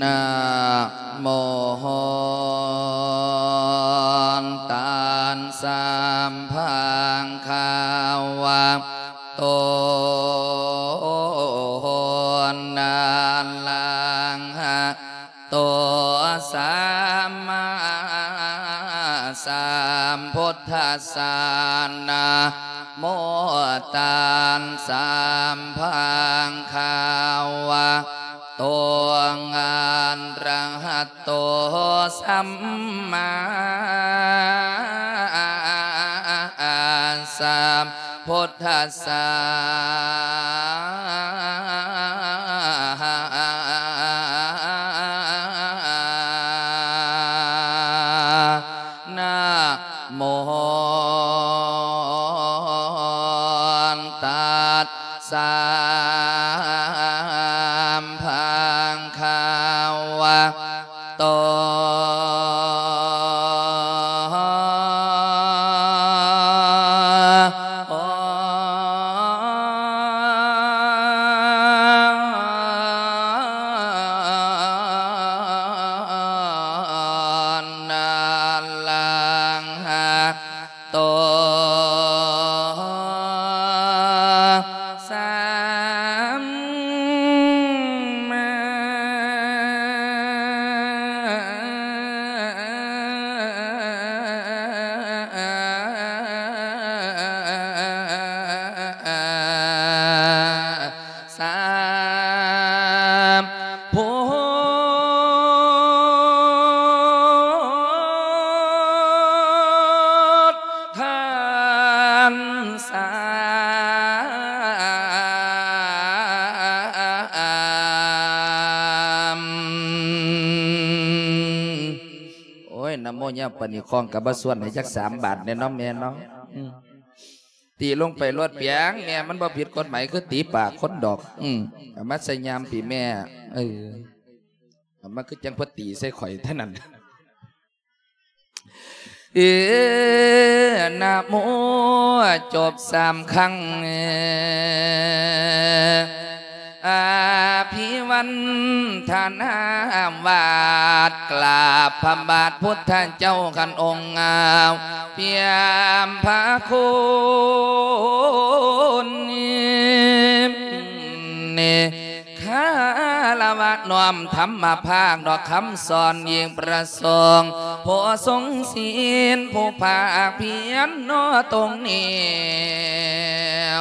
ນະໂມ ຕັດສະ ພະຄະວະໂຕ ອະລະຫະໂຕ ສຳມາສຳພຸດທັດສະ ນະໂມ ຕັດສະ ພະຄະວະໂຕ ອະລະຫະໂຕ ສຳມາສຳພຸດທັດສະ ນະໂມ ຕັດສະ ພະຄະວະໂຕ ອະລະຫະໂຕ ສຳມາສຳພຸດທັດສະ ໂອ້ຍ ນະໂມຍາວປານນີ້ ຂ້ອງກໍບໍ່ຊວນໃຫ້ຈັກສາມບາດແດ່ເນາະແມ່ເນາະ. ອືມ ຕີລົງໄປໂລດປຽງ ແມ່ ມັນບໍ່ຜິດກົດໝາຍ ຄືຕີປາກຄົນດອກ. ອືມ ເອົາມາໃສ່ຍາມປີແມ່ ເອີ ເອົາມາຄືຈັ່ງເພິ່ນຕີໃສ່ຂ້ອຍເທົ່ານັ້ນ. ເອີ ນະໂມ ຈົບສາມຄັ້ງ ອະພິວັນທະນາ ວາດກາບພະບາດພຸດທະເຈົ້າ ຄັນອົງອາວ ປ່ຽມພະຄຸນ ຄາລະວະນ້ອມທຳມະພາກດອກຄຳສອນ ຍິ່ງປະສົງ ຜູ້ຊົງສິນ ຜູ້ພາກພຽນເນາະຕົງແນ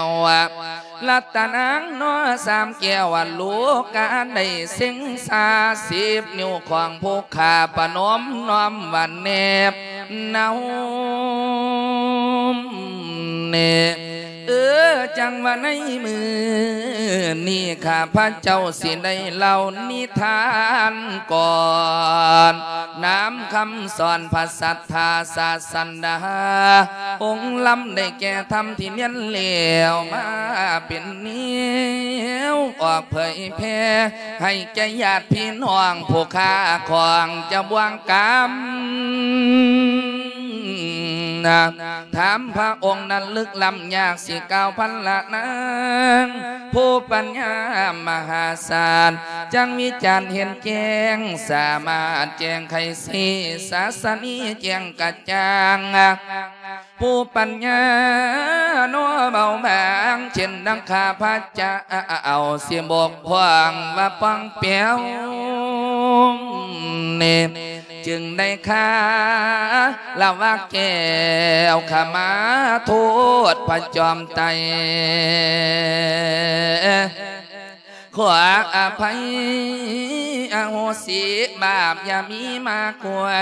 ວ ລັດຕະນາງເນາະສາມແກ້ວ ລູກກະໄດ້ເສັງຊາສິບນິ້ວຂອງຜູ້ຂ້າ ປະນົມນ້ອມຫວັນແນບ ນຳ ເອີ ຈັ່ງວ່າໃນມື້ນີ້ ຂ້າພະເຈົ້າຊິໄດ້ເລົ່ານິທານກ່ອນ ນຳຄຳສອນພະສັດທາສາສະດາ ອົງລຳໄດ້ແກ່ທຳທີ່ລຽນແລ້ວມາເປັນແນວອອກເຜີຍແຜ່ ໃຫ້ແກ່ຍາດພີ່ນ້ອງຜູ້ຄ້າຂອງຈະບ່ວງກຳ ນະ ຖາມພະອົງນັ້ນລຶກລ້ຳຍາກ ຊິກ່າວພັນລະນາງ ຜູ້ປັນຍາມະຫາສານ ຈັ່ງວິຈານເຫັນແຈ້ງ ສາມາດແຈ້ງໄຂຊີ້ສາສະນີແຈ້ງກະຈ່າງ ຜູ້ປັນຍາເນາະເບົາບາງ ເຊັ່ນດັ່ງຂ້າພະເຈົ້າຊິບົກຜ່ອງວ່າປ່ອງແປວນີ້ ຈຶ່ງໄດ້ຄາລະວະແກ້ວຂະມາໂທດພະຈອມໄຕ ຂໍອະໄພອະໂຫສິບາບຢ່າມີມາກວ່າ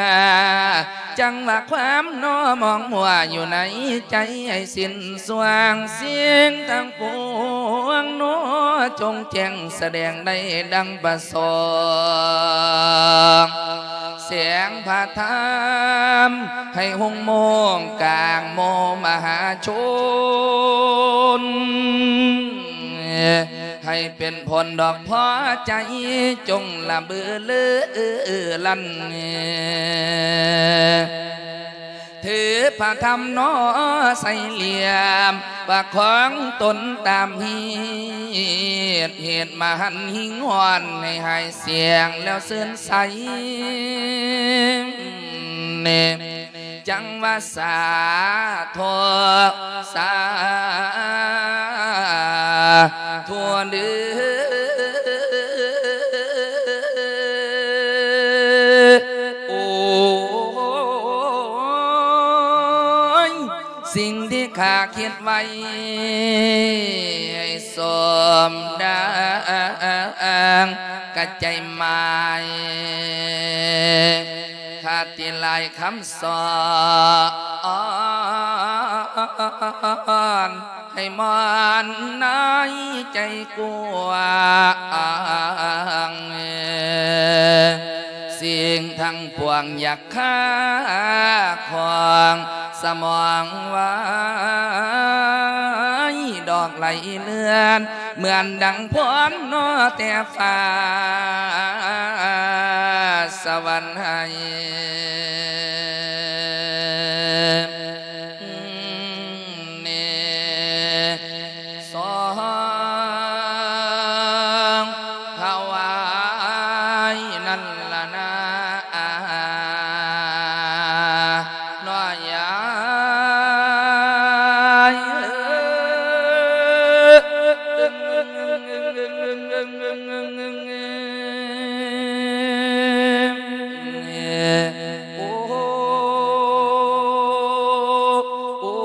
ຈັ່ງວ່າຄວາມເນາະມອງມົວຢູ່ໃນໃຈໃຫ້ສິ້ນ ສ່ວງສິ່ງທັງປວງເນາະ ຈົ່ງແຈ້ງສະແດງໄດ້ດັ່ງປະສົງ ແສງພະທຳໃຫ້ຮຸ່ງໂມງກາງໝູ່ມະຫາຊົນ ໃຫ້ເປັນຜົນດອກພໍໃຈ ຈົ່ງລະເບີເລີລັນ ເ ຖືພະທຳໜໍໃສ່ຫຼ່ຽມ ປະຄອງຕົນຕາມຮີດ ເຮັດມະຫັນຫິງຫ້ອນໃຫ້ຫາຍສຽງແລ້ວຊື່ນໃສ ຈັ່ງວ່າສາທຸ ສາທຸເດີ. ໂອ້ຍ ສິ່ງທີ່ຂ້າຄິດໄວ້ ສົມດັ່ງກະໃຈໝາຍ ຄະຕິຫຼາຍຄຳສອນ ໃຫ້ມ່ອນໃນໃຈກວ້າງ ສິ່ງທັງປວງຢາກຄາຂອງສະໝອງໄວ້ ດອກໄຫຼເລື່ອນ ເໝືອນດັ່ງພອນນອແຕ່ຟ້າສະຫວັນໃຫ້ ເນ ສອງ ຖວາຍນັ້ນລະນາ ນ້ອຍໃຫຍ່ເອີຍ ໂອ້ ໂອ້ ໂອ້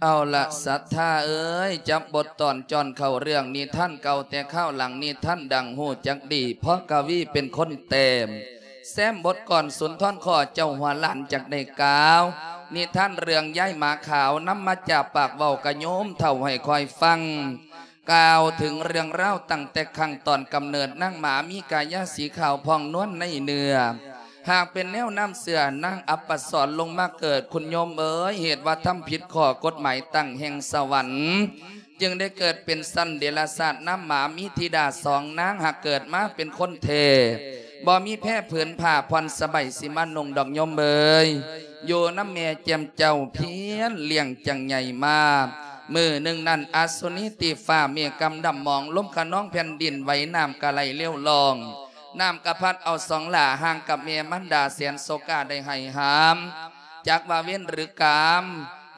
ເອົາລະ ສັດທາເອີຍ ຈັບບົດຕອນຈ້ອນເຂົ້າເລື່ອງນິທານເກົ່າແຕ່ຄາວຫຼັງ ນິທານດັງຮູ້ຈັກດີ ເພາະກະວີເປັນຄົນແຕ້ມ ແຊມບົດກ່ອນສຸນທອນ ຂໍເຈົ້າຫົວລ້ານຈັກໄດ້ກ່າວ ນິທານເລື່ອງຍາຍໝາຂາວ ນຳມາຈາກປາກເວົ້າກະໂຍມເຖົ້າໃຫ້ຄອຍຟັງ ກ່າວເຖິງເລື່ອງລາວຕັ້ງແຕ່ຄັ້ງຕອນກຳເນີດນາງໝາມີກາຍາສີຂາວຜ່ອງນວນໃນເນື້ອ ຫາກເປັນແນວນ້ຳເຊື່ອນາງອັບປະສອນລົງມາເກີດ ຄຸນໂຍມເອີຍ ເຫດວ່າທຳຜິດຂໍ້ກົດໝາຍຕັ້ງແຫ່ງສະຫວັນ ຈຶ່ງໄດ້ເກີດເປັນສັນເດລະສາດນຳໝາ ມີທິດາສອງນາງ ຫາກເກີດມາເປັນຄົນແທ້ ບໍ່ມີແພຜືນຜ້າຜ່ອນສະໄບຊິມານຸ່ງດອກໂຍມເອີຍ ຢູ່ນຳແມ່ແຈ່ມເຈົ້າພຽນລ້ຽງຈັ່ງໃຫຍ່ມາ ມື້ໜຶ່ງນັ້ນ ອະສຸນີຕີຟ້າ ເມກຳດຳໝອງ ລົມຂະນອງແຜ່ນດິນໄຫວ ນ້ຳກະໄຫຼເລວລ່ອງ ນ້ຳກະພັດເອົາສອງຫຼ້າ ຫ່າງກັບແມ່ມານດາແສນໂສກາໄດ້ໄຫ້ຫາມ ຈັກວ່າເວນຫຼືກຳ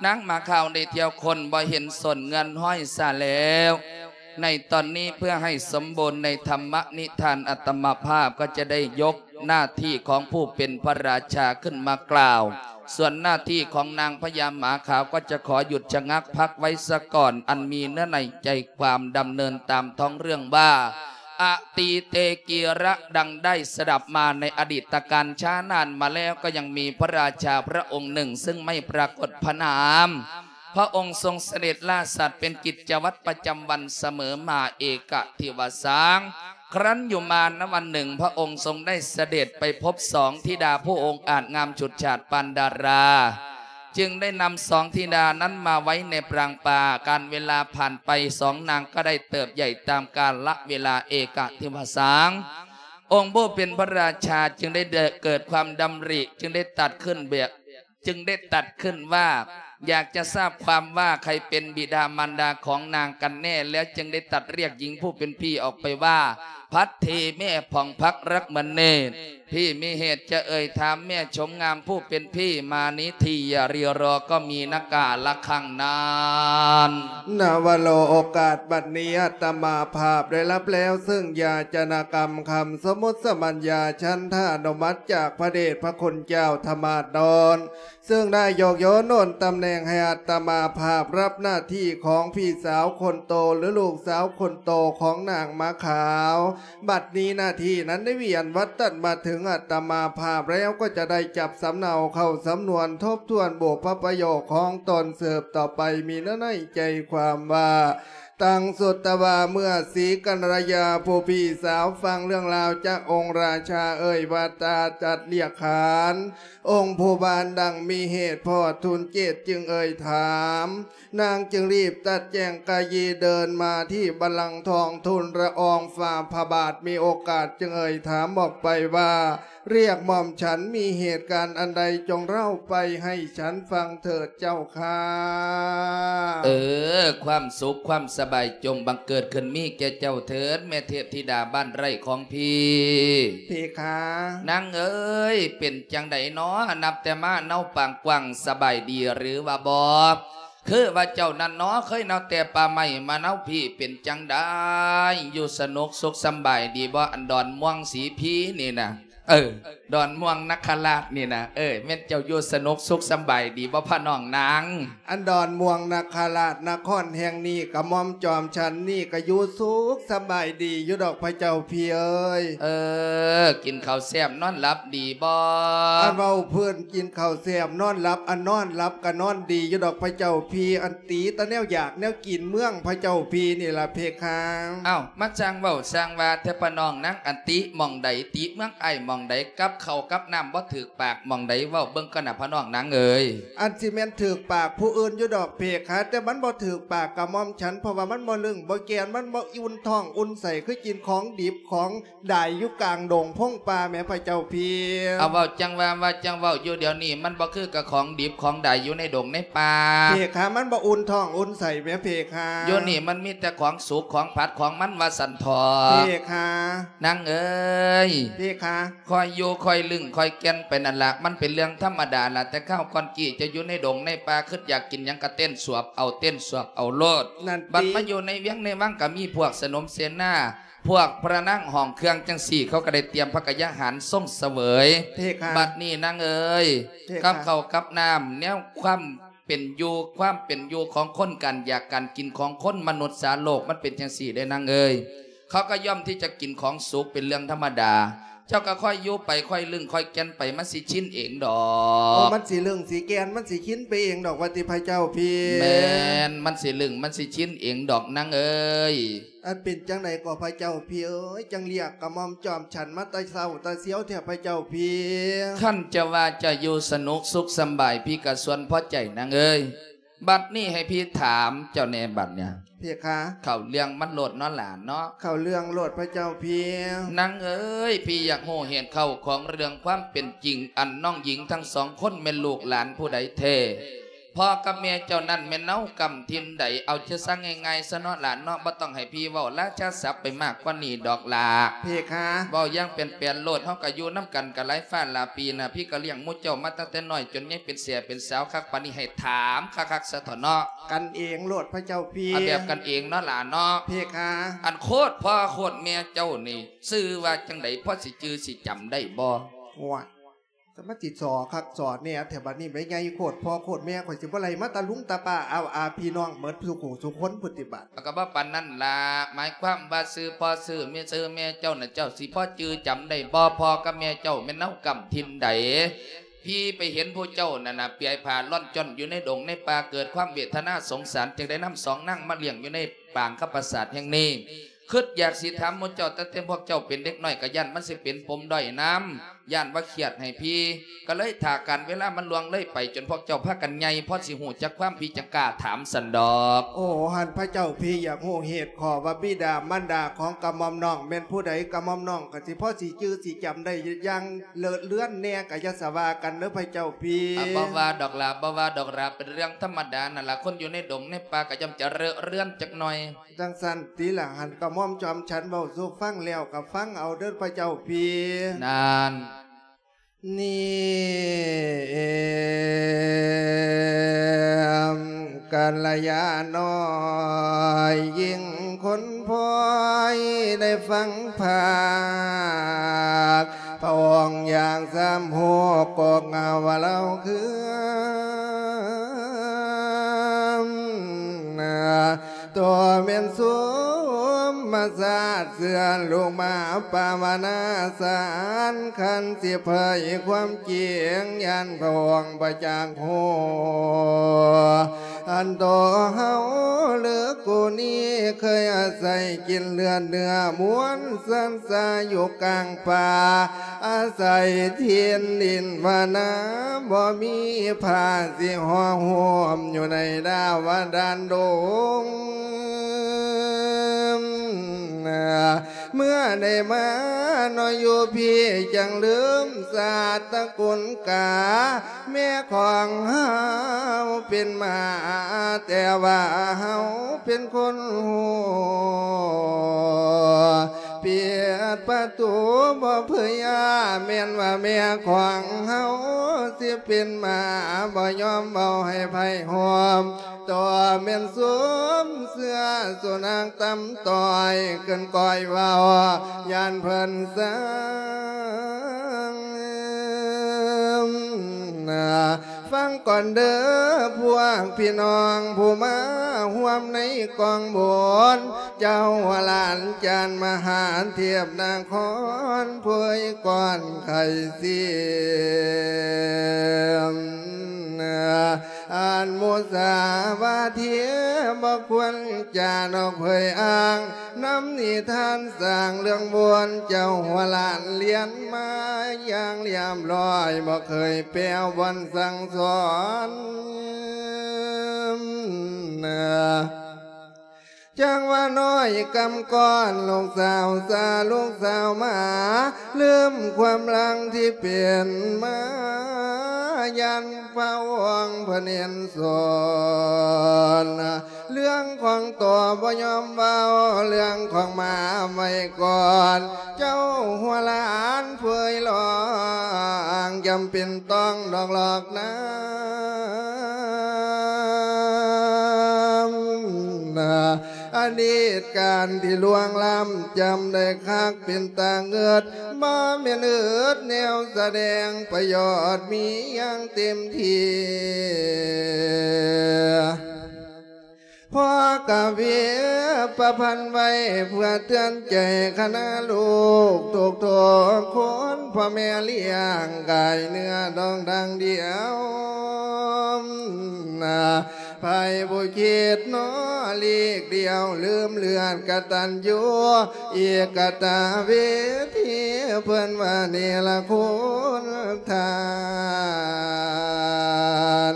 ນາງໝາຂາວໄດ້ທ່ຽວຄົ້ນ ບໍ່ເຫັນສົ້ນເງື່ອນຮອຍຊະແລ້ວ ໃນຕອນນີ້ເພື່ອໃຫ້ສົມບູນໃນທຳມະນິທານ ອາດຕະມາພາບກໍຈະໄດ້ຍົກໜ້າທີ່ຂອງຜູ້ເປັນພະລາຊາຂຶ້ນມາກ່າວ ສ່ວນໜ້າທີ່ຂອງນາງພະຍາໝາຂາວກໍຈະຂໍຢຸດຊະງັກພັກໄວ້ສາກ່ອນ ອັນມີເນື້ອໃນໃຈຄວາມດຳເນີນຕາມທ້ອງເລື່ອງວ່າ ອະຕີເຕກີລະ ດັ່ງໄດ້ສະດັບມາໃນອະດີດຕະການຊ້ານານມາແລ້ວ ກໍຍັງມີພະລາຊາພະອົງໜຶ່ງ ຊຶ່ງໄມ່ປາກົດພະນາມ ພະອົງຊົງສະເດັດລາສັດເປັນກິດຈະວັດປະຈຳວັນສະເໝີມາເອກະທິວະສັງ ຄັ້ນຢູ່ມານະວັນໜຶ່ງ ພະອົງຊົງໄດ້ສະເດັດໄປພົບສອງທິດາຜູ້ອົງອາດງາມຊຸດສາດປານດາລາ ຈຶ່ງໄດ້ນຳສອງທິດານັ້ນມາໄວ້ໃນປາງປ່າ ການເວລາຜ່ານໄປ ສອງນາງກໍໄດ້ເຕີບໃຫຍ່ຕາມກາລະເວລາເອກະທິວະສັງ ອົງຜູ້ເປັນພະລາຊາຈຶ່ງໄດ້ເກີດຄວາມດຳລິ ຈຶ່ງໄດ້ຕັດຂຶ້ນແບບ ຈຶ່ງໄດ້ຕັດຂຶ້ນວ່າ ຢາກຈະຊາບຄວາມວ່າໃຜເປັນບິດາມານດາຂອງນາງກັນແນ່ ແລ້ວຈຶ່ງໄດ້ຕັດລຽກຍິງຜູ້ເປັນພີ່ອອກໄປວ່າ ພັດເທແມ່ຜ່ອງພັກລັກມະເນດ ພີ່ມີເຫດຈະເອີ່ຍຖາມແມ່ຊົມງາມຜູ້ເປັນພີ່ມານີທີ່ຢ່າຣີລໍກໍມີນະກາລະຄັ້ງນັ້ນ. ນະວະໂລ ໂອກາດບັດນີ້ອາດຕະມາພາບໄດ້ຮັບແລ້ວ ຊຶ່ງຢາຈະນະກຳຄຳສົມມຸດສະບັນຍາ ສັນທານຸມັດຈາກພະເດດພະຄຸນເຈົ້າທະມາດດອນ ເຊິ່ງໄດ້ຍົກໂຍນໂອນຕຳແໜ່ງໃຫ້ອາດຕະມາພາບຮັບໜ້າທີ່ຂອງພີ່ສາວຄົນໂຕ ຫຼື ລູກສາວຄົນໂຕຂອງນາງໝາຂາວ. ບັດນີ້ໜ້າທີ່ນັ້ນໄດ້ວຽນວັດຕັດມາເຖິງ ອາດຕະມາພາບແລ້ວ ກໍຈະໄດ້ຈັບສຳເນົາເຂົ້າສຳນວນທົບທວນບຸບພະປະໂຫຍກຂອງຕົນສືບຕໍ່ໄປ. ມີເນື້ອໃນໃຈຄວາມວ່າ ຕັງສຸດຕະວາ ເມື່ອສີກັນລະຍາຜູ້ພີ່ສາວຟັງເລື່ອງລາວຈາກອົງລາຊາເອີ່ຍວ່າ ຕາຈັດລຽກຂານອົງຜູ້ບານດັ່ງມີເຫດພໍດທຸນເກດຈຶ່ງເອີ່ຍຖາມ. ນາງຈຶ່ງລີບຕັດແຈງກະຢີເດີນມາທີ່ບັນລັງທອງ ທູນລະອອງຝ່າພະບາດ ມີໂອກາດຈຶ່ງເອີ່ຍຖາມອອກໄປວ່າ ລຽກໝ່ອມສັນມີເຫດການອັນໃດ ຈົ່ງເລົ່າໄປໃຫ້ສັນຟັງເຖີດເຈົ້າຂ້າ. ເອີ ຄວາມສຸກຄວາມສະບາຍຈົ່ງບັງເກີດຂຶ້ນມີແກ່ເຈົ້າເຖີດ ແມ່ເທບທິດາບ້ານໄຮ່ຂອງພີ່. ເພຄາ. ນາງເອີຍ ເປັນຈັ່ງໃດນໍ? ນັບແຕ່ມາເນົາປາງກວ້າງ ສະບາຍດີຫຼືວ່າບໍ່? ຄືວ່າເຈົ້ານັ້ນເນາະ ເຄີຍເນົາແຕ່ປ່າໄມ້ມາເນົາພີ້ ເປັນຈັ່ງໃດ ຢູ່ສະໜຸກສຸກສຳບາຍດີບໍ່? ອັນດອນມ່ວງສີພີນີ້ນະ ເອີ ດອນມ່ວງນະຄະລາດນີ້ນະ ເອີ ແມ່ນເຈົ້າຢູ່ສະໜຸກສຸກສຳບາຍດີບໍ່ພະນ້ອງນາງ? ອັນດອນມ່ວງນະຄະລາດນະຄອນແຫ່ງນີ້ ກະໝ່ອມຈອມສັນນີ້ກະຢູ່ສຸກສຳບາຍດີຢູ່ດອກພະເຈົ້າພີ່ເອີຍ. ເອີ ກິນເຂົ້າແຊບນອນຫຼັບດີບໍ່? ອັນເວົ້າເພິ່ນ ກິນເຂົ້າແຊບນອນຫຼັບ ອັນນອນຫຼັບກະນອນດີຢູ່ດອກພະເຈົ້າພີ່ ອັນຕິແຕ່ແນວຢາກແນວກິນເມືອງພະເຈົ້າພີ່ນີ້ລະເພຄາ. ເອົ້າ ມາຊ່າງເວົ້າຊ່າງວ່າແທ້ພະນ້ອງນາງ ອັນຕິໝ່ອງໃດ ຕິເມືອງອ້າຍໝ່ອງໃດ ກັບເຂົ້າກັບນ້ຳບໍ່ຖືກປາກໝ່ອງໃດ ເວົ້າເບິ່ງກ່ອນນະພະນ້ອງນາງເອີຍ. ອັນຊິແມ່ນຖືກປາກຜູ້ອື່ນຢູ່ດອກເພຄາ ແຕ່ມັນບໍ່ຖືກປາກກະໝ່ອມສັນ ເພາະວ່າມັນບໍ່ລຶ້ງບໍ່ແກ່ນ ມັນບໍ່ອຸ່ນທ້ອງອຸ່ນໄສ້ ຄືກິນຂອງດິບຂອງ ດາຍຢູ່ກາງດົງພົງປ່າແໝ່ພະເຈົ້າພີ່. ເອົາ ເວົ້າຈັ່ງວ່າ ວ່າຈັ່ງເວົ້າຢູ່ດຽວນີ້ ມັນບໍ່ຄືກັບຂອງດິບຂອງດາຍຢູ່ໃນດົງໃນປ່າ. ເພຄາ ມັນບໍ່ອຸ່ນທ້ອງອຸ່ນໄສ້ແໝ່ເພຄາ. ຢູ່ນີ້ມັນມີແຕ່ຂອງສຸກຂອງຜັດຂອງມັນວ່າຊັ້ນເຖາະ. ເພຄາ. ນາງເອີຍ ເພຄາ ຄ່ອຍຢູ່ຄ່ອຍລຶ້ງຄ່ອຍແກ່ນໄປນັ້ນລະ ມັນເປັນເລື່ອງທຳມະດາລະ. ແຕ່ຄາວກ່ອນກີ້ເຈົ້າຢູ່ໃນດົງໃນປ່າ ຄຶດຢາກກິນຫຍັງກະເຕັ້ນສວບເອົາ ເຕັ້ນສວບເອົາໂລດ. ນັ້ນຕິ ບັດມາຢູ່ໃນວຽງໃນວັງກະມີພວກສະໜົມເສນາ ພວກພະນາງຫ້ອງເຄື່ອງຈັ່ງຊີ້ ເຂົາກໍໄດ້ຕຽມພະກະຍາຫານຊົງສະເຫວີຍ. ເພຄາ. ບັດນີ້ນາງເອີຍ ເພຄາ ກັບເຂົ້າກັບນ້ຳ ແນວຄວາມເປັນຢູ່ ຄວາມເປັນຢູ່ຂອງຄົນ ການຢາກການກິນຂອງຄົນ ມະນຸດສາໂລກ ມັນເປັນຈັ່ງຊີ້ເດ້ນາງເອີຍ. ເຂົາກໍຍ່ອມທີ່ຈະກິນຂອງສຸກເປັນເລື່ອງທຳມະດາ. ເຈົ້າກໍຄ່ອຍຢູ່ໄປ ຄ່ອຍລຶ້ງຄ່ອຍແກ່ນໄປ ມັນຊິຊິນເອງດອກ. ໂອ້ ມັນຊິລຶ້ງຊິແກ່ນ ມັນຊິຊິນໄປເອງດອກ ວ່າຕິພະເຈົ້າພີ່. ແມ່ນ ມັນຊິລຶ້ງ ມັນຊິຊິນເອງດອກນາງເອີຍ. ອັນເປັນຈັ່ງໃດກໍພະເຈົ້າພີ່ເອີຍ ຈັ່ງລຽກກະໝ່ອມຈອມສັນມາແຕ່ເຊົ້າແຕ່ຊຽວແທ້ພະເຈົ້າພີ່? ຄັນຈະວ່າຈະຢູ່ສະໜຸກສຸກສຳບາຍ ພີ່ກະສ່ວນພໍໃຈນາງເອີຍ. ບັດນີ້ໃຫ້ພີ່ຖາມເຈົ້າແດ່ບັດເນີ້ຍ. ເພຄາ. ເຂົ້າເລື່ອງມັນໂລດເນາະຫຼານເນາະ. ເຂົ້າເລື່ອງໂລດພະເຈົ້າພີ່. ນາງເອີຍ ພີ່ຢາກຮູ້ເຫດເຂົ້າຂອງເລື່ອງຄວາມເປັນຈິງ ອັນນ້ອງຍິງທັງສອງຄົນແມ່ນລູກຫຼານຜູ້ໃດແທ້? ພໍ່ກັບແມ່ເຈົ້ານັ້ນແມ່ນເນົາກຳຖິ່ນໃດ? ເອົາຈະສັ່ງງ່າຍໆຊະເນາະຫຼານເນາະ ບໍ່ຕ້ອງໃຫ້ພີ່ເວົ້າລາຊາສັບໄປມາກກວ່ານີ້ດອກຫຼ້າ. ເພຄາ. ເວົ້າຢ່າງແປນໆໂລດ ເຮົາກະຢູ່ນຳກັນກະຫຼາຍຟ້າຫຼາຍປີນະ ພີ່ກະລ້ຽງໝູ່ເຈົ້າມາຕັ້ງແຕ່ນ້ອຍຈົນໃຫຍ່ເປັນແສ້ເປັນສາວຄັກປານນີ້ ໃຫ້ຖາມຄັກໆຊະເຖາະເນາະ. ກັນເອງໂລດພະເຈົ້າພີ່. ເອົາແບບກັນເອງເນາະຫຼານເນາະ. ເພຄາ. ອັນໂຄດພໍ່ໂຄດແມ່ເຈົ້ານີ້ຊື່ວ່າຈັ່ງໃດ ພໍຊິຈື່ຊິຈຳໄດ້ບໍ່? ໂອ້ຍ ສະມາຊິສໍຄັກສໍແນ່ແທ້ບັດນີ້ ແມ່ໃຫຍ່ໂຄດພໍ່ໂຄດແມ່ ຂ້ອຍຊິບໍ່ໄລ່ມາຕາລຸງຕາປ້າອາວອາພີ່ນ້ອງເໝິດສູ່ຜູ້ສູ່ຄົນພຸ້ນຕິບັດ. ກໍບໍ່ປານນັ້ນລະ ໝາຍຄວາມວ່າຊື່ພໍ່ຊື່ແມ່ ຊື່ແມ່ເຈົ້ານະ ເຈົ້າຊິພໍຈື່ຈຳໄດ້ບໍ່? ພໍ່ກັບແມ່ເຈົ້າແມ່ນເນົາກຳຖິ່ນໃດ? ພີ່ໄປເຫັນຜູ້ເຈົ້ານັ້ນນະ ເປຍຜ້າລ່ອນຈ້ອນຢູ່ໃນດົງໃນປ່າ ເກີດຄວາມເວທະນາສົງສານ ຈຶ່ງໄດ້ນຳສອງນາງມາລ້ຽງຢູ່ໃນປາງຄຳປາສາດແຫ່ງນີ້. ຄຶດຢາກຊິຖາມໝູ່ເຈົ້າ ຕັ້ງແຕ່ພວກເຈົ້າເປັນເດັກນ້ອຍ ກະຢ້ານມັນຊິເປັນປົມດ້ອຍນຳ ຢ້ານວ່າຄຽດໃຫ້ພີ່ ກະເລີຍຖ້າການເວລາມັນລ່ວງເລີຍໄປ ຈົນພວກເຈົ້າພາກັນໃຫຍ່ ພໍຊິຮູ້ຈັກຄວາມ ພີ່ຈັ່ງກ້າຖາມຊັ້ນດອກ. ໂອ້ ຫັ້ນພະເຈົ້າ ພີ່ຢາກຮູ້ເຫດຂໍ້ວ່າບິດາມານດາຂອງກະໝ່ອມນ້ອງແມ່ນຜູ້ໃດ? ກະໝ່ອມນ້ອງກະຊິພໍຊິຈື່ຊິຈຳໄດ້ຢ່າງເລີດເລືອນແນ່ ກະຢ່າສະວ່າກັນເດີພະເຈົ້າ ພີ່. ອາ ບໍ່ວ່າດອກຫຼ້າ ບໍ່ວ່າດອກຫຼ້າ ເປັນເລື່ອງທຳມະດານັ້ນລະ ຄົນຢູ່ໃນດົງໃນປ່າກະຍ່ອມຈະເລີດເລືອນຈັກໜ່ອຍ. ຈັ່ງຊັ້ນຕິລະ ຫັ້ນກະໝ່ອມຈອມສັນເວົ້າສູ່ຟັງແລ້ວກະຟັງເອົາເດີພະເຈົ້າພີ່. ນັ້ນ ນີ້ ກັນລະຍານ້ອຍຍິງຄົນພອຍໄດ້ຟັງພາກ ພະອົງຢາກສຳຮູ້ກົກເອົາວ່າລາວຄື ຕົວແມ່ນສຸມ ສາດເຊື່ອລູກມາປາວະນາສານ ຄັນຊິເຜີຍຄວາມຈິງ ຢ້ານພະອົງບໍ່ຈັກຮູ້ ອັນໂຕເຮົາເລີກກູນີ້ ເຄີຍອາໄສກິນເລືອດເນື້ອ ມ່ວນສັນສາຢູ່ກາງປ່າ ອາໄສຖິ່ນດິນວານາ ບໍ່ມີຜາຊິຫໍ່ໂຮມ ຢູ່ໃນດາວະດານດົງ. ເມື່ອໄດ້ມາເນາະຢູ່ພີ້ ຈັ່ງລືມຊາດຕະກຸນກາ ແມ່ຂອງເຮົາເປັນໝາ ແຕ່ວ່າເຮົາເປັນຄົນຮູ້ ປິດປະຕູບໍ່ເຜີຍ ແມ່ນວ່າແມ່ຂອງເຮົາຊິເປັນໝາ ບໍ່ຍອມເວົ້າໃຫ້ໃຜຮູ້ ຕໍ່ແມ່ນສົມເຊື່ອສຸນັກຕຳຕ້ອຍ ເກີນກ້ອຍເວົ້າ ຢ້ານເພິ່ນຊັງ. ຟັງກ່ອນເດີພວກພີ່ນ້ອງຜູ້ມາຮ່ວມໃນກອງບຸນ ເຈົ້າຫຼານຈານມະຫາເທບນະຄອນ ເຜີຍກ່ອນໄຂ່ສຽມ ອັນມຸສາວາທີບໍ່ຄວນຈານອກເຜີຍອ້າງ ນຳນິທານສ້າງເລື່ອງບວນ ເຈົ້າຫົວຫຼານລຽນມາຢ່າງລຽບລ້ອຍ ບໍ່ເຄີຍແປວບ່ອນສັ່ງສອນ ຈັ່ງວ່ານ້ອຍກຳກ່ອນ ລູກສາວຊາ ລູກສາວໝາ ລືມຄວາມຫຼັງທີ່ເປັນມາ ຢ້ານພະອົງເພິ່ນເຫັນສົນ ເລື່ອງຂອງໂຕບໍ່ຍອມເວົ້າ ເລື່ອງຂອງໝາໄວ້ກ່ອນ ເຈົ້າຫົວຫຼານເຜີຍລອງ ຈຳເປັນຕ້ອງດອກຫຼອກນາ ອະດີດການທີ່ລ່ວງລ້ຳ ຈຳໄດ້ຄັກເປັນຕາເງິດ ບໍ່ແມ່ນອຶດແນວສະແດງ ປະໂຫຍດມີຢ່າງເຕັມທີ່ ພໍກະເວປະພັນໄວ້ ເພື່ອເຕືອນໃຈຄະນະລູກທຸກໆຄົນ ພໍ່ແມ່ລ້ຽງກາຍເນື້ອດອງດັ່ງດຽວ ໃຜຜູ້ຄິດເນາະຫຼີກດ່ຽວ ລືມເລືອດກະຕັນຍູ ເອກະຕາເວທີ ເພິ່ນວ່າເນລະຄຸນທານ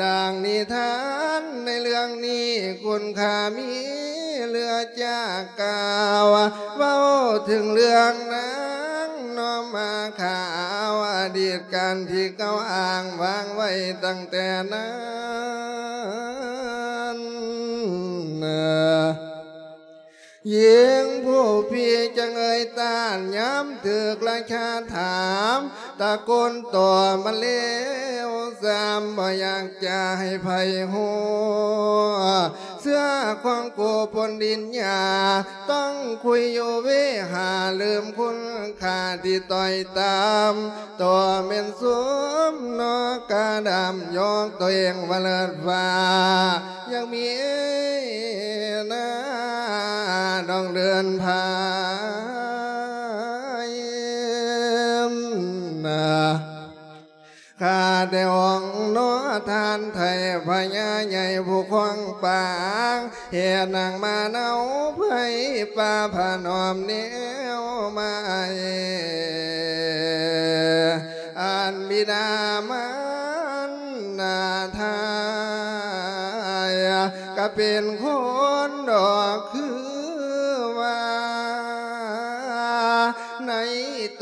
ດັ່ງນິທານໃນເລື່ອງນີ້ ຄຸນຄ່າມີເຫຼືອຈາກກ່າວ ເວົ້າເຖິງເລື່ອງນາງນ້ອມມາຂາວ ອະດີດການທີ່ເກົ່າອ້າງວາງໄວ້ຕັ້ງແຕ່ນັ້ນ ຍິງຜູ້ພີ້ຈັ່ງເອີຍຕ້ານ ຍາມຖືກລາຊາຖາມ ຕະໂກນຕໍ່ມາເລວຊາມ ບໍ່ຢາກຈະໃຫ້ໃຜຮູ້ ເຊື້ອຂອງກູປົນດິນຫຍ້າ ຕ້ອງຄຸຍຢູ່ເວຫາ ລືມຄຸນຄ່າທີ່ຕ້ອຍຕ່ຳ ໂຕແມ່ນສົມນອກກາດຳ ຍອກໂຕເອງວ່າເລີດຟ້າ ຍັງມີໜ້າດອງເດີນພາຍນາ ຂ້າແຕ່ອົງໜໍ່ທ່ານໄທພະຍາໃຫຍ່ຜູ້ຄອງປາງ ເຮັດນາງມາເນົາໄພປ່າພະນອມແນວມາ ອັນບິດາມານດາທາຍ ກະເປັນຄົນດອກຄືວ່າ ໃນ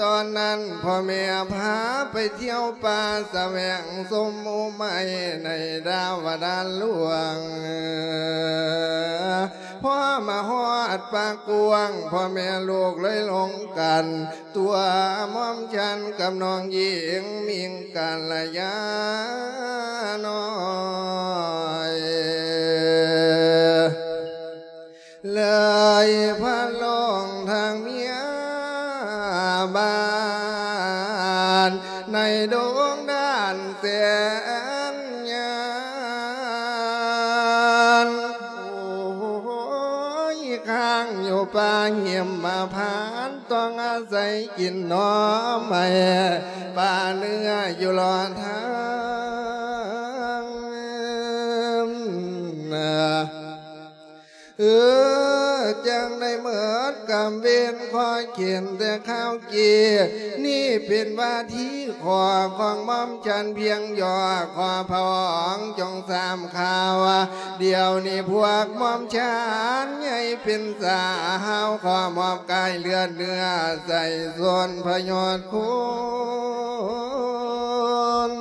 ຕອນນັ້ນພໍ່ແມ່ພາໄປທ່ຽວປ່າ ສະແຫວງຊົມໝູ່ໄມ້ໃນດາວະດານຫຼວງ ພໍມາຮອດປ່າກວ້າງ ພໍ່ແມ່ລູກເລີຍລົງກັນ ຕົວໝອມສັນກັບນ້ອງຍິງມິງກັນລະຍານ້ອຍ ເລີຍພັດລົງທາງເມຍບ້ານ ໃນດົງດ້ານແສນຍານ ໂອ້ຍ ຫິມມະພານ ຕ້ອງອາໄສກິນໜໍ່ໄມ້ ປາເນື້ອຢູ່ຫຼອດທາງ. ເອີ ຈັ່ງໄດ້ໝົດກຳເວນ ຂໍເຂັນແຕ່ຄາວກີ້ ນີ້ເປັນວາທີຂໍຂອງໝ່ອມ ຂອງໝ່ອມຂອງໝ່ອມຂອງໝ່ອມ ຈະພຽງຍໍ ຂໍພະອົງຈົ່ງຊາບຂ່າວ ດຽວນີ້ພວກໝ່ອມຂອງໝ່ອມໃຫຍ່ເປັນສາວ ຂໍມອບກາຍເລືອດເນື້ອໃຊ້ຊົນພະຍອດຄຸນ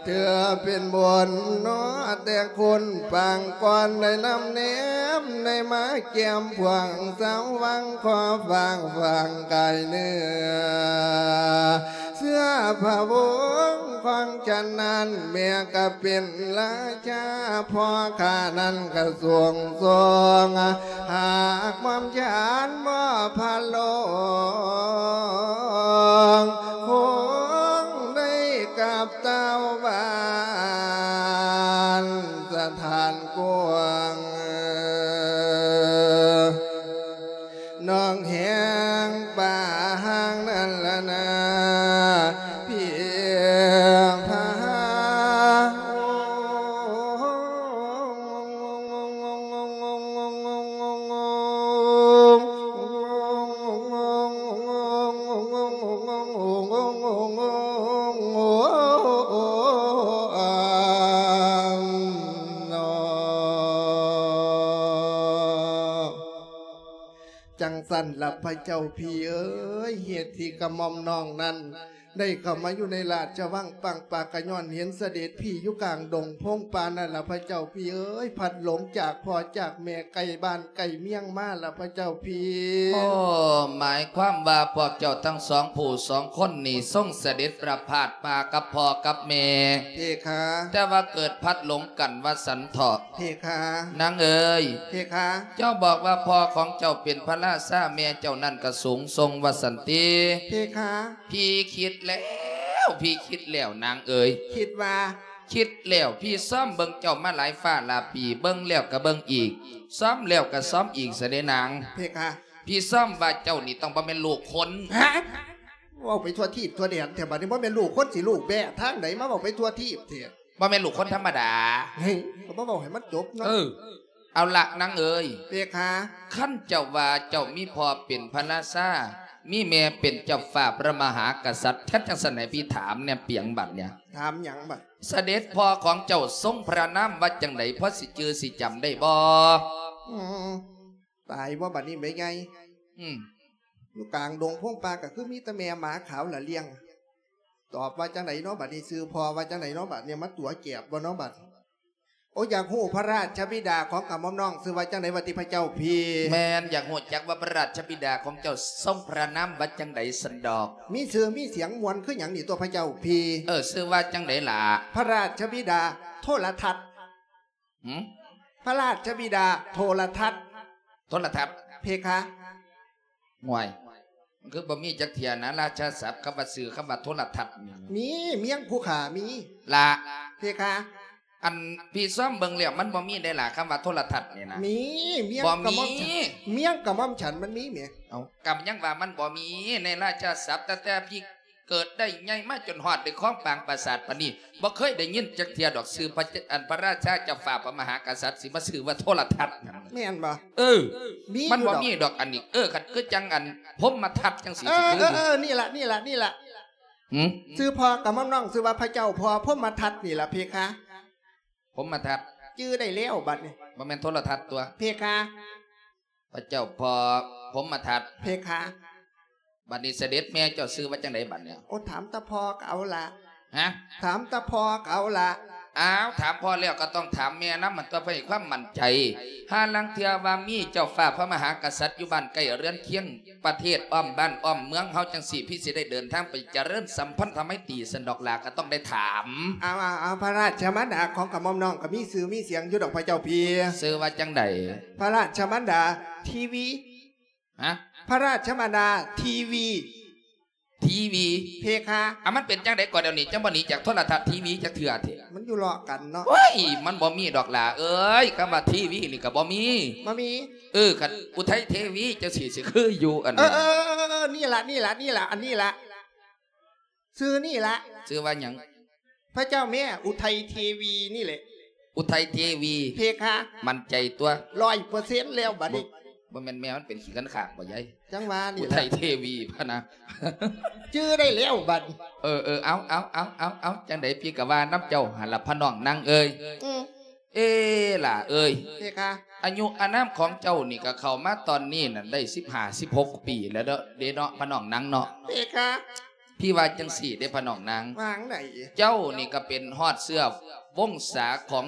ເທື່ອເປັນບຸນເນາະ ແຕ່ຄົນປາງກ່ອນໄດ້ນຳແນມ ໄດ້ມາແກ້ມພວງສາວວັງ ຂໍຝາກຝັງກາຍເນື້ອ ເຊື່ອພະວົງຂອງຂະນັ້ນ ແມ່ກໍເປັນລາຊາ ພໍ່ຂ້ານັ້ນກໍຊົງຊົງ ຫາກໝ່ອມຂອງໝ່ອມພະໂລງ ຄົງໄດ້ກັບເຕົ້າບ້ານສະຖານກວາງ ໜອງແຮງປ່າຫາງນັ້ນລະນາ ພຽງພາ ຈັ່ງຊັ້ນລະພະເຈົ້າພີ່ເອີຍ ເຫດທີ່ກະໝ່ອມນ້ອງນັ້ນ ໄດ້ເຂົ້າມາຢູ່ໃນລາຊະວັງປາງປາກ ກະຍ້ອນເຫັນສະເດັດພີ່ຢູ່ກາງດົງພົງປ່ານັ້ນລະພະເຈົ້າພີ່ເອີຍ ພັດຫຼົງຈາກພໍ່ຈາກແມ່ ໄກບ້ານໄກເມືອງມາລະພະເຈົ້າພີ່. ໂອ້ ໝາຍຄວາມວ່າພວກເຈົ້າທັງສອງຜູ້ສອງຄົນນີ້ ຊົງສະເດັດປະພາດປ່າກັບພໍ່ກັບແມ່ ເພຄາ ແຕ່ວ່າເກີດພັດຫຼົງກັນວ່າຊັ້ນເຖາະ. ເພຄາ ນາງເອີຍ ເພຄາ ເຈົ້າບອກວ່າພໍ່ຂອງເຈົ້າເປັນພະລາຊາ ແມ່ເຈົ້ານັ້ນກະສູງສົ່ງວ່າຊັ້ນຕິ ເພຄາ. ພີ່ຄິດແລ້ວ ພີ່ຄິດແລ້ວນາງເອີຍ. ຄິດວ່າ? ຄິດແລ້ວ ພີ່ຊອມເບິ່ງເຈົ້າມາຫຼາຍຟ້າຫຼາຍປີ ເບິ່ງແລ້ວກະເບິ່ງອີກ ຊອມແລ້ວກະຊອມອີກຊະເດ້ນາງ. ເພຄາ ພີ່ຊອມວ່າເຈົ້ານີ້ຕ້ອງບໍ່ແມ່ນລູກຄົນ. ຮະ? ເວົ້າໄປທົ່ວທີບທົ່ວແດນແທ້ ບາດນີ້ບໍ່ແມ່ນລູກຄົນ ຊິລູກແບ້ທາງໃດ ມາເວົ້າໄປທົ່ວທີບແທ້. ບໍ່ແມ່ນລູກຄົນທຳມະດາ. ເຮີ້ຍ ກໍມາເວົ້າໃຫ້ມັນຈົບເນາະ. ເອີ ເອົາລະນາງເອີຍ ເພຄາ ຄັນເຈົ້າວ່າເຈົ້າມີພໍ່ເປັນພະລາຊາ ມີແມ່ເປັນເຈົ້າຟ້າພະມະຫາກະສັດ ຄັນຈັ່ງຊັ້ນໃຫ້ພີ່ຖາມແດ່ປຽງບັດເນີ້ຍ. ຖາມຫຍັງບັດ? ສະເດັດພໍ່ຂອງເຈົ້າຊົງພະນາມວ່າຈັ່ງໃດ ພໍຊິຈື່ຊິຈຳໄດ້ບໍ່? ອືມ ຕາຍບໍ່ບັດນີ້ແມ່ໃຫຍ່? ອືມ ຢູ່ກາງດົງພົງປ່າກໍຄືມີແຕ່ແມ່ໝາຂາວລະລ້ຽງ. ຕອບວ່າຈັ່ງໃດເນາະບັດນີ້? ຊື່ພໍ່ວ່າຈັ່ງໃດເນາະບັດນີ້? ມາຕົວະແກບບໍ່ເນາະບັດ? ໂອ ຢາກຮູ້ພະລາຊະບິດາຂອງກະໝ່ອມນ້ອງຊື່ວ່າຈັ່ງໃດວ່າຕິພະເຈົ້າພີ່? ແມ່ນ ຢາກຮູ້ຈັກວ່າພະລາຊະບິດາຂອງເຈົ້າຊົງພະນາມວ່າຈັ່ງໃດຊັ້ນດອກ? ມີຊື່ມີສຽງມ່ວນຄືຫຍັງນີ້ຕົວະພະເຈົ້າພີ່? ເອີ ຊື່ວ່າຈັ່ງໃດລະ? ພະລາຊະບິດາໂທລະທັດ. ຫື? ພະລາຊະບິດາໂທລະທັດ. ໂທລະທັດ? ເພຄາ. ຫ່ວຍ ມັນຄືບໍ່ມີຈັກເທື່ອນະ ລາຊາສັບຄຳວ່າຊື່ ຄຳວ່າໂທລະທັດນີ້. ມີ ເມຍງຜູ້ຂ້າມີ. ລະ ເພຄາ. ອັນ ພີ່ຊອມເບິ່ງແລ້ວມັນບໍ່ມີໄດ໋ລະ ຄຳວ່າໂທລະທັດນີ້ນະ. ມີ ເມຍງກະໝ່ອມ ເມຍງກະໝ່ອມຂອງມັນມີແໝ. ເອົ້າ ກະຍັງວ່າມັນບໍ່ມີໃນລາຊາສັບ ຕັ້ງແຕ່ພີ່ ເກີດໄດ້ໃຫຍ່ມາຈົນຮອດໄດ້ຄອງປາງປາສາດປານນີ້ ບໍ່ເຄີຍໄດ້ຍິນຈັກເທື່ອດອກ ຊື່ພະ ອັນ ພະລາຊາເຈົ້າຟ້າພະມະຫາກະສັດ ຊິມາຊື່ວ່າໂທລະທັດ. ແມ່ນບໍ່? ເອີ ມີ ມັນບໍ່ມີດອກອັນນີ້. ເອີ ຄັນຄືຈັ່ງອັນພົມມະທັດຈັ່ງຊີ້ ເອີ ຊິຄື ເອີ ເອີ ນີ້ລະ ນີ້ລະ ນີ້ລະ. ຫື? ຊື່ພໍ່ກະໝ່ອມນ້ອງຊື່ວ່າພະເຈົ້າພໍ່ພົມມະທັດນີ້ລະເພຄາ. ພົມມະທັດ ຈື່ໄດ້ແລ້ວບັດນີ້. ບໍ່ແມ່ນໂທລະທັດຕົວະ ເພຄາ. ພະເຈົ້າພໍ່ພົມມະທັດ ເພຄາ. ບັດນີ້ສະເດັດແມ່ເຈົ້າຊື່ວ່າຈັ່ງໃດບັດນີ້? ໂອ້ ຖາມແຕ່ພໍ່ກໍເອົາລະ. ຮະ? ຖາມແຕ່ພໍ່ກໍເອົາລະ. ອ້າວ ຖາມພໍ່ແລ້ວກໍຕ້ອງຖາມແມ່ນຳ ມັນຕ້ອງໃຫ້ຄວາມໝັ້ນໃຈ. ຫາລາງເທື່ອວ່າມີເຈົ້າຟ້າພະມະຫາກະສັດຢູ່ບ້ານໃກ້ເຮືອນຄຽງ ປະເທດອ້ອມບ້ານອ້ອມເມືອງເຮົາຈັ່ງຊີ້ ພີ່ຊິໄດ້ເດີນທາງໄປຈະເລີນສຳພັນທະໄມຕີຊັ້ນດອກຫຼ້າ ກໍຕ້ອງໄດ້ຖາມ. ເອົາ ເອົາ ເອົາ ພະລາຊະມານດາຂອງກະໝ່ອມນ້ອງກໍມີຊື່ມີສຽງຢູ່ດອກພະເຈົ້າພີ່. ຊື່ວ່າຈັ່ງໃດ? ພະລາຊະມານດາທີວີ. ຮະ? ພະລາຊະມານດາທີວີ. ທີ ທີວີ ເພຄະ ອ່ະ ມັນເປັນຈັ່ງໃດກໍດຽວນີ້ ຈັ່ງບໍ່ໜີຈາກໂທລະທັດທີວີຈັກເທື່ອແທ້? ມັນຢູ່ເລາະກັນເນາະ. ໂອ້ຍ ມັນບໍ່ມີດອກຫຼ້າເອີຍ ຄຳວ່າທີວີນີ້ກໍບໍ່ມີ. ບໍ່ມີ? ເອີ ຄັນອຸໄທເທວີຈັ່ງຊີ້ ຊິຄືຢູ່ອັນ ເອີ ນີ້ລະ ນີ້ລະ ນີ້ລະ ອັນນີ້ລະ ຊື່ນີ້ລະ. ຊື່ວ່າຫຍັງ? ພະເຈົ້າແມ່ ອຸໄທເທວີນີ້ແຫຼະ. ອຸໄທເທວີ? ເພຄະ. ໝັ້ນໃຈຕົວະ? ຮ້ອຍເປີເຊັນແລ້ວບັດນີ້. ບໍ່ ບໍ່ແມ່ນແມ່ມັນເປັນຂີ້ຄັນຂາກບໍ່ຍາຍ? ຈັ່ງວ່ານີ້ລະ ອຸໄທເທວີພະນະ. ຈື່ໄດ້ແລ້ວບັດ. ເອີ ເອີ ເອົາ ເອົາ ເອົາ ເອົາ ຈັ່ງໃດພີ່ກໍວ່ານຳເຈົ້າຫັ້ນລະ ພະນ້ອງນາງເອີຍ. ອືມ. ເອ ຫຼ້າເອີຍ ເພຄະ. ອາຍຸອານາມຂອງເຈົ້ານີ້ກໍເຂົ້າມາຕອນນີ້ນັ້ນໄດ້ສິບຫ້າ ສິບຫົກປີແລ້ວເນາະ ເດ້ເນາະ ພະນ້ອງນາງເນາະ. ເພຄະ. ພີ່ວ່າຈັ່ງຊີ້ເດ້ພະນ້ອງນາງ ວ່າຈັ່ງໃດ? ເຈົ້ານີ້ກໍເປັນຮອດເຊື້ອວົງສາຂອງ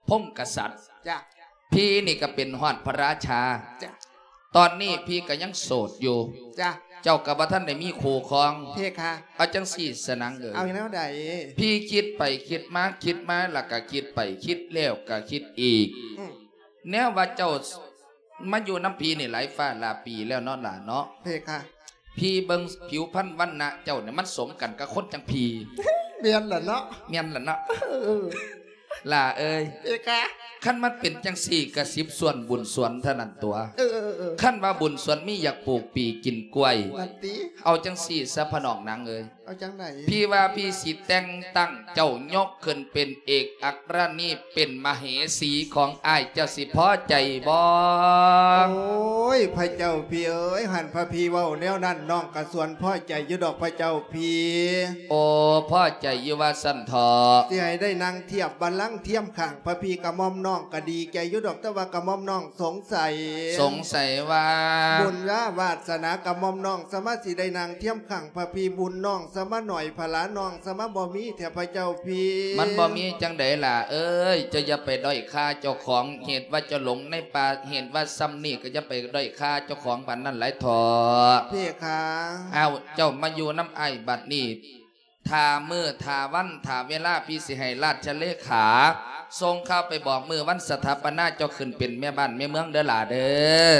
ພົງກະສັດ. ຈ້ະ. ພີ່ນີ້ກໍເປັນຮອດພະລາຊາ. ຈ້ະ. ຕອນນີ້ພີ່ກໍຍັງໂສດຢູ່. ຈ້ະ. ເຈົ້າກໍບໍ່ທັນໄດ້ມີຄູ່ຄອງ. ເພຄະ. ເອົາຈັ່ງຊີ້ສະນາງເອີຍ ເອົາແນວໃດ? ພີ່ຄິດໄປຄິດມາ ຄິດມາແລ້ວກໍຄິດໄປ ຄິດແລ້ວກໍຄິດອີກ. ອືມ. ແນວວ່າເຈົ້າມາຢູ່ນຳພີ່ນີ້ຫຼາຍຟ້າຫຼາຍປີແລ້ວເນາະຫຼ້າເນາະ. ເພຄະ. ພີ່ເບິ່ງຜິວພັນວັນນະເຈົ້ານີ້ ມັນສົມກັນກັບຄົນຈັ່ງພີ່. ແມ່ນລະເນາະ. ແມ່ນລະເນາະ. ເອີ ຫຼ້າເອີຍ. ເພຄະ. ຄັນມັນເປັນຈັ່ງຊີ້ກໍສິບສ່ວນບຸນສວນເທົ່ານັ້ນຕົວະ. ເອີ ເອີ ເອີ ເອີ ຄັນວ່າບຸນສວນມີ ຢາກປູກປີກິນກ້ວຍ. ນັ້ນຕິ. ເອົາຈັ່ງຊີ້ຊະ ພະນ້ອງນາງເອີຍ. ເອົາຈັ່ງໃດ? ພີ່ວ່າພີ່ຊິແຕ່ງຕັ້ງເຈົ້າຍົກຂຶ້ນເປັນເອກອັກຄະລາຊະນີ ເປັນມະເຫສີຂອງອ້າຍ ເຈົ້າຊິພໍໃຈບໍ່? ໂອ້ຍ ພະເຈົ້າພີ່ເອີຍ ຄັນພະພີ່ເວົ້າແນວນັ້ນ ນ້ອງກໍສ່ວນພໍໃຈຢູ່ດອກພະເຈົ້າພີ່. ໂອ້ ພໍໃຈຢູ່ວ່າຊັ້ນເຖາະ. ຊິໃຫ້ໄດ້ນັ່ງທຽບບັນລັງທຽມຂ້າງພະພີ່ ກະໝ່ອມນ້ອງກໍດີໃຈຢູ່ດອກ ແຕ່ວ່າກະໝ່ອມນ້ອງສົງໄສ. ສົງໄສວ່າ? ບຸນວາ ວາດສະໜາກະໝ່ອມນ້ອງ ສາມາດຊິໄດ້ນັ່ງທຽມຂ້າງພະພີ່ ບຸນນ້ອງສາມາໜ້ອຍ ພະລານ້ອງສາມາບໍ່ມີແທ້ພະເຈົ້າພີ່. ມັນບໍ່ມີຈັ່ງໃດຫຼ້າເອີຍ ເຈົ້າຢ່າໄປດ້ອຍຄ່າເຈົ້າຂອງ ເຫດວ່າເຈົ້າຫຼົງໃນປ່າ ເຫດວ່າຊ່ຳນີ້ ກໍຢ່າໄປດ້ອຍຄ່າເຈົ້າຂອງປານນັ້ນຫຼາຍເຖາະ. ເພຄະ. ອ້າວ ເຈົ້າມາຢູ່ນຳອ້າຍບັດນີ້ ຖ້າມື້ ຖ້າວັນ ຖ້າເວລາ ພີ່ຊິໃຫ້ລາຊະເລຂາສົ່ງຂ່າວໄປບອກ ມື້ວັນສະຖາປະນາເຈົ້າຂຶ້ນເປັນແມ່ບ້ານແມ່ເມືອງເດີຫຼ້າເດີ.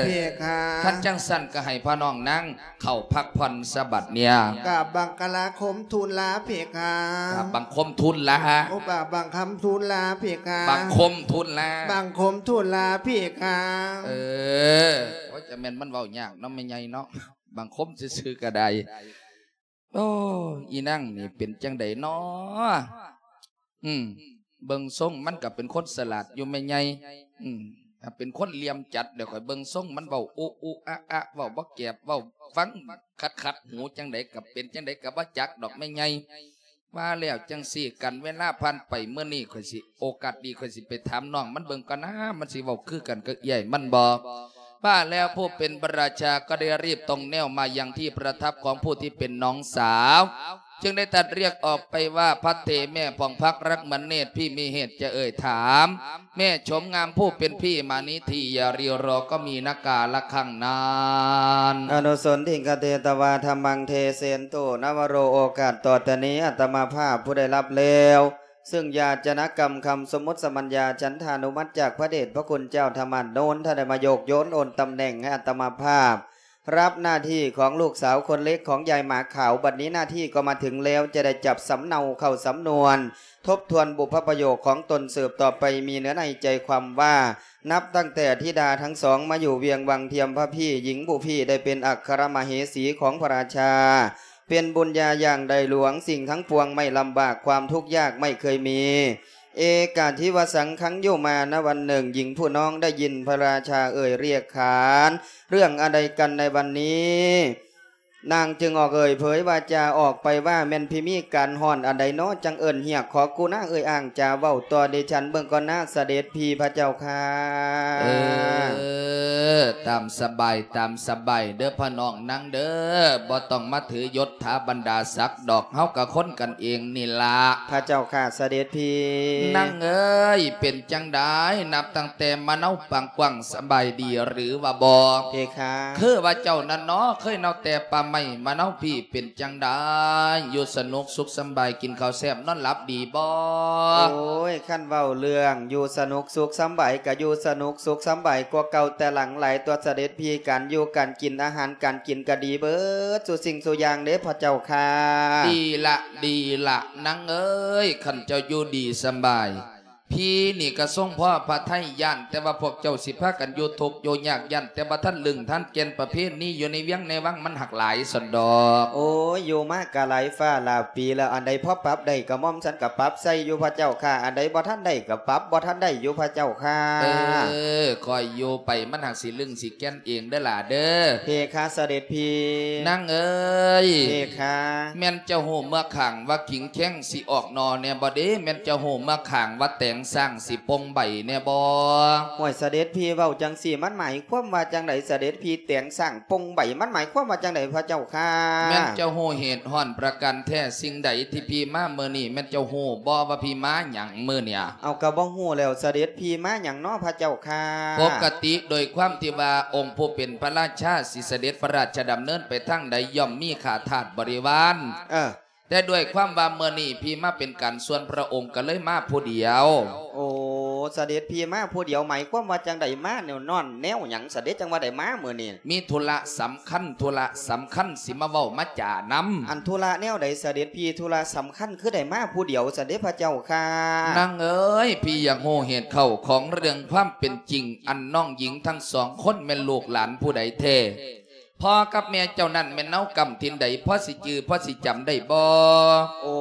ເພຄະ. ຄັນຈັ່ງຊັ້ນກໍໃຫ້ພໍ່ນ້ອງນາງເຂົ້າພັກຜ່ອນສະບັດເນຍ. ກາບບັງຄະລາຄົມທູນລາເພຄະ. ກາບບັງຄົມທູນລາ. ໂອ້ ກາບບັງຄຳທູນລາເພຄະ. ບັງຄົມທູນລາ. ບັງຄົມທູນລາເພຄະ. ເອີ ໂອ້ຍ ຈະແມ່ນມັນເວົ້າຍາກເນາະແມ່ໃຫຍ່ເນາະ ບັງຄົມຊື່ໆກໍໄດ້. ໂອ້ ອີນາງນີ້ເປັນຈັ່ງໃດນໍ? ອືມ ເບິ່ງຊົງມັນກໍເປັນຄົນສະຫຼາດຢູ່ແມ່ໃຫຍ່. ອືມ ຖ້າເປັນຄົນຫຼ່ຽມຈັດ ດຽວຂ້ອຍເບິ່ງຊົງມັນເວົ້າອຸອຸອະອະ ເວົ້າບໍ່ແກບ ເວົ້າຟັງຂັດໆຫູ ຈັ່ງໃດກໍເປັນຈັ່ງໃດກໍບໍ່ຈັກດອກແມ່ໃຫຍ່. ວ່າແລ້ວຈັ່ງຊີ້ ກັນເວລາຜ່ານໄປ ມື້ນີ້ຂ້ອຍຊິ ໂອກາດດີ ຂ້ອຍຊິໄປຖາມນ້ອງມັນເບິ່ງກ່ອນນາ ມັນຊິເວົ້າຄືກັນກັບເອື້ອຍມັນບໍ່? ว่าแล้วผู้เป็นพระราชาก็ได้รีบตรงแนวมายังที่ประทับของผู้ที่เป็นน้องสาว จึงได้ตรัสเรียกออกไปว่า ภัทเท แม่ผ่องพักรักเหมือนเนตร พี่มีเหตุจะเอ่ยถาม แม่โฉมงามผู้เป็นพี่มานี้ที อย่ารีรอก็มีนักกาละครั้งนั้น อนุสนทิงคเตตวา ธัมมังเทเสนตุ นวโร โอกาสต่อแต่นี้อาตมาภาพผู้ได้รับแล้ว ซึ่งยาจนกรรมคำสมมุติสมัญญาฉันทานุมัติจากพระเดชพระคุณเจ้าธรรมานนท์ ท่านได้มาโยกโยนโอนตำแหน่งให้อาตมาภาพ รับหน้าที่ของลูกสาวคนเล็กของยายหมาขาว บัดนี้หน้าที่ก็มาถึงแล้ว จะได้จับสำเนาเข้าสำนวน ทบทวนบุพประโยคของตนสืบต่อไป มีเนื้อในใจความว่า นับตั้งแต่ธิดาทั้งสองมาอยู่เวียงวังเทียม พระพี่หญิงผู้พี่ได้เป็นอัครมเหสีของพระราชา เป็นบุญญาอย่างใหญ่หลวง สิ่งทั้งปวงไม่ลำบาก ความทุกข์ยากไม่เคยมี เอกาทิวสังคัง อยู่มาณวันหนึ่ง หญิงผู้น้องได้ยินพระราชาเอ่ยเรียกขาน เรื่องอะไรกันในวันนี้ นางจึงออกเอ่ยเผยวาจาออกไปว่า แม่นพี่มีการฮ้อนอันใดน้อ จั่งเอิ้นเฮียกขอกุณาเอ่ยอ้างจาเว้าต่อดิฉันเบิ่งก่อนนา เสด็จพี่พระเจ้าข้า เออ ตามสบาย ตามสบายเด้อพ่อน้องนางเด้อ บ่ต้องมาถือยศถาบรรดาศักดิ์ดอก เฮาก็คนกันเองนี่ล่ะ พระเจ้าข้า เสด็จพี่ นางเอ้ย เป็นจั่งใด นับตั้งแต่มาเนาปางกว้าง สบายดีหรือว่าบ่ เพคะ คือว่าเจ้านั้นเนาะ เคยเนาแต่ปา ໄມ້ມະນາວພີເປັນຈັ່ງໃດ? ຢູ່ສະໜຸກສຸກສຳບາຍ ກິນເຂົ້າແຊບນອນຫຼັບດີບໍ່? ໂອ້ຍ ຄັນເວົ້າເລື່ອງຢູ່ສະໜຸກສຸກສຳບາຍ ກະຢູ່ສະໜຸກສຸກສຳບາຍກວ່າເກົ່າແຕ່ຫຼັງຫຼາຍຕົວະສະເດັດພີ. ການຢູ່ການກິນ ອາຫານການກິນກະດີເບີດສູ່ສິ່ງສູ່ຢ່າງເດ້ພະເຈົ້າຂ້າ. ດີລະ ດີລະ ນາງເອີຍ ຄັນເຈົ້າຢູ່ດີສຳບາຍ ພີນີ້ກະຊົງພໍພະໄທ ຢ້ານແຕ່ວ່າພວກເຈົ້າຊິພາກັນຢູ່ທຸກຢູ່ຍາກ ຢ້ານແຕ່ບໍ່ທັນລຶ້ງທັນແກ່ນ ປະເພນີຢູ່ໃນວຽງໃນວັງມັນຫັກຫຼາຍຊັ້ນດອກ. ໂອ້ຍ ຢູ່ມາກະຫຼາຍຟ້າຫຼາຍປີແລ້ວ ອັນໃດພໍປັບໄດ້ກະໝ່ອມສັນກະປັບໃສ່ຢູ່ພະເຈົ້າຂ້າ ອັນໃດບໍ່ທັນໄດ້ກະປັບບໍ່ທັນໄດ້ຢູ່ພະເຈົ້າຂ້າ. ເອີ ຄ່ອຍຢູ່ໄປ ມັນຫັກຊິລຶ້ງຊິແກ່ນເອງເດີຫຼ້າເດີ. ເພຄະ ສະເດັດພີ. ນາງເອີຍ ເພຄະ. ແມ່ນເຈົ້າຮູ້ເມືອກຂ້າງວ່າກິ່ງແຂ້ງຊິອອກໜໍ່ແດ່ບໍ່ເດ? ແມ່ນເຈົ້າຮູ້ເມືອກຂ້າງວ່າແຕງຊ້າງຊິປົ່ງໃບແດ່ບໍ່? ໂອ້ຍ ສະເດັດພີເວົ້າຈັ່ງຊີ້ ມັນໝາຍຄວາມວ່າຈັ່ງໃດ? ສະເດັດພີ ແຕງຊ້າງປົ່ງໃບ ມັນໝາຍຄວາມວ່າຈັ່ງໃດພະເຈົ້າຂ້າ? ແມ່ນເຈົ້າຮູ້ເຫດຮ້ອນປະການແທ້ສິ່ງໃດທີ່ພີມາມື້ນີ້? ແມ່ນເຈົ້າຮູ້ບໍ່ວ່າພີມາຫຍັງມື້ນີ້? ເອົາ ກະບໍ່ຮູ້ແລ້ວ ສະເດັດພີມາຫຍັງນໍພະເຈົ້າຂ້າ? ປົກກະຕິໂດຍຄວາມທີ່ວ່າອົງຜູ້ເປັນພະລາຊາຊິສະເດັດພະລາຊະດຳເນີນໄປທາງໃດ ຍ່ອມມີຂ້າທາດບໍລິວານ. ເອີ ແຕ່ດ້ວຍຄວາມວ່າມື້ນີ້ພີມາເປັນການສ່ວນພະອົງ ກະເລີຍມາຜູ້ດຽວ. ໂອ້ ສະເດັດພີມາຜູ້ດຽວ ໝາຍຄວາມວ່າຈັ່ງໃດ? ມາແນວນອນແນວຫຍັງ ສະເດັດ ຈັ່ງວ່າໄດ້ມາມື້ນີ້? ມີທຸລະສຳຄັນ ທຸລະສຳຄັນ ຊິມາເວົ້າມາຈານຳ. ອັນທຸລະແນວໃດສະເດັດພີ? ທຸລະສຳຄັນຄືໄດ້ມາຜູ້ດຽວຊັ້ນເດພະເຈົ້າຂ້າ? ນາງເອີຍ ພີຢາກຮູ້ເຫດເຂົ້າຂອງເລື່ອງຄວາມເປັນຈິງ ອັນນ້ອງຍິງທັງສອງຄົນແມ່ນລູກຫຼານຜູ້ໃດແທ້? ພໍ່ກັບແມ່ເຈົ້ານັ້ນແມ່ນນາວກຳຖິ່ນໃດ? ພໍຊິຈື່ ພໍຊິຈຳໄດ້ບໍ່? ໂອ້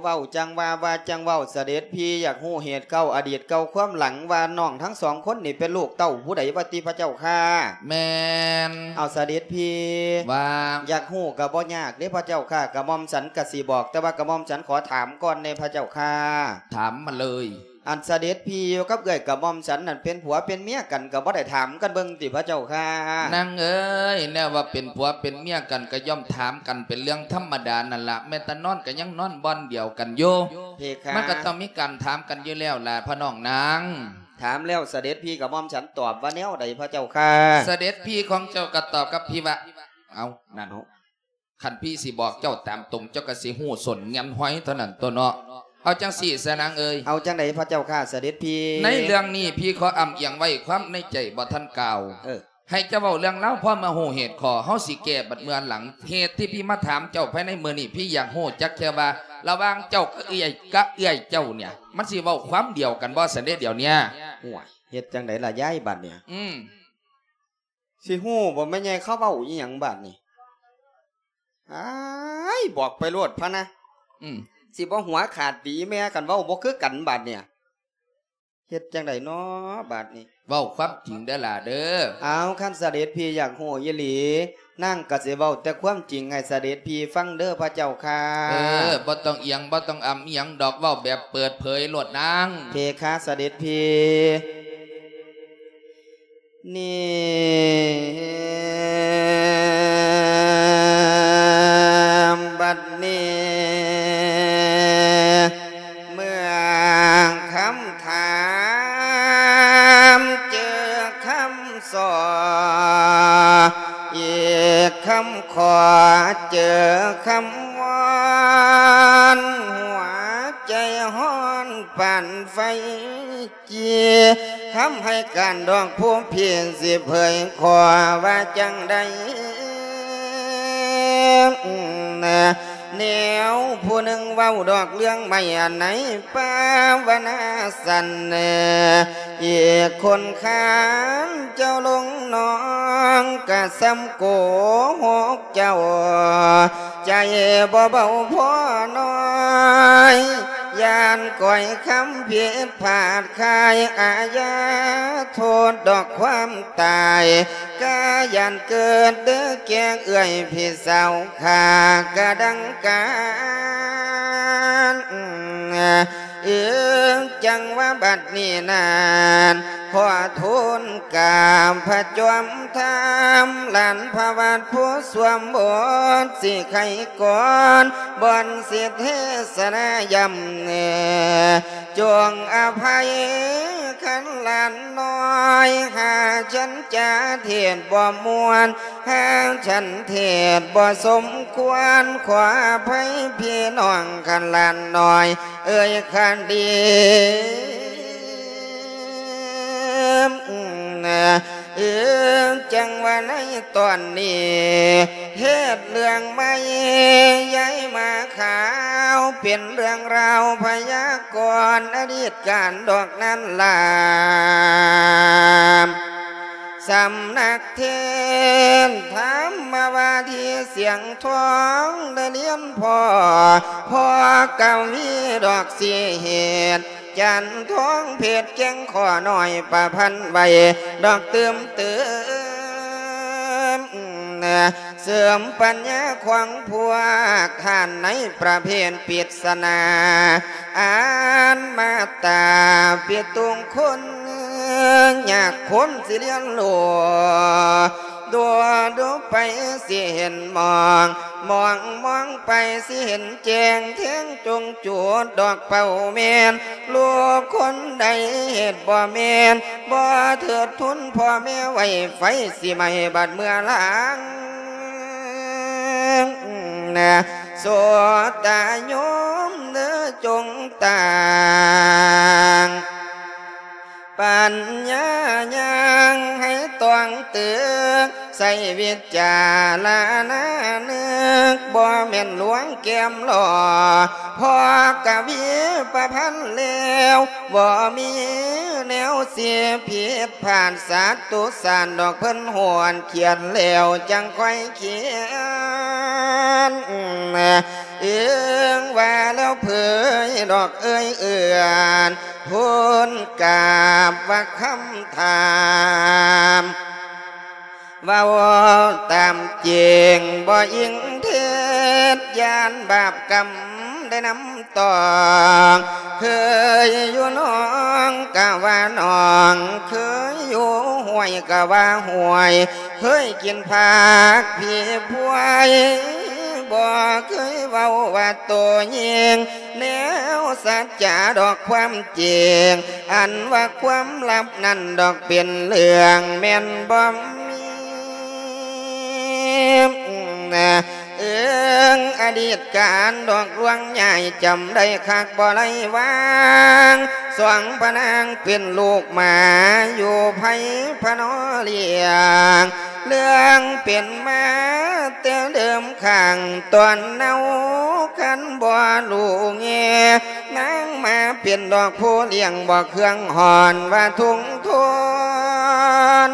ເວົ້າຈັ່ງວ່າ ວ່າຈັ່ງເວົ້າ ສະເດັດພີຢາກຮູ້ເຫດເກົ່າອະດີດເກົ່າຄວາມຫຼັງ ວ່ານ້ອງທັງສອງຄົນນີ້ເປັນລູກເຕົ້າຜູ້ໃດວ່າຕິພະເຈົ້າຂ້າ? ແມ່ນ. ເອົາ ສະເດັດພີ ວ່າ ຢາກຮູ້ກະບໍ່ຍາກເດພະເຈົ້າຂ້າ ກະໝ່ອມສັນກະຊິບອກ ແຕ່ວ່າກະໝ່ອມສັນຂໍຖາມກ່ອນແດ່ພະເຈົ້າຂ້າ. ຖາມມາເລີຍ. ອັນສະເດັດພີຢູ່ກັບເອື້ອຍກະໝ່ອມສັນນັ້ນ ເປັນຜົວເປັນເມຍກັນ ກະບໍ່ໄດ້ຖາມກັນເບິ່ງຕິພະເຈົ້າຂ້າ? ນາງເອີຍ ແນວວ່າເປັນຜົວເປັນເມຍກັນ ກະຍ່ອມຖາມກັນເປັນເລື່ອງທຳມະດານັ້ນລະ ແມ້ແຕ່ນອນກະຍັງນອນບ່ອນດຽວກັນຢູ່. ເພຄະ. ມັນກະຕ້ອງມີການຖາມກັນຢູ່ແລ້ວລະພະນ້ອງນາງ. ຖາມແລ້ວສະເດັດພີກະໝ່ອມສັນຕອບວ່າແນວໃດພະເຈົ້າຂ້າ? ສະເດັດພີຂອງເຈົ້າກະຕອບກັບພີວ່າ ເອົາ ນັ້ນ ຄັນພີຊິບອກເຈົ້າຕາມຕົງ ເຈົ້າກະຊິຮູ້ສົ້ນແງ່ນຫອຍເທົ່ານັ້ນຕົວະເນາະ. ເອົາຈັ່ງຊີ້ຊະນາງເອີຍ. ເອົາຈັ່ງໃດພະເຈົ້າຂ້າສະເດັດພີ? ໃນເລື່ອງນີ້ພີຂໍອຳອຽງໄວ້ຄວາມໃນໃຈບໍ່ທັນກ່າວ. ເອີ ໃຫ້ເຈົ້າເວົ້າເລື່ອງລາວ ພໍມາຮູ້ເຫດຂໍ້ ເຮົາຊິແກ້ບັດເມື່ອຫຼັງ. ເຫດທີ່ພີມາຖາມເຈົ້າພາຍໃນມື້ນີ້ ພີຢາກຮູ້ຈັກແຄ່ວ່າ ລະຫວ່າງເຈົ້າກະເອື້ອຍ ກະເອື້ອຍເຈົ້າເນຍ ມັນຊິເວົ້າຄວາມດຽວກັນບໍ່ຊັ້ນເດດຽວເນຍ? ໂອ້ຍ ເຮັດຈັ່ງໃດລະຍາຍບາດເນຍ? ອືມ. ຊິຮູ້ບໍ່ແມ່ໃຫຍ່ເຂົາເວົ້າອີ່ຫຍັງບາດນີ້? ອ້າຍ ບອກໄປໂລດພະນະ. ອືມ. ຊິບໍ່ຫົວຂາດຕີແມ່ ຄັນເວົ້າບໍ່ຄືກັນບາດນີ້. ເຮັດຈັ່ງໃດນໍບາດນີ້? ເວົ້າຄວາມຈິງເດີຫຼ້າເດີ. ເອົາ ຄັນສະເດັດພີຢາກຮູ້ອີ່ຫຼີ ນາງກະຊິເວົ້າແຕ່ຄວາມຈິງໃຫ້ສະເດັດພີຟັງເດີພະເຈົ້າຂ້າ. ເອີ ບໍ່ຕ້ອງອຽງ ບໍ່ຕ້ອງອຳອີ່ຫຍັງດອກ ເວົ້າແບບເປີດເຜີຍໂລດນາງ. ເພຄະ ສະເດັດພີ. ນີ້ ບັດນີ້ ເມື່ອຄຳຖາມເຈີຄຳສໍ ອີກຄຳຂໍເຈີຄຳວອນ ຫົວໃຈຮ້ອນປານໄຟ ຈີ ຄຳໃຫ້ການດອກຜູ້ພີຊິເຜີຍຂໍວ່າຈັ່ງໃດ? ແນວຜູ້ໜຶ່ງເວົ້າດອກເລື່ອງໃໝ່ອັນໃນປາວະນາສັນ ອີກຄົນຄານເຈົ້າລົງນອງກະສ່ຳໂກຫົກເຈົ້າ ໃຈບໍ່ເບົາພໍນ້ອຍ ຢ້ານກ້ອຍຄຳຜິດພາດຄາຍອາຍາໂທດດອກຄວາມຕາຍ ກະຢ້ານເກີດເດີແກ່ເອື້ອຍພີ່ສາວຂ້າກະດັງການ ເອີ ຈັ່ງວ່າບັດນີ້ນັ້ນ ຂໍທູນກາບພະຈອມທຳ ຫຼານພະວັດຜູ້ສວມບົດ ຊິໄຂກ່ອນ ບ່ອນຊິເທສະນາຢ້ຳແນ່ ຈົ່ງອະໄພຄັນຫຼານນ້ອຍ ຫາກສັນຈາເທດບໍ່ມ່ວນ ຫາກສັນເທດບໍ່ສົມຄວນ ຂໍອະໄພພີ່ນ້ອງຄັນຫຼານນ້ອຍ ເອີຍຄັນດີ ເອີ ຈັ່ງວ່າໃນຕອນນີ້ ເທດເລື່ອງໃໝ່ ຍາຍໝາຂາວ ເປັນເລື່ອງລາວພະຍາກອນອະດີດການດອກນັ້ນລະ ສຳນັກເທດທຳມະວາທີສຽງທອງ ໄດ້ລຽນພໍ່ ພໍ່ກະວີດອກສີເຫດ ຈັນທອງເພັດແກ່ງຂໍນ້ອຍປະພັນໄວ້ ດອກຕື່ມຕື່ມ ເສີມປັນຍາຂອງພວກທ່ານໃນປະເພດປິດສະໜາ ອ່ານມາດຕາປິດຕຸງຄຸນ ຍາກຄົນຊິລຽນຮູ້ ດູ ດູໄປຊິເຫັນມອງ ມອງ ມອງໄປຊິເຫັນແຈ້ງ ແທງຈົງຈູດດອກເປົ້າແມ່ນ ລູກຄົນໃດເຮັດບໍ່ແມ່ນ ບໍ່ເທີດທຸນພໍ່ແມ່ໄວ້ ໄຟຊິໄໝ້ບັດເມື່ອລາງ ໂສດຕາໂຍມເດີ ຈົ່ງຕັ້ງປັນຍາຍ່າງໃຫ້ຕອງຕຶກ ໃຊ້ວິຈາລະນະນຶກ ບໍ່ແມ່ນລວງແກ້ມຫຼໍ່ ພໍກະວີປະພັນແລ້ວ ບໍ່ມີແນວຊິຜິດພາດ ສັດຕຸສານດອກເພິ່ນໂຫດ ຂຽນແລ້ວຈັ່ງຄ່ອຍຂຽນ ເອີງວ່າແລ້ວເຜີຍດອກເອີຍເອື້ອນ ທູນກາບວ່າຄຳຖາມ ເວົ້າຕາມຈິງບໍ່ອີງເທັດ ຢ້ານບາບກຳໄດ້ນຳຕອງ ເຄີຍຢູ່ໜອງກະວ່າໜອງ ເຄີຍຢູ່ຫ້ວຍກະວ່າຫ້ວຍ ເຄີຍກິນຜັກຜີພວຍ ບໍ່ເຄີຍເວົ້າວ່າໂຕຍິງ ແນວສັດຈາດອກຄວາມຈິງ ອັນວ່າຄວາມລັບນັ້ນດອກເປັນເລື່ອງແມ່ນບໍ່ມີ ເອີງອະດີດການດອກລວງຍ້າຍ ຈຳໄດ້ຄັກບໍ່ໄດ້ວາງ ສອງພະນາງເປັນລູກໝາ ຢູ່ໃຜພະນໍລ້ຽງ ເລື່ອງເປັນມາແຕ່ເດີມຂ້າງຕອນເນົາ ຄັນບໍ່ຮູ້ແງ່ ນາງມາເປັນດອກຜູ້ລ້ຽງ ບໍ່ເຄືອງຮ້ອນວ່າທຸ່ງທົນ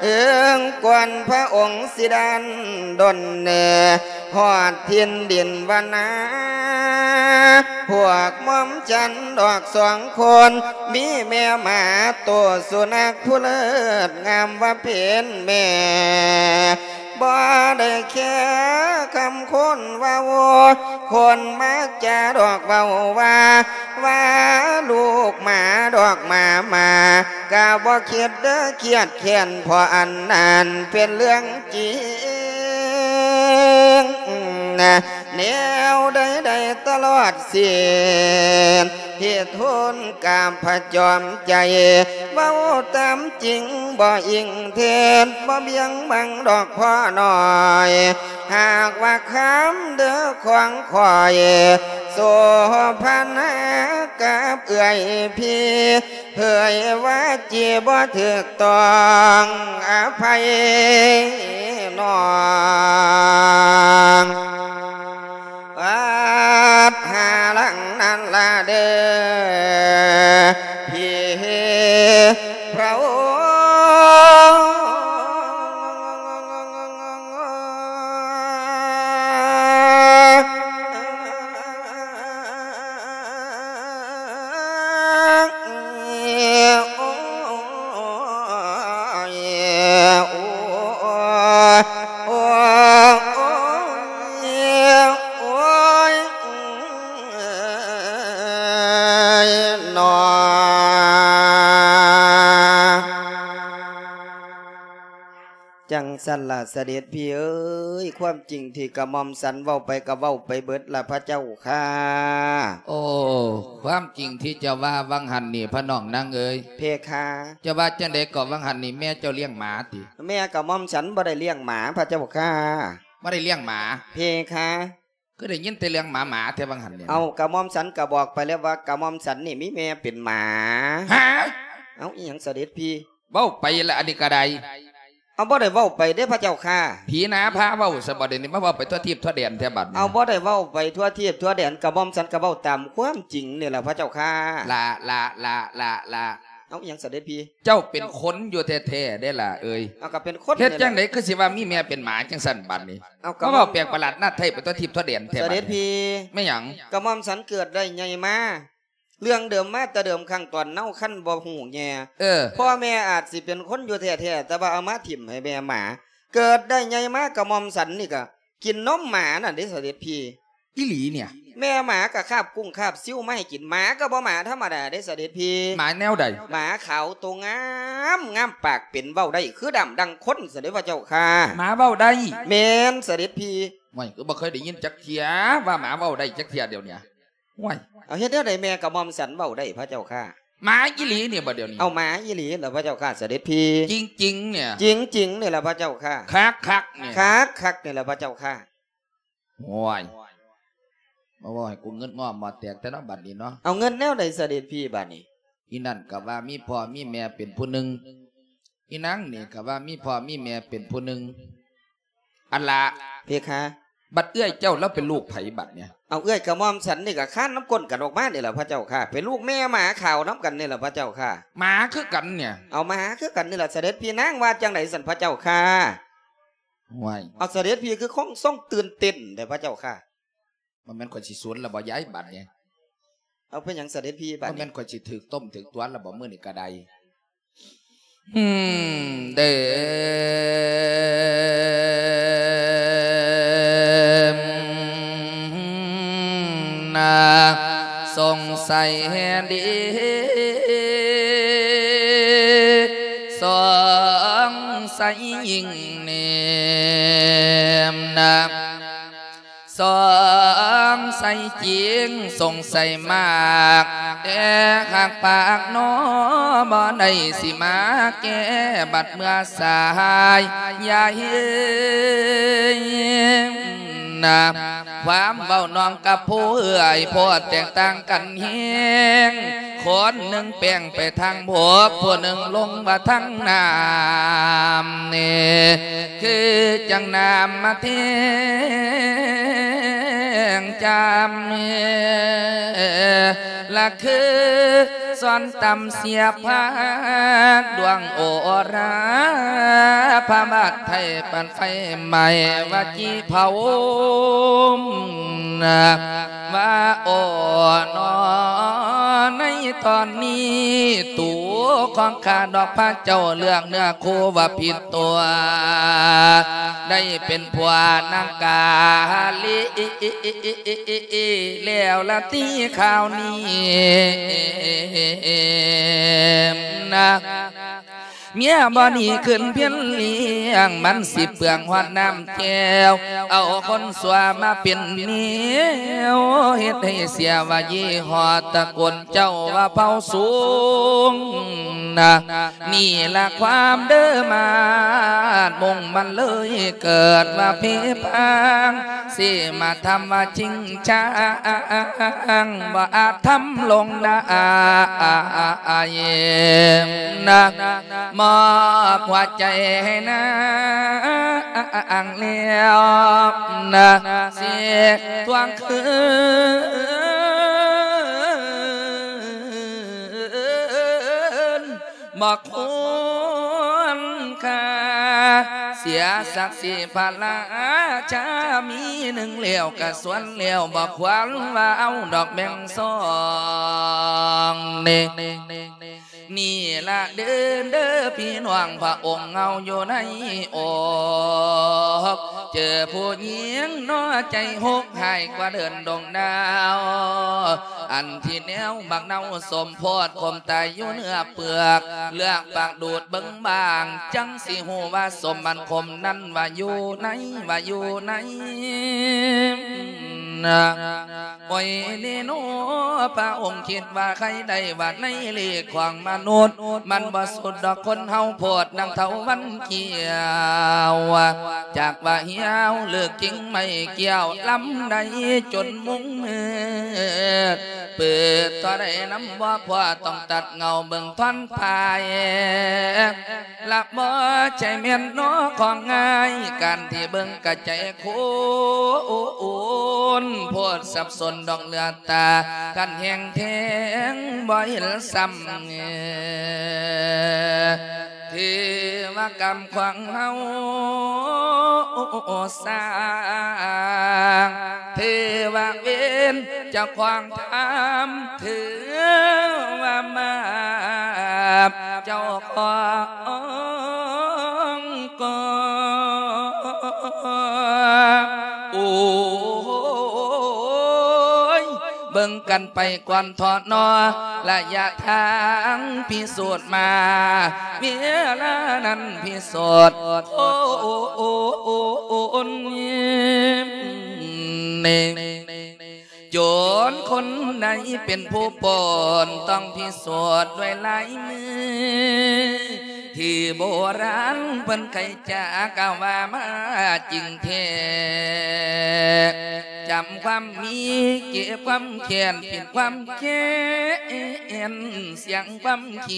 ເອີງກ່ອນພະອົງຊິດັນດົນ ຮອດຖິ່ນດິນວັນນາ ພວກໝອມຈັນດອກສອງຄົນ ມີແມ່ໝາໂຕສຸນັກຜູ້ເລີດງາມວ່າເປັນແມ່ ບໍ່ໄດ້ແຄຄຳຄົນເວົ້າ ຄົນມາຈາດອກເວົ້າວ່າ ວ່າລູກໝາດອກໝາມາ ກະບໍ່ຄິດເດີຄຽດແຄ້ນ ເພາະອັນນັ້ນເປັນເລື່ອງຈິງ ແນວໃດໄດ້ຕະຫຼອດສິ້ນ ທີ່ທູນກາບພະຈອມໃຈ ເວົ້າຕາມຈິງບໍ່ອີງເທັດ ບໍ່ບຽງບັງດອກພໍ່ນ້ອຍ ຫາກວ່າຄຳເດີຂອງຂ້ອຍ ໂສພະນາກັບເອື້ອຍພີ່ ເຜີຍວ່າຈີບໍ່ຖືກຕ້ອງ ອະໄພນ້ອງ ວັດຫາຫຼັງນັ້ນລະເດີ ພີ່ພຣະອົງ ຊັ້ນລະສະເດັດພີ່ເອີຍ ຄວາມຈິງທີ່ກະໝ່ອມສັນເວົ້າໄປກະເວົ້າໄປເບິດລະພະເຈົ້າຂ້າ. ໂອ້ ຄວາມຈິງທີ່ເຈົ້າວ່າຫວ່າງຫັ້ນນີ້ ພະນ້ອງນາງເອີຍ. ເພຄາ. ເຈົ້າວ່າຈັ່ງໃດເກາະຫວ່າງຫັ້ນນີ້ ແມ່ເຈົ້າລ້ຽງໝາຕິ? ແມ່ກະໝ່ອມສັນບໍ່ໄດ້ລ້ຽງໝາພະເຈົ້າຂ້າ. ບໍ່ໄດ້ລ້ຽງໝາ? ເພຄາ. ຄືໄດ້ຍິນແຕ່ເລື່ອງໝາໆແທ້ຫວ່າງຫັ້ນນີ້. ເອົາ ກະໝ່ອມສັນກະບອກໄປແລ້ວວ່າ ກະໝ່ອມສັນນີ້ມີແມ່ເປັນໝາ. ຫາ? ເອົາ ອີ່ຫຍັງສະເດັດພີ່? ເວົ້າໄປລະ ອັນນີ້ກະໄດ້. ເອົາ ບໍ່ໄດ້ເວົ້າໄປເດ້ພະເຈົ້າຂ້າ. ຜີໜາພາເວົ້າຊະບໍ ດຽວນີ້ມາເວົ້າໄປທົ່ວທີບທົ່ວແດນແທ້ບັດນີ້. ເອົາ ບໍ່ໄດ້ເວົ້າໄປທົ່ວທີບທົ່ວແດນ ກະໝ່ອມສັນກະເວົ້າຕາມຄວາມຈິງນີ້ລະພະເຈົ້າຂ້າ. ລະ ລະ ລະ ລະ ລະ. ເອົາ ອີ່ຫຍັງສະເດັດພີ່? ເຈົ້າເປັນຄົນຢູ່ແທ້ໆເດ້ລະເອີຍ. ເອົາ ກະເປັນຄົນ. ເຮັດຈັ່ງໃດຄືຊິວ່າມີແມ່ເປັນໝາຈັ່ງຊັ້ນບັດນີ້? ເອົາ ກະ ມາເວົ້າແປກປະຫຼາດນາດໄທໄປຕົວທິບຕົວແດນແທ້ບັດນີ້. ສະເດັດພີ່. ແມ່ນຫຍັງ? ກະໝ່ອມສັນເກີດໄດ້ໃຫຍ່ມາ ເລື່ອງເດີມມາແຕ່ເດີມຄັ້ງຕອນເນົາຄັນບໍ່ຮູ້ແຍ່. ເອີ. ພໍ່ແມ່ອາດຊິເປັນຄົນຢູ່ແທ້ໆ ແຕ່ວ່າເອົາມາຖິ້ມໃຫ້ແມ່ໝາ. ເກີດໄດ້ໃຫຍ່ມາກະໝ່ອມສັນນີ້ກະກິນນົມໝານັ້ນເດ້ສະເດັດພີ່. ອີ່ຫຼີນີ້? ແມ່ໝາກະຄາບກຸ້ງຄາບຊິວມາໃຫ້ກິນ. ໝາກະບໍ່ໝາທຳມະດາເດ້ສະເດັດພີ່. ໝາແນວໃດ? ໝາຂາວໂຕງາມ ງາມປາກເປັນ ເວົ້າໄດ້ຄືດ້າມດັ່ງຄົນຊັ້ນເດ້ພະເຈົ້າຂ້າ. ໝາເວົ້າໄດ້? ແມ່ນສະເດັດພີ່. ໂອ້ຍ ຄືບໍ່ເຄີຍໄດ້ຍິນຈັກເທື່ອວ່າໝາເວົ້າໄດ້ຈັກເທື່ອດຽວນີ້. ໂອ້ຍ ເອົາ ເຮັດແນວໃດແມ່ກະໝ່ອມສັນເວົ້າໄດ້ພະເຈົ້າຂ້າ? ໝາອີ່ຫຼີນີ້ບໍດຽວນີ້? ເອົາ ໝາອີ່ຫຼີລະພະເຈົ້າຂ້າສະເດັດພີ່. ຈິງໆນີ້? ຈິງໆນີ້ລະພະເຈົ້າຂ້າ. ຄັກໆນີ້? ຄັກໆນີ້ລະພະເຈົ້າຂ້າ. ໂອ້ຍ ມາເວົ້າໃຫ້ກູເງິດງໍ້ໝໍ້ແຕກແທ້ເນາະບັດນີ້ເນາະ. ເອົາ ເງິດແນວໃດສະເດັດພີ່ບັດນີ້? ອີ່ນັ້ນກະວ່າມີພໍ່ມີແມ່ເປັນຜູ້ໜຶ່ງ ອີ່ນາງນີ້ກະວ່າມີພໍ່ມີແມ່ເປັນຜູ້ໜຶ່ງ. ອັນລະ ເພຄາ. ບັດເອື້ອຍເຈົ້າລາວເປັນລູກໃຜບັດນີ້? ເອົາ ເອື້ອຍກະໝ່ອມສັນນີ້ກະຄານນຳກົ້ນກັນອອກມານີ້ລະພະເຈົ້າຂ້າ. ເປັນລູກແມ່ໝາຂາວນຳກັນນີ້ລະພະເຈົ້າຂ້າ. ໝາຄືກັນນີ້? ເອົາ ໝາຄືກັນນີ້ລະສະເດັດພີ່. ນາງວ່າຈັ່ງໃດຊັ້ນພະເຈົ້າຂ້າ? ໂອ້ຍ ເອົາ ສະເດັດພີ່ຄືຄົງຊົງຕື່ນເຕັ້ນແທ້ພະເຈົ້າຂ້າ. ບໍ່ແມ່ນຂ້ອຍຊິສູນລະບໍ່ຍາຍບັດນີ້? ເອົາ ເປັນຫຍັງສະເດັດພີ່ບັດນີ້? ບໍ່ແມ່ນຂ້ອຍຊິຖືກຕົ້ມຖືກຕວນລະບໍ່ມື້ນີ້ກະໄດ້. ອືມ ເດີມນາ ສົງໄສດີ ສົງໄສຍິ່ງເນມນາ ສົງໄສຈິງ ສົງໄສມາກ ແຕ່ຫາກປາກໜໍ ບໍ່ໄດ້ຊິມາແກ້ ບັດເມື່ອສາຍຢາຍນາ ຄວາມເວົ້ານ້ອງກັບຜູ້ເອື້ອຍ ໂພດແຕກຕ່າງກັນແຮງ ຄົນໜຶ່ງແປງໄປທາງບົກ ຜູ້ໜຶ່ງລົງວ່າທາງນ້ຳ ນີ້ຄືຈັ່ງນ້ຳມາແທງຈຳ ລະຄືຊ້ອນຕຳສຽບພາກ ດວງໂອລາພະບາດໄທ ປານໄຟໄໝ້ວ່າຈີ່ເຜົາ ວ່າໂອນອ ໃນຕອນນີ້ ຕູຂອງຂ້າດອກພະເຈົ້າ ເລືອກເນື້ອຄູ່ວ່າຜິດຕົວ ໄດ້ເປັນຜົວນາງກາລີ ແລ້ວລະຕິຄາວນີ້ນາ ເມຍບໍ່ໜີຂຶ້ນພຽນລ້ຽງ ມັນຊິເປືອງຮອດນ້ຳແກ້ວ ເອົາຄົນຊົ່ວມາເປັນແນວ ເຮັດໃຫ້ເສຍວ່າຍີ່ຫໍ້ຕະໂກນເຈົ້າວ່າເຜົ່າສູງນາ ນີ້ລະຄວາມເດີມາດ ມຸງມັນເລີຍເກີດວ່າເພພາງ ຊິມາທຳວ່າຈິງຈັງ ບໍ່ອາດທຳລົງໄດ້ນາ ມອບຫົວໃຈໃຫ້ນາງແລ້ວນາ ຊິທວງຄືນ ບໍ່ຄວນຄ່າ ເສຍສັກສີພະລາຊາ ມີໜຶ່ງແລ້ວກະສ່ວນແລ້ວ ບໍ່ຄວນວ່າເອົາດອກແບ່ງສອງເນ ນີ້ລະເດີ ເດີພີ່ນ້ອງ ພະອົງເຮົາຢູ່ໃນອົກ ເຈີຜູ້ຍິງເນາະ ໃຈໂຫກຮ້າຍກວ່າເດີ່ນດົງດາວ ອັນທີ່ແນວບັກເນົ່າສົ້ມໂພດ ຂົມຕາຍຢູ່ເນື້ອເປືອກ ເລືອກປາກດູດເບິ່ງບາງ ຈັ່ງຊິຮູ້ວ່າສົ້ມມັນຂົມນັ້ນວ່າຢູ່ໃນ ວ່າຢູ່ໃນ ໂອ້ຍເນໂນ ພະອົງຄິດວ່າໃຄໄດ້ວ່າໃນໂລກຂອງມະນຸດ ມັນບໍ່ສຸດດອກຄົນເຮົາໂພດ ດັ່ງເຖົ້າວັນຂຽວ ຈັກວ່າຫ່ຽວເລິກກິ່ງໄມ້ກ່ຽວ ລຳໄດ້ຈົນມຸງມືດ ເປີດເທົ່າໃດນຳບໍ່ພໍ ຕ້ອງຕັດເຫງົ້າເບິ່ງທ່ອນປາຍ ລະບໍ່ໃຊ່ແມ່ນເນາະຂອງງ່າຍ ການທີ່ເບິ່ງກະໃຈໂຄນໂພດ ສັບສົນດອກເລືອດຕາ ຄັນແຮງແທງບໍ່ເຫັນຊ້ຳ ເທວະກຳຂວາງເຮົາສ້າງ ເທວະເວນເຈົ້າຂວາງທຳ ເທວະມາບເຈົ້າຂອງກອງ ໂອ້ຍ ເບິ່ງກັນໄປກ່ອນເທາະເນາະ ໄລຍະທາງພິສູດມາ ເວລານັ້ນພິສູດ ໂອ້ ໂອ້ ໂອ້ ໂອ້ ນີ້ ໂຈນຄົນໃດເປັນຜູ້ປົນ ຕ້ອງພິສູດດ້ວຍລາຍມື ທີ່ໂບລານເພິ່ນໄຄຈະກ່າວວ່າມາຈິງແທ້ ຈຳຄວາມມີ ເກັບຄວາມແຄ້ນ ປິດຄວາມແຄ້ນ ສຽງຄວາມຄ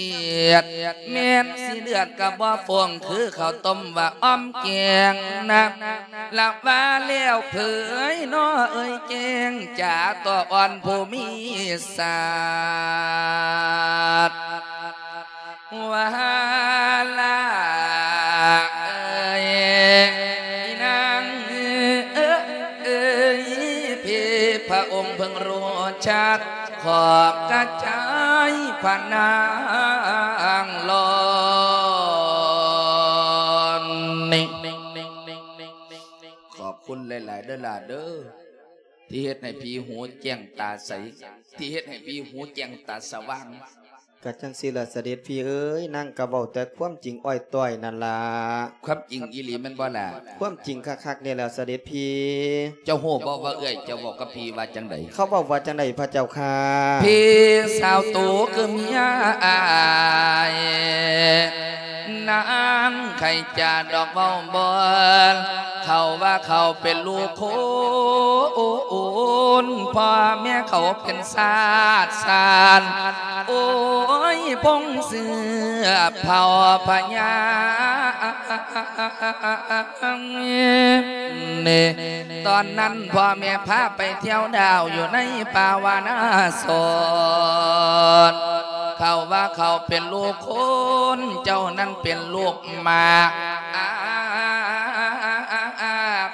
ຽດ ແມ່ນຊິເລືອດກະບໍ່ຟອງ ຄືເຂົ້າຕົ້ມວ່າອ້ອມແກງນະ ລະວ່າແລ້ວເຜີຍເນາະເອີຍແຈ້ງ ຈາຕົວອ່ອນຜູ້ມີສາດ ວ່າລະເອີຍ ອີນາງເອີຍ ເອີຍ ເພ ພະອົງເພິ່ງຮູ້ຈັກ ຂອບກະຈາຍພະນາງຫຼອນນີ້ ຂອບຄຸນຫຼາຍໆເດີຫຼ້າເດີ ທີ່ເຮັດໃຫ້ພີ່ຫູແຈ້ງຕາໃສ ທີ່ເຮັດໃຫ້ພີ່ຫູແຈ້ງຕາສະຫວ່າງ. ກະຈັ່ງຊີ້ລະສະເດັດພີ່ເອີຍ ນາງກະເວົ້າແຕ່ຄວາມຈິງອ້ອຍຕ້ອຍນັ້ນລະ. ຄວາມຈິງອີ່ຫຼີແມ່ນບໍ່ລະ? ຄວາມຈິງຄັກໆນີ້ແຫຼະສະເດັດພີ່. ເຈົ້າຮູ້ບໍ່ວ່າເອື້ອຍເຈົ້າເວົ້າກັບພີ່ວ່າຈັ່ງໃດ? ເຂົາເວົ້າວ່າຈັ່ງໃດພະເຈົ້າຂ້າ? ພີ່ສາວໂຕຄືເມຍອ້າຍ ນາງໄຄຈະດອກເວົ້າບໍ່ ເຂົາວ່າເຂົາເປັນລູກຄົນ ພໍ່ແມ່ເຂົາເປັນຊາດຊານ ໂອ້ຍ ພົງເຊື້ອເຜົ່າພະຍາ ນີ້ ຕອນນັ້ນພໍ່ແມ່ພາໄປທ່ຽວດາວຢູ່ໃນປ່າວານາສອນ ເຂົາວ່າເຂົາເປັນລູກຄົນ ເຈົ້ານັ້ນເປັນລູກໝາກ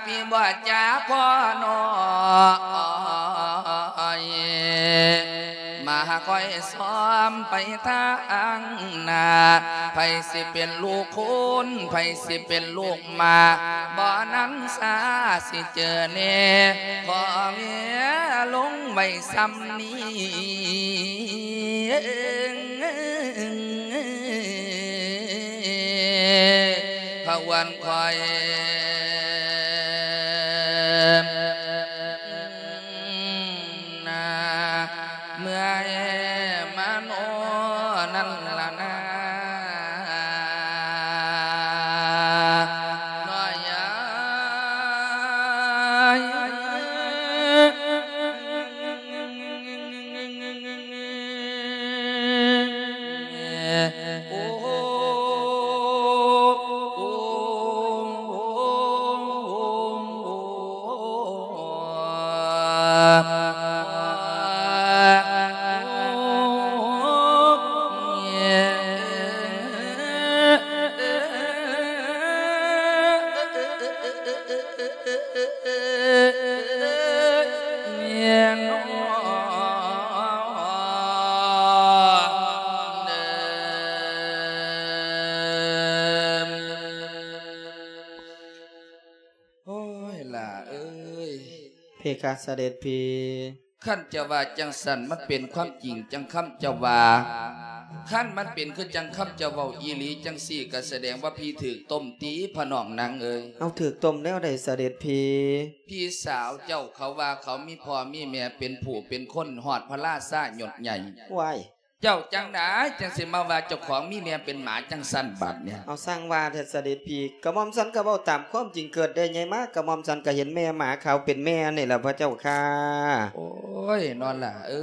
ພີ່ບໍ່ຈາພໍ່ນ້ອຍ ມາຄອຍ ຊອມໄປທາງໜ້າ ໃຜຊິເປັນລູກຄົນ ໃຜຊິເປັນລູກໝາກ ບໍ່ນັ້ນຊາຊິເຈີແນ່ ຂໍເວລົງໄວ້ຊ່ຳນີ້ ພະວັນຂ້ອຍ ນາ ເມື່ອຍມາໂນນັ້ນລະນາ ນ້ອຍເອີຍ. ໂອ້ ຫຼ້າເອີຍ ເພຄະ ສະເດັດພີ່. ຄັນເຈົ້າວ່າຈັ່ງຊັ້ນ ມັນເປັນຄວາມຈິງຈັ່ງຄຳເຈົ້າວ່າ. ຄັນມັນເປັນຄືຈັ່ງຄຳເຈົ້າເວົ້າອີ່ຫຼີຈັ່ງຊີ້ ກໍສະແດງວ່າພີ່ຖືກຕົ້ມຕິ ພະນ້ອງນາງເອີຍ. ເອົາ ຖືກຕົ້ມແນວໃດ ສະເດັດພີ່? ພີ່ສາວເຈົ້າເຂົາວ່າເຂົາມີພໍ່ມີແມ່ເປັນຜູ້ເປັນຄົນ ຮອດພະລາຊາຍົດໃຫຍ່. ວ້າຍ ເຈົ້າຈັ່ງໃດຈັ່ງຊິມາວ່າເຈົ້າຂອງມີແມ່ເປັນໝາຈັ່ງຊັ້ນບາດນີ້? ເອົາ ຊ່າງວ່າແທ້ ສະເດັດພີ່, ກະໝ່ອມສັນກະເວົ້າຕາມຄວາມຈິງ, ເກີດໄດ້ໃຫຍ່ມາ ກະໝ່ອມສັນກະເຫັນແມ່ໝາຂາວເປັນແມ່ນີ້ລະ ພະເຈົ້າຂ້າ. ໂອ້ຍ ນ້ອງຫຼ້າເອີ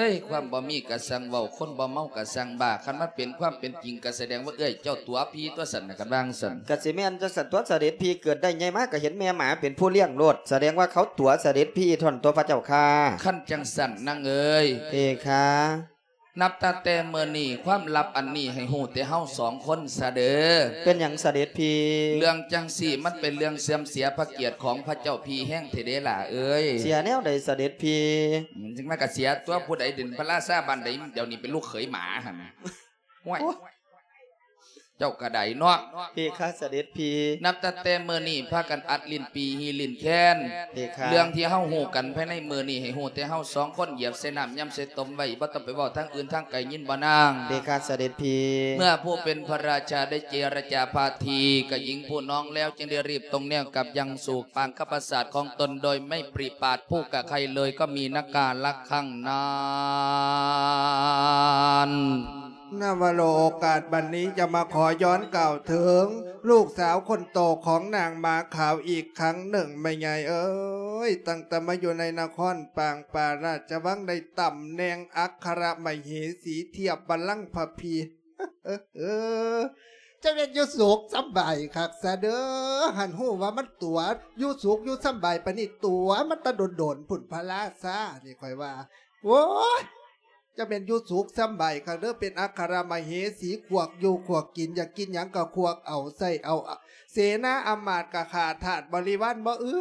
ຍ, ຄວາມບໍ່ມີກະຊ່າງເວົ້າ, ຄົນບໍ່ເມົາກະຊ່າງບ້າ, ຄັນມັນເປັນຄວາມເປັນຈິງ ກະສະແດງວ່າເອື້ອຍເຈົ້າຕົວະພີ່ຕົວະຊັ້ນນະ, ຄັນວ່າຈັ່ງຊັ້ນ. ກະຊິແມ່ນຈັ່ງຊັ້ນຕົວະ ສະເດັດພີ່, ເກີດໄດ້ໃຫຍ່ມາກະເຫັນແມ່ໝາເປັນຜູ້ລ້ຽງໂລດ, ສະແດງວ່າເຂົາຕົວະສະເດັດພີ່ທ່ອນຕົວະ ພະເຈົ້າຂ້າ. ຄັນຈັ່ງຊັ້ນນາງເອີຍ. ເພຄະ. ນັບຕັ້ງແຕ່ມື້ນີ້ ຄວາມລັບອັນນີ້ໃຫ້ຮູ້ແຕ່ເຮົາສອງຄົນຊະເດີ. ເປັນຫຍັງສະເດັດພີ່? ເລື່ອງຈັ່ງຊີ້ມັນເປັນເລື່ອງເສື່ອມເສຍພະກຽດຂອງພະເຈົ້າພີ່ແຮງແທ້ເດ້ຫຼ້າເອີຍ. ເສຍແນວໃດສະເດັດພີ່? ອືມ ຈັ່ງນັ້ນກະເສຍຕົວະ ຜູ້ໃດເປັນພະລາຊາບ້ານໃດ ດຽວນີ້ເປັນລູກເຂີຍໝາຫັ້ນນະ. ໂອ້ຍ ໂອ້ຍ ເຈົ້າກະໄດ້ເນາະ. ເພຄະ ສະເດັດພີ່. ນັບຕັ້ງແຕ່ມື້ນີ້ພາກັນອັດຫຼິ້ນປີຮີຫຼິ້ນແຄນ. ເພຄະ. ເລື່ອງທີ່ເຮົາຮູ້ກັນພາຍໃນມື້ນີ້ ໃຫ້ຮູ້ແຕ່ເຮົາສອງຄົນ, ຢຽບໃສ່ນ້ຳຢຳໃສ່ຕົ້ມໄວ້, ບໍ່ຕ້ອງໄປເວົ້າທາງອື່ນທາງໄກ, ຍິນບໍ່ນາງ? ເພຄະ ສະເດັດພີ່. ເມື່ອຜູ້ເປັນພະລາຊາໄດ້ເຈລະຈາພາທີກັບຍິງຜູ້ນ້ອງແລ້ວ, ຈຶ່ງໄດ້ຮີບຕົງແນວກັບຍັງສູ່ປາງກັບປາສາດຂອງຕົນ ໂດຍໄມ່ປະມາດຜູ້ກະໃຄເລີຍ, ກໍມີນະກາລະຄັງນັ້ນ. ນະວະໂລ ໂອກາດບັດນີ້ຈະມາຂໍຍ້ອນກ່າວເຖິງລູກສາວຄົນໂຕຂອງນາງໝາຂາວອີກຄັ້ງໜຶ່ງ ແມ່ໃຫຍ່ເອີຍ. ຕັ້ງແຕ່ມາຢູ່ໃນນະຄອນປາງປາລາຊະວັງ ໄດ້ຕຳແໜ່ງອັກຄະລະມະເຫສີທຽບບັນລັງພະພີ. ເອີ ເອີ ເອີ ຈະແມ່ນຢູ່ສຸກສຳບາຍຄັກຊະເດີ. ຫັ້ນຮູ້ວ່າມັນຕົວະ ຢູ່ສຸກຢູ່ສຳບາຍປານນີ້ ຕົວະມາແຕ່ດົນໆພຸ້ນ ພະລາຊານີ້ ຂ້ອຍວ່າ. ໂອ້ຍ ຈະແມ່ນຢູ່ສຸກສຳບາຍຄັກເດີ ເປັນອັກຄະລະມະເຫສີ ຄວັກຢູ່ຄວັກກິນ ຢາກກິນຫຍັງກະຄວັກເອົາ ໃຊ້ເອົາ. ເສນາອຳມາດກະຂ້າທາດບໍລິວານ ບໍ່ອຶ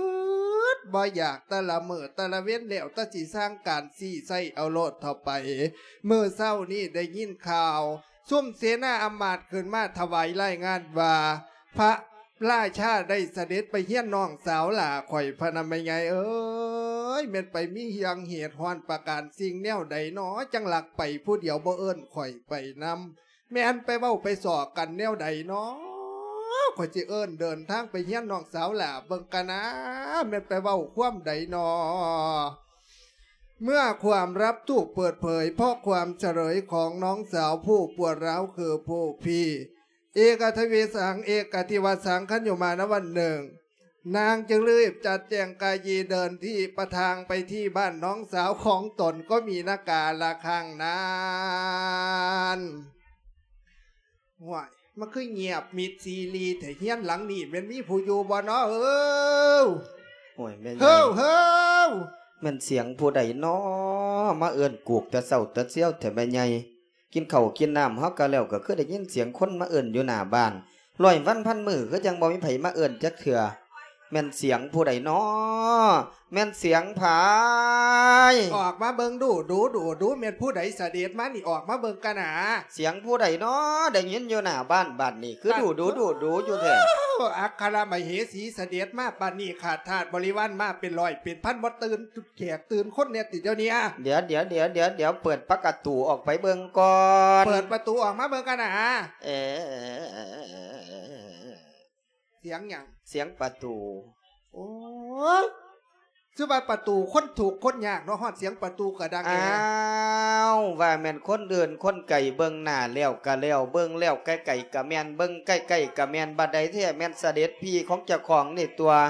ດບໍ່ຢາກ ແຕ່ລະມື້ແຕ່ລະເວັນ ແລ້ວແຕ່ຊິສ້າງການຊີ້ໃຊ້ເອົາໂລດເທົ່າໄປ. ມື້ເຊົ້ານີ້ໄດ້ຍິນຂ່າວ ຊຸມເສນາອຳມາດຂຶ້ນມາຖວາຍລາຍງານວ່າ ພະລາຊາໄດ້ສະເດັດໄປຮຽນນ້ອງສາວຫຼ້າຂ້ອຍ ພະນະແມ່ໃຫຍ່ເອີຍ. ແມ່ນໄປມີຫຍັງເຫດຮ້ອນປະການສິ່ງແນວໃດນໍ ຈັ່ງລັກໄປຜູ້ດຽວ ບໍ່ເອີ້ນຂ້ອຍໄປນຳ? ແມ່ນໄປເວົ້າໄປສໍ້ກັນແນວໃດນໍ? ຂ້ອຍຊິເອີ້ນເດີນທາງໄປຮຽນນ້ອງສາວຫຼ້າເບິ່ງກະນາ ແມ່ນໄປເວົ້າຄວາມໃດນໍ? ເມື່ອຄວາມລັບຖືກເປີດເຜີຍ ເພາະຄວາມສະເຫຼີຍຂອງນ້ອງສາວຜູ້ປວດຮ້າວຄືຜູ້ພີ້ ເອກະທະວິສັງ ເອກະທິວະສັງ ຄັນຢູ່ມານະວັນໜຶ່ງ ນາງຈຶ່ງລີບຈັດແຈງກາຍເດີນທີ່ປະທາງໄປທີ່ບ້ານນ້ອງສາວຂອງຕົນ ກໍມີນະກາລະຄັງນັ້ນ. ຫ້ວຍ ມັນຄືງຽບມິດຊີລີແທ້ ເຮືອນຫຼັງນີ້ແມ່ນມີຜູ້ຢູ່ບໍ່ນໍເອີຍ? ໂອ້ຍ ແມ່ໃຫຍ່ ເຮີ້ ເຮີ້ ແມ່ນສຽງຜູ້ໃດນໍ ມາເອີ້ນກູກແຕ່ເຊົ້າແຕ່ຊຽວແທ້ແມ່ໃຫຍ່? ກິນເຂົ້າກິນນ້ຳເຮົາກະແລ້ວ ກະຄືໄດ້ຍິນສຽງຄົນມາເອີ້ນຢູ່ໜ້າບ້ານ. ຮ້ອຍວັນພັນມື້ຄືຈັ່ງບໍ່ມີໃຜມາເອີ້ນຈັກເທື່ອ. ແມ່ນສຽງຜູ້ໃດນໍ? ແມ່ນສຽງໃຜ? ອອກມາເບິ່ງດູ ດູ ດູ ດູ ແມ່ນຜູ້ໃດສະເດັດມານີ້? ອອກມາເບິ່ງກະໜາ. ສຽງຜູ້ໃດນໍ? ໄດ້ຍິນຢູ່ໜ້າບ້ານບາດນີ້ ຄືດູ ດູ ດູ ດູຢູ່ແທ້. ອັກຄະລະມະເຫສີສະເດັດມາປານນີ້ ຂ້າທາດບໍລິວານມາເປັນຮ້ອຍເປັນພັນ ບໍ່ຕື່ນ ແຂກຕື່ນຄົນແດ່ຕິດດຽວນີ້ອະ. ດຽວ ດຽວ ດຽວ ດຽວ ດຽວ ເປີດປະກະຕູອອກໄປເບິ່ງກ່ອນ. ເປີດປະຕູອອກມາເບິ່ງກັນນະ. ເອ ສຽງຫຍັງ? ສຽງປະຕູ. ໂອ້ຍ ຄືວ່າປະຕູຄົນທຸກຄົນຍາກເນາະ ຮອດສຽງປະຕູກະດັງແດ່. ອ້າວ ວ່າແມ່ນຄົນອື່ນຄົນໄກ ເບິ່ງໜ້າແລ້ວກະແລ້ວ ເບິ່ງແລ້ວໃກ້ໆກະແມ່ນ ເບິ່ງໃກ້ໆກະແມ່ນ ບັດໃດແທ້ແມ່ນສະເດັດພີ່ຂອງເຈົ້າຂອງນີ້ຕົວະ.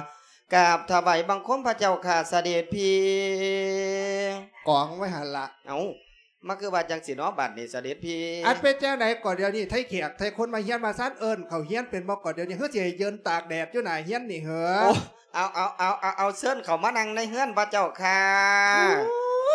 ກາບຖວາຍບັງຄົມພະເຈົ້າຂ້າ ສະເດັດພີ່. ກອງໄວ້ຫັ້ນລະ. ເອົ້າ ມາຄືວ່າຈັ່ງຊີ້ເນາະ ບາດນີ້ສະເດັດພີ່. ອັນເປັນຈັ່ງໃດກໍດຽວນີ້ ໄທແຂກໄທຄົນມາຮຽນມາຊານ ເອີ້ນເຂົ້າຮຽນເປັນບໍ່ກໍດຽວນີ້ ຄືຊິໃຫ້ຢືນຕາກແດດຢູ່ໜ້າຮຽນນີ້ເຫີ? ໂອ້ ເອົາ ເອົາ ເອົາ ເອົາ ເອົາ ເຊີນເຂົ້າມານັ່ງໃນເຮືອນພະເຈົ້າຂ້າ. ໂອ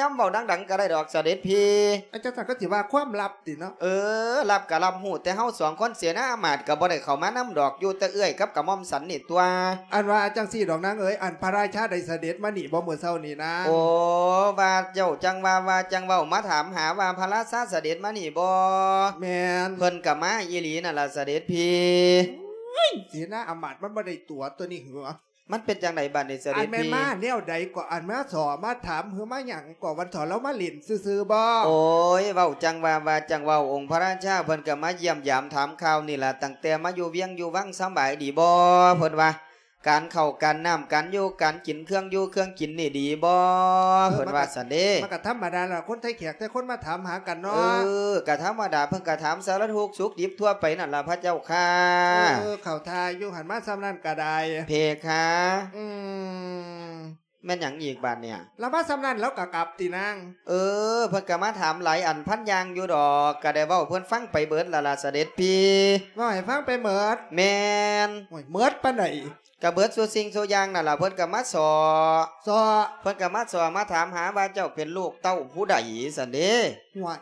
ນຳ ເວົ້າດັງໆກໍໄດ້ດອກ ສະເດັດພີ່. ອາ ຈັ່ງຊັ້ນກໍຊິວ່າຄວາມລັບຕິເນາະ? ເອີ ລັບກໍລັບຮູ້ ແຕ່ເຮົາສອງຄົນເສນາອາມາດກໍບໍ່ໄດ້ເຂົ້າມານຳດອກ ຢູ່ແຕ່ເອື້ອຍກັບກະໝ່ອມສັນນີ້ຕົວະ. ອັນວ່າຈັ່ງຊີ້ດອກນາງເອີຍ ອັນພະລາຊາໄດ້ສະເດັດມານີ້ບໍ່ມື້ເຊົ້ານີ້ນາງ? ໂອ້ ວ່າເຈົ້າຈັ່ງວ່າ ວ່າຈັ່ງເວົ້າ ມາຖາມຫາວ່າພະລາຊາສະເດັດມານີ້ບໍ່? ແມ່ນ. ເພິ່ນກໍມາອີ່ຫຼີນັ້ນລະສະເດັດພີ່. ໂອ້ຍ ເສນາອາມາດມັນບໍ່ໄດ້ຕົວະຕົວະນີ້ຫວາ? ມັນເປັນຈັ່ງໃດບາດນີ້ສະເດັດພີ່? ອັນແມ່ນມາແນວໃດກໍ ອັນມາສໍ້ມາຖາມ ຫຼືມາຫຍັງກໍ ວັນເຖົ້າລາວມາຫຼິ້ນຊື່ໆບໍ? ໂອ້ຍ ເວົ້າຈັ່ງວ່າ ວ່າຈັ່ງເວົ້າ ອົງພະລາຊາເພິ່ນກໍມາຢ້ຽມຢາມຖາມຂ່າວນີ້ລະ ຕັ້ງແຕ່ມາຢູ່ວຽງຢູ່ວັງສະບາຍດີບໍ່ ເພິ່ນວ່າ ການເຂົ້າການນ້ຳ ການຢູ່ການກິນ ເຄື່ອງຢູ່ເຄື່ອງກິນນີ້ດີບໍ່? ເອີ ເພິ່ນວ່າຊັ້ນເດ້. ມັນກໍທຳມະດາລະ ຄົນໄທແຂກໄທຄົນມາຖາມຫາກັນເນາະ. ເອີ ກໍທຳມະດາ ເພິ່ນກໍຖາມສາລະທຸກສຸກດິບທົ່ວໄປນັ້ນລະພະເຈົ້າຂ້າ. ເອີ ເຂົ້າທ່າຢູ່ ຫັ້ນມາສ່ຳນັ້ນກໍໄດ້ ເພຄາ. ອືມ ແມ່ນຫຍັງອີກບາດນີ້? ລາວມາສ່ຳນັ້ນລາວກໍກັບຕິນາງ? ເອີ ເພິ່ນກໍມາຖາມຫຼາຍອັນພັນຢ່າງຢູ່ດອກ ກໍໄດ້ເວົ້າເພິ່ນຟັງໄປເບິດລະລະສະເດັດພີ່. ເວົ້າໃຫ້ຟັງໄປເໝິດ? ແມ່ນ. ໂອ້ຍ ເໝິດປານໃດ? ກະເບິດສູ່ສິ່ງສູ່ຢ່າງນັ້ນລະ ເພິ່ນກະມາຊໍ້ ຊໍ້ ເພິ່ນກະມາຊໍ້ມາຖາມຫາວ່າເຈົ້າເປັນລູກເຕົ້າຜູ້ໃດຊັ້ນເດ້. ຫ້ວຍ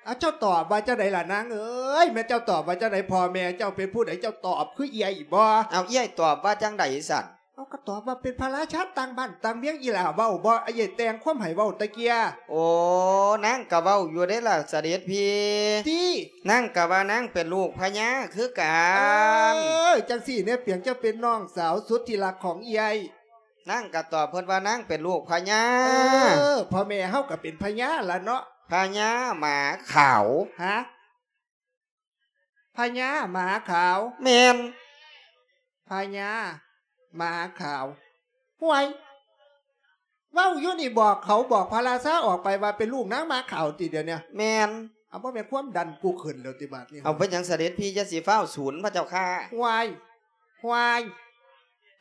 ອາ ເຈົ້າຕອບວ່າຈັ່ງໃດລະນາງເອີຍ? ແມ່ນເຈົ້າຕອບວ່າຈັ່ງໃດ? ພໍ່ແມ່ເຈົ້າເປັນຜູ້ໃດ? ເຈົ້າຕອບຄືເອື້ອຍບໍ? ເອົາ ເອື້ອຍຕອບວ່າຈັ່ງໃດຊັ້ນ? ເອົາ ກະຕອບວ່າເປັນພະລາຊາຕ່າງບ້ານຕ່າງເມືອງ ອີ່ຫຼ້າເວົ້າບໍ່? ອ້າຍແຕ່ງຄວາມໃຫ້ເວົ້າຕະເກີຍ. ໂອ້ ນາງກະເວົ້າຢູ່ເດ້ລະສະເດັດພີ່. ຕິ ນາງກະວ່ານາງເປັນລູກພະຍາຄືກັນ. ເອີ ຈັ່ງຊີ້ແນ່ ປຽງເຈົ້າເປັນນ້ອງສາວສຸດທີ່ຮັກຂອງເອື້ອຍ. ນາງກະຕອບເພິ່ນວ່ານາງເປັນລູກພະຍາ. ເອີ ພໍ່ແມ່ເຮົາກະເປັນພະຍາລະເນາະ. ພະຍາໝາຂາວ. ຮະ? ພະຍາໝາຂາວ? ແມ່ນ. ພະຍາໝາຂາວ. ຫ້ວຍ ເວົ້າຢູ່ນີ້ບອກເຂົາ ບອກພະລາຊາອອກໄປວ່າເປັນລູກນາງໝາຂາວຕິດຽວນີ້? ແມ່ນ. ເອົາ ບໍ່ແມ່ນຄວາມດັນກູຂຶ້ນແລ້ວຕິບາດນີ້? ເອົາ ເປັນຫຍັງສະເດັດພີ່ ຢ່າຊິຟ້າວສູນພະເຈົ້າຂ້າ. ຫ້ວຍ ຫ້ວຍ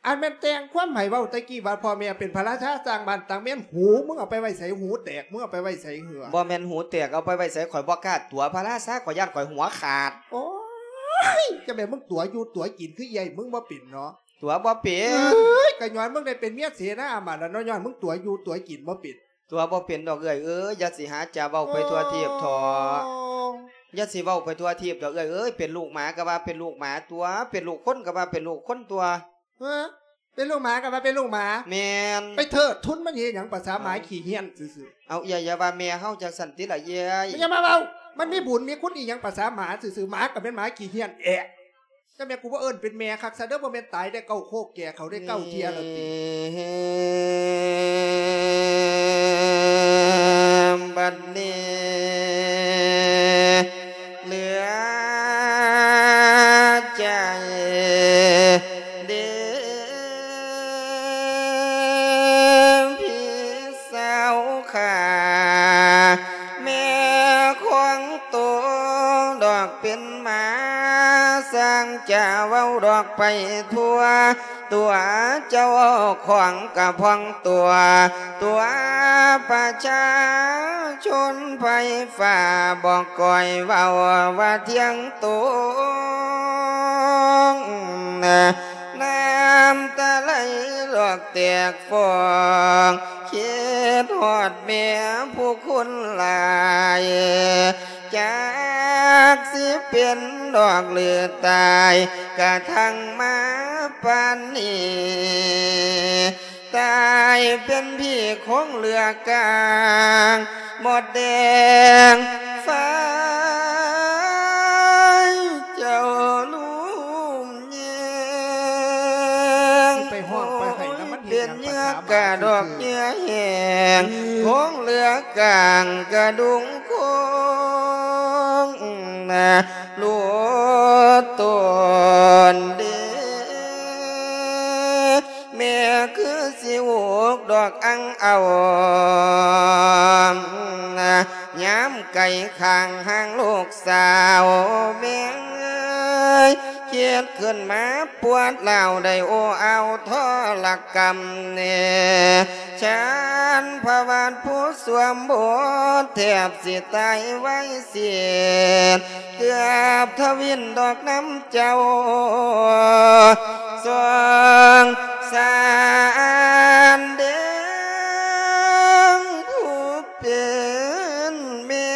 ອັນແມ່ນແຕ່ງຄວາມໃຫ້ເວົ້າແຕ່ກີ້ວ່າພໍ່ແມ່ເປັນພະລາຊາຕ່າງບ້ານຕ່າງເມືອງ ຫູມຶງເອົາໄປໄວ້ໃສ? ຫູແຕກ ມຶງເອົາໄປໄວ້ໃສເຫືອ? ບໍ່ແມ່ນຫູແຕກ ເອົາໄປໄວ້ໃສ? ຂ້ອຍບໍ່ກ້າຕົວະພະລາຊາ ຂ້ອຍຢ້ານຂ້ອຍຫົວຂາດ. ໂອ້ຍ ຈັ່ງແມ່ນມຶງຕົວະຢູ່ຕົວະກິນຄືເອື້ອຍມຶງບໍ່ເປັນເນາະ? ຕົວະບໍ່ເປັນ. ເອີຍ ກະຍ້ອນມຶງໄດ້ເປັນເມຍເສນາອາມາດລະເນາະ ຍ້ອນມຶງຕົວະຢູ່ຕົວະກິນບໍ່ເປັນ. ຕົວະບໍ່ເປັນດອກເອື້ອຍເອີຍ ຢ່າຊິຫາຈະເວົ້າໄປທົ່ວທີບເຖາະ. ໂອ້ ຢ່າຊິເວົ້າໄປທົ່ວທີບດອກເອື້ອຍເອີຍ ເປັນລູກໝາກະວ່າເປັນລູກໝາຕົວະ ເປັນລູກຄົນກະວ່າເປັນລູກຄົນຕົວະ. ເອີ ເປັນລູກໝາກະວ່າເປັນລູກໝາ. ແມ່ນ. ໄປເທີດທຶນມັນເຮັດຫຍັງ ປະສາໝາ ເອົ້າ ຂີ້ເຫ້ນຊື່ໆ. ເອົາ ເອື້ອຍຢ່າວ່າແມ່ເຮົາຈັ່ງຊັ້ນຕິລະເອື້ອຍ. ຢ່າມາເວົ້າ ມັນມີບຸນມີຄຸນອີ່ຫຍັງ ປະສາໝາຊື່ໆ ໝາກະແມ່ນໝາຂີ້ເຫ້ນແອະ. ຈັ່ງແມ່ນກູບໍ່ເອີ້ນເປັນແມ່ຄັກຊະເດີ ບໍ່ແມ່ນຕາຍໄດ້ເກົ້າໂຄກ ແກ່ເຂົ້າໄດ້ເກົ້າເທື່ອແລ້ວຕິ? ບັດນີ້ເຫຼືອໃຈເດ້ພີ່ສາວຂ້າ ແມ່ຂອງໂຕດອກເປັນ ມາຊ່າງຈະເວົ້າດອກໄປທົ່ວ ຕົວະເຈົ້າຂອງກະພອງຕົວະ ຕົວະປະຊາຊົນໄພຟ້າ ບໍ່ກ້ອຍເວົ້າວ່າທ່ຽງຕົງ ນ້ຳຕາໄຫຼຫຼອກແຕກຟອງ ຄິດຮອດແມ່ຜູ້ຄົນຫຼາຍ ຈັກຊິເປັນດອກຫຼືຕາຍ ກະທັງມາປານນີ້ ຕາຍເປັນຜີຄົງເຫຼືອກາງ ໝົດແດງໄຟເຈົ້າລຸ່ມແຍງ ຊິໄປຮ້ອງໄປໄຫ້ນຳມັນເຮັດຫຍັງ ເປັນເຫຍື່ອກະດອກເຫຍື່ອແຫ້ງ ໂຄງເຫຼືອກາງກະດຸງຄົງ ນະ ຮູ້ຕົນເດ ແມ່ຄືຊິອຸກດອກອັ່ງເອົາ ນະ ຍາມໄກຂ້າງຫ່າງລູກສາວ ແມ່ເອີຍ ຄິດຂຶ້ນມາປວດຮ້າວໄດ້ໂອ້ອາວທໍລະກຳແດ່ ຊານພະວາດຜູ້ສວມບົດ ແທບຊິຕາຍໄວເສດ ເກືອບທະວິນດອກນຳເຈົ້າ ສົງສານເດ ຜູ້ເປັນແມ່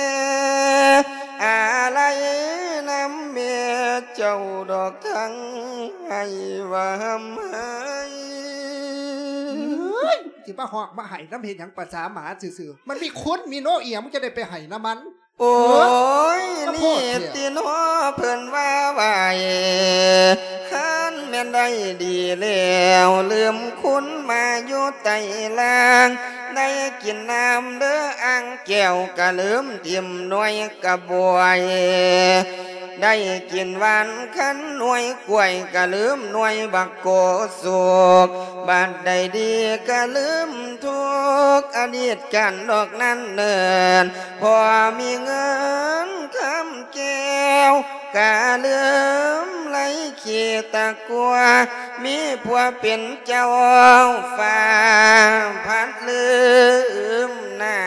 ອາໄລນຳແມ່ເຈົ້າດອກທັງໄຫ້ວ່າຮ່ຳໄຫ້. ເຮີ້ຍ ຊິມາຮ້ອງມາໄຫ້ນຳເຮັດຫຍັງ ປະສາໝາຊື່ໆ ມັນມີຄຸນມີໂນອີ່ຫຍັງ ມຶງຈະໄດ້ໄປໄຫ້ນຳມັນ? ໂອ້ຍ ເອີ ມາໂພດແທ້ ນີ້ຕິເນາະ ເພິ່ນວ່າໄຫວ້ ຄັນແມ່ນໄດ້ດີແລ້ວ ລືມຄຸນມາຢູ່ໃຕ້ລ່າງ ໄດ້ກິນນ້ຳເດີອ່າງແກ້ວ ກະລືມຖິ້ມໜ່ວຍກະບວຍ ໄດ້ກິນຫວານຄັນໜ່ວຍກ້ວຍ ກະລືມໜ່ວຍບັກໂກສຸກ ບັດໃດດີກະລືມທຸກ ອະດີດການດອກນັ້ນເນີນ ພໍມີເງິນຄຳແກ້ວ ກະລືມໄລ່ຂີ້ຕະກົວ ມີຜົວເປັນເຈົ້າຟ້າພັດລືມໜ້າ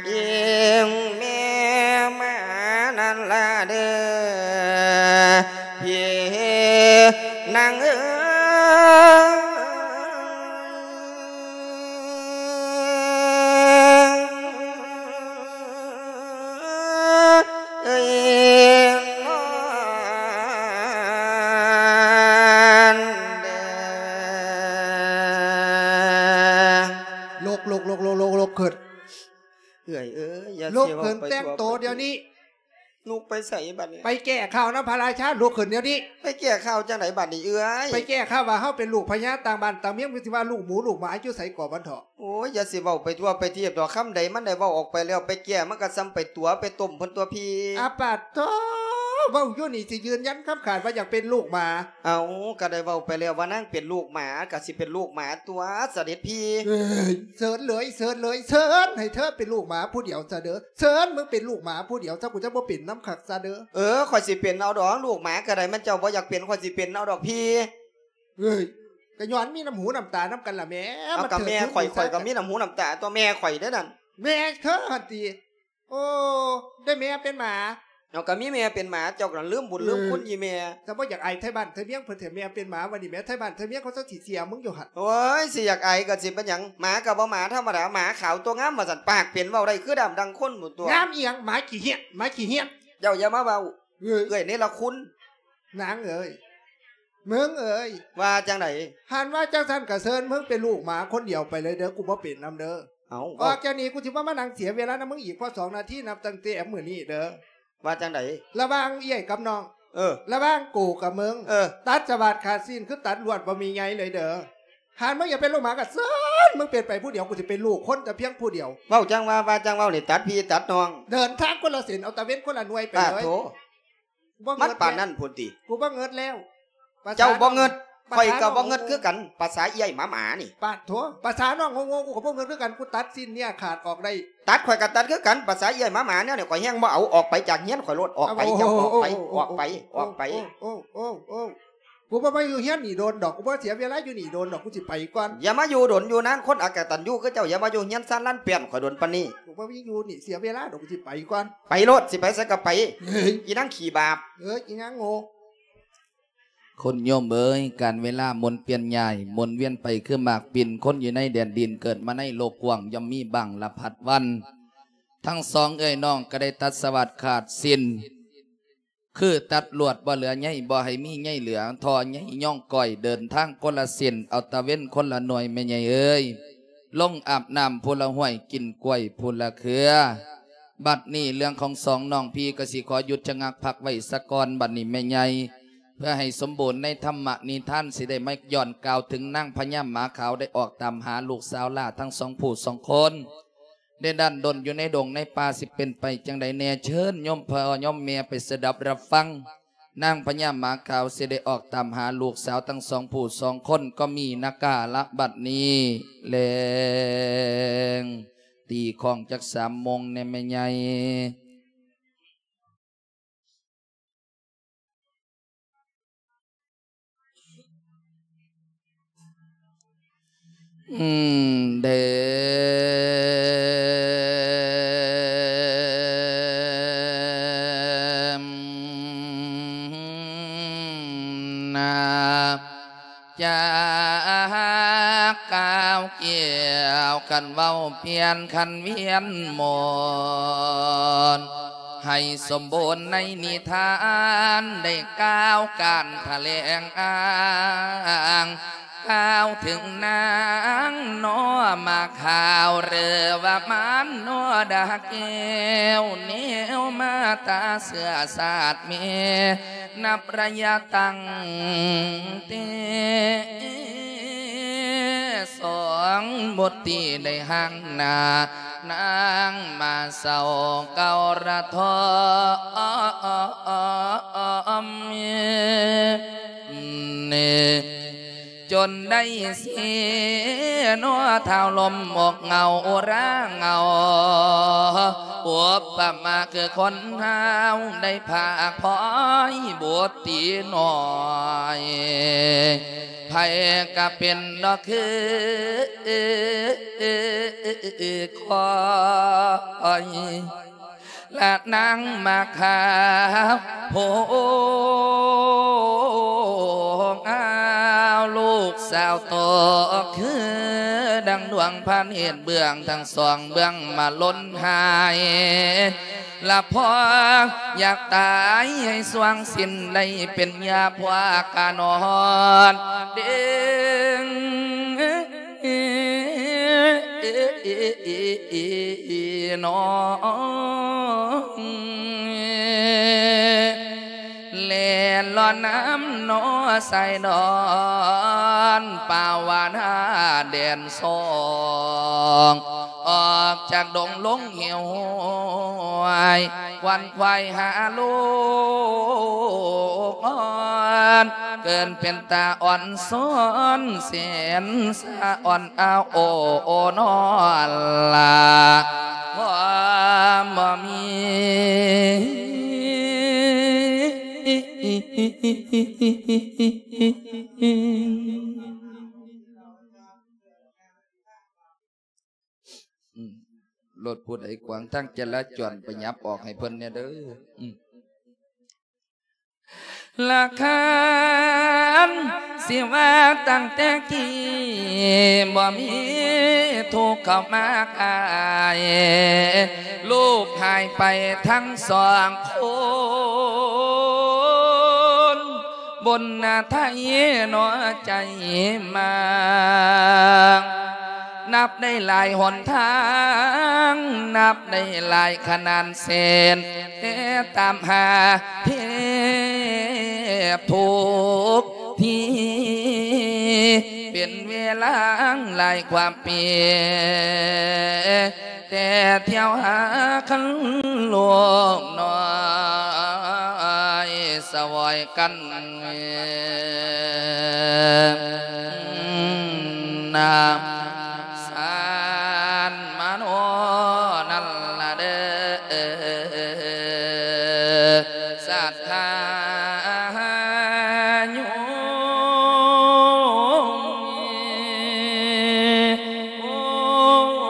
ອີ່ແມ່ມານັ້ນລະເດີ ພີ່ນາງເອີຍ. ເອີຍ ນອນເດີ ລຸກ ລຸກ ລຸກ ລຸກ ລຸກ ລຸກຂຶ້ນ ເອື້ອຍເອີຍ ຢ່າ ລຸກຂຶ້ນ ແຕ່ງໂຕດຽວນີ້. ລຸກໄປໃສບັດນີ້? ໄປແກ້ຂ່າວນຳພະລາຊາ ລຸກຂຶ້ນດຽວນີ້. ໄປແກ້ຂ່າວຈັ່ງໃດບັດນີ້ເອື້ອຍ? ໄປແກ້ຂ່າວວ່າເຮົາເປັນລູກພະຍາຕ່າງບ້ານຕ່າງເມືອງ ຊິວ່າລູກໝູລູກໝາຢູ່ໃສກໍບັນເທາະ. ໂອ້ຍ ຢ່າຊິເວົ້າໄປທົ່ວໄປທີບດອກ ຄຳໃດມັນໄດ້ເວົ້າອອກໄປແລ້ວ ໄປແກ້ມັນກໍສ່ຳໄປຕົວະໄປຕົ້ມເພິ່ນຕົວະພີ່. ອາປາດໂທ ເວົ້າຢູ່ນີ້ຊິຢືນຢັນຄຳຂາດວ່າຢາກເປັນລູກໝາ. ເອົ້າ ກໍໄດ້ເວົ້າໄປແລ້ວວ່ານາງເປັນລູກໝາ ກໍຊິເປັນລູກໝາຕົວະ ສະເດັດພີ່. ເອີຍ ເຊີນເລີຍ ເຊີນເລີຍ ເຊີນໃຫ້ເທີເປັນລູກໝາຜູ້ດຽວຊະເດີ. ເຊີນ ມຶງເປັນລູກໝາຜູ້ດຽວຊະ ກູຈະບໍ່ເປັນນຳຄັກຊະເດີ. ເອີ ຂ້ອຍຊິເປັນເອົາດອກ ລູກໝາກໍໄດ້ ມັນເຈົ້າບໍ່ຢາກເປັນ ຂ້ອຍຊິເປັນເອົາດອກພີ່. ເອີຍ ກະຍ້ອນມີນ້ຳຫູນ້ຳຕານຳກັນລະແມ້. ເອົາ ມາ ກະແມ່ຂ້ອຍ ເທີດ ຂ້ອຍກະມີນ້ຳຫູນ້ຳຕາຕົວະ ແມ່ຂ້ອຍເດ້ນັ້ນ. ແມ່ເທີຫັ້ນຕິ? ໂອ້ ໄດ້ແມ່ເປັນໝາ. ເອົາ ກະມີແມ່ເປັນໝາ ເຈົ້າກະລືມບຸນລືມຄຸນອີ່ແມ່. ເອີ ຈະບໍ່ຢາກອາຍໄທບ້ານໄທເມືອງເພິ່ນແທ້ ແມ່ເປັນໝາ ບັດນີ້ແມ່ໄທບ້ານໄທເມືອງເຂົາເຈົ້າຊິເສຍມຶງຢູ່ຫັ້ນ. ໂອ້ຍ ຊິຢາກອາຍກໍຊິເປັນຫຍັງ ໝາກໍບໍ່ໝາທຳມະດາ ໝາຂາວຕົວງາມວ່າຊັ້ນ ປາກເປັນເວົ້າໄດ້ຄືດຳດັ່ງຄົນພຸ້ນຕົວະ. ງາມອີ່ຫຍັງ ໝາຂີ້ເຫື່ອນ ໝາຂີ້ເຫື່ອນ. ເຈົ້າຢ່າມາເວົ້າ ເອີຍ ເອື້ອຍເນລະຄຸນ. ນາງເອີຍ ມຶງເອີຍ ວ່າຈັ່ງໃດ? ຫັ້ນວ່າຈັ່ງຊັ້ນກະເຊີນ ມຶງເປັນລູກໝາຄົນດຽວໄປເລີຍເດີ ກູບໍ່ເປັນນຳເດີ. ເອົ້າ ອອກຈາກນີ້ກູຊິບໍ່ມານັ່ງເສຍເວລານຳມຶງອີກ ພໍສອງນາທີ ນັບຕັ້ງແຕ່ມື້ນີ້ເດີ. ວ່າຈັ່ງໃດ? ລະຫວ່າງເອື້ອຍກັບນ້ອງ ເອີ ລະຫວ່າງກູກັບມຶງ ເອີ ຕັດສະຫວາດຂາດສິ້ນ ຄືຕັດລວດບໍ່ມີໃຍເລີຍເດີ. ຫາກມຶງຢາກເປັນລູກໝາກໍເຊີນ ມຶງເປັນໄປຜູ້ດຽວ ກູຊິເປັນລູກຄົນແຕ່ພຽງຜູ້ດຽວ. ເວົ້າຈັ່ງວ່າ ວ່າຈັ່ງເວົ້ານີ້ ຕັດພີ່ຕັດນ້ອງ ເດີນທາງຄົນລະເສັ້ນ ເອົາຕາເວັນຄົນລະໜ່ວຍໄປເລີຍ. ໂທ້ ມັນປານນັ້ນພຸ້ນຕິ? ກູບໍ່ເງິດແລ້ວ. ເຈົ້າບໍ່ເງິດ ຂ້ອຍກໍບໍ່ເງິດຄືກັນ ພາສາເອື້ອຍໝາໝານີ້. ປາດໂທ ພາສານ້ອງໂງ່ໆ ກູກໍບໍ່ເງິດຄືກັນ ກູຕັດຊີ້ນເນື້ອຂາດອອກໄດ້. ຕັດ ຂ້ອຍກໍຕັດຄືກັນ ພາສາເອື້ອຍໝາໝາແນວນີ້ ຂ້ອຍແຮງບໍ່ເອົາ ອອກໄປຈາກເຮືອນຂ້ອຍໂລດ ອອກໄປ ເຈົ້າອອກໄປ ອອກໄປ ອອກໄປ. ກູບໍ່ມາຢູ່ເຮືອນນີ້ດົນດອກ ກູບໍ່ເສຍເວລາຢູ່ນີ້ດົນດອກ ກູຊິໄປກ່ອນ. ຢ່າມາຢູ່ດົນຢູ່ນານ ຄົນອະກະຕັນຍູຄືເຈົ້າ ຢ່າມາຢູ່ເຮືອນຊານລານແປ້ນຂ້ອຍດົນປານນີ້. ກູບໍ່ມີຢູ່ນີ້ເສຍເວລາດອກ ກູຊິໄປກ່ອນ. ໄປໂລດ ຊິໄປໃສກໍໄປ. ເຮີ້ຍ ອີນາງຂີ້ບາບ ເອີ ອີນາງໂງ່. ຄົນໂຍມເອີຍ ການເວລາໝູນປ່ຽນຍ້າຍ ໝູນວຽນໄປຄືໝາກປິ່ນ ຄົນຢູ່ໃນແດນດິນ ເກີດມາໃນໂລກກວ້າງ ຍ່ອມມີບາງລະພັດວັນ. ທັງສອງເອື້ອຍນ້ອງກໍໄດ້ຕັດສະຫວັດຂາດສິ້ນ ຄືຕັດລວດບໍ່ເຫຼືອໃຍ ບໍ່ໃຫ້ມີໃຍເຫຼືອ ທໍ່ໃຍຍ້ອງກ້ອຍ ເດີນທາງຄົນລະເສັ້ນ ເອົາຕາເວັນຄົນລະໜ່ວຍ ແມ່ໃຫຍ່ເອີຍ. ລົງອາບນ້ຳຜູ້ລະຫ້ວຍ ກິນກ້ວຍຜູ້ລະເຄືອ. ບັດນີ້ເລື່ອງຂອງສອງນ້ອງພີ່ກໍຊິຂໍຢຸດຊະງັກພັກໄວ້ສາກ່ອນ ບັດນີ້ແມ່ໃຫຍ່ ເພື່ອໃຫ້ສົມບູນໃນທຳມະນິທານ ຊິໄດ້ມາຍ້ອນກ່າວເຖິງນາງພະຍາໝາຂາວໄດ້ອອກຕາມຫາລູກສາວຫຼ້າທັງສອງຜູ້ສອງຄົນ. ໄດ້ດັ້ນດົນຢູ່ໃນດົງໃນປ່າ ຊິເປັນໄປຈັ່ງໃດແດ່? ເຊີນໂຍມພໍ່ໂຍມແມ່ໄປສະດັບຮັບຟັງ. ນາງພະຍາໝາຂາວຊິໄດ້ອອກຕາມຫາລູກສາວທັງສອງຜູ້ສອງຄົນ ກໍມີນາກາລະບັດນີ້ແລງ ຕີຂ້ອງຈັກສາມໂມງແດ່ແມ່ໃຫຍ່. ອືມ ເດີ ນາ ຈາກກ່າວກ່ຽວ ຄັນເວົ້າພຽນ ຄັນວຽນໝົດ ໃຫ້ສົມບູນໃນນິທານ ໄດ້ກ່າວການຖະແຫຼງອ້າງ ກ່າວເຖິງນາງນໍມາຂາວ ຫຼືວ່າມານນໍດາແກ້ວ ແນວມາຕາເຊື້ອຊາດແມ່ ນັບໄລຍະຕັ້ງແຕ່ສອງບຸດຕີໄດ້ຫ່າງໜ້ານາງມາເຊົາເກົ່າລະທໍມ ຈົນໄດ້ເສຍໜໍ ທ້າວລົມອອກເງົາອຸຣາເງົາ ອຸປະມາຄືຄົນເຮົາໄດ້ພາກພ້ອຍບຸດຕີນ້ອຍ ໃຜກະເປັນດອກຄືຂ້ອຍ ລະນາງມາຂາວ ຜູ້ອາວລູກສາວໂຕ ຄືດັ່ງດວງພະເນດເບື້ອງທັງສອງເບື້ອງມາລົ້ນຫາຍ ລະພໍຢາກຕາຍໃຫ້ສວ່າງສິ້ນ ໄດ້ເປັນຍາພວກກະນອນເດ້ງ ນ້ອງ ແລ່ນລອນນ້ຳໜໍຊາຍດອນ ປາວານາແດນສອງ ອອກຈາກດົງລົງເຫວຫ້ວຍ ຂວັນຂວາຍຫາລູກອ່ອນ ເກີນເປັນຕາອ່ອນຊອນແສນສະອ່ອນ ອ້າວໂອ ໂອນອລາ ຄວາມບໍ່ມີ ອືມ ລົດຜູ້ໃດຂວາງທາງຈະລາຈອນ ໄປຫຍັບອອກໃຫ້ເພິ່ນແດ່ເດີ. ອືມ ລະຄັນຊິວ່າຕັ້ງແຕ່ກີ້ ບໍ່ມີທຸກເຂົ້າມາກາຍ ລູກຫາຍໄປທັງສອງຄົນ ບົນໜ້າໄທໜໍໃຈມາ ນັບໄດ້ຫຼາຍຫົນທາງ ນັບໄດ້ຫຼາຍຂະໜານເສັ້ນ ແຕ່ຕາມຫາແທບທຸກທີ ເປັນເວລາຫຼາຍກວ່າປີ ແຕ່ທ່ຽວຫາຄັນລູກນ້ອຍສະຫວອຍກັນ ນາມສານມະໂນນັ້ນລະເດີ ສັດທາໂຍມ ໂອ ໂ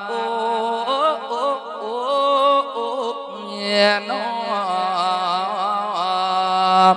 ອ ໂອ ໂອ ໂອ ໂອ ໂອ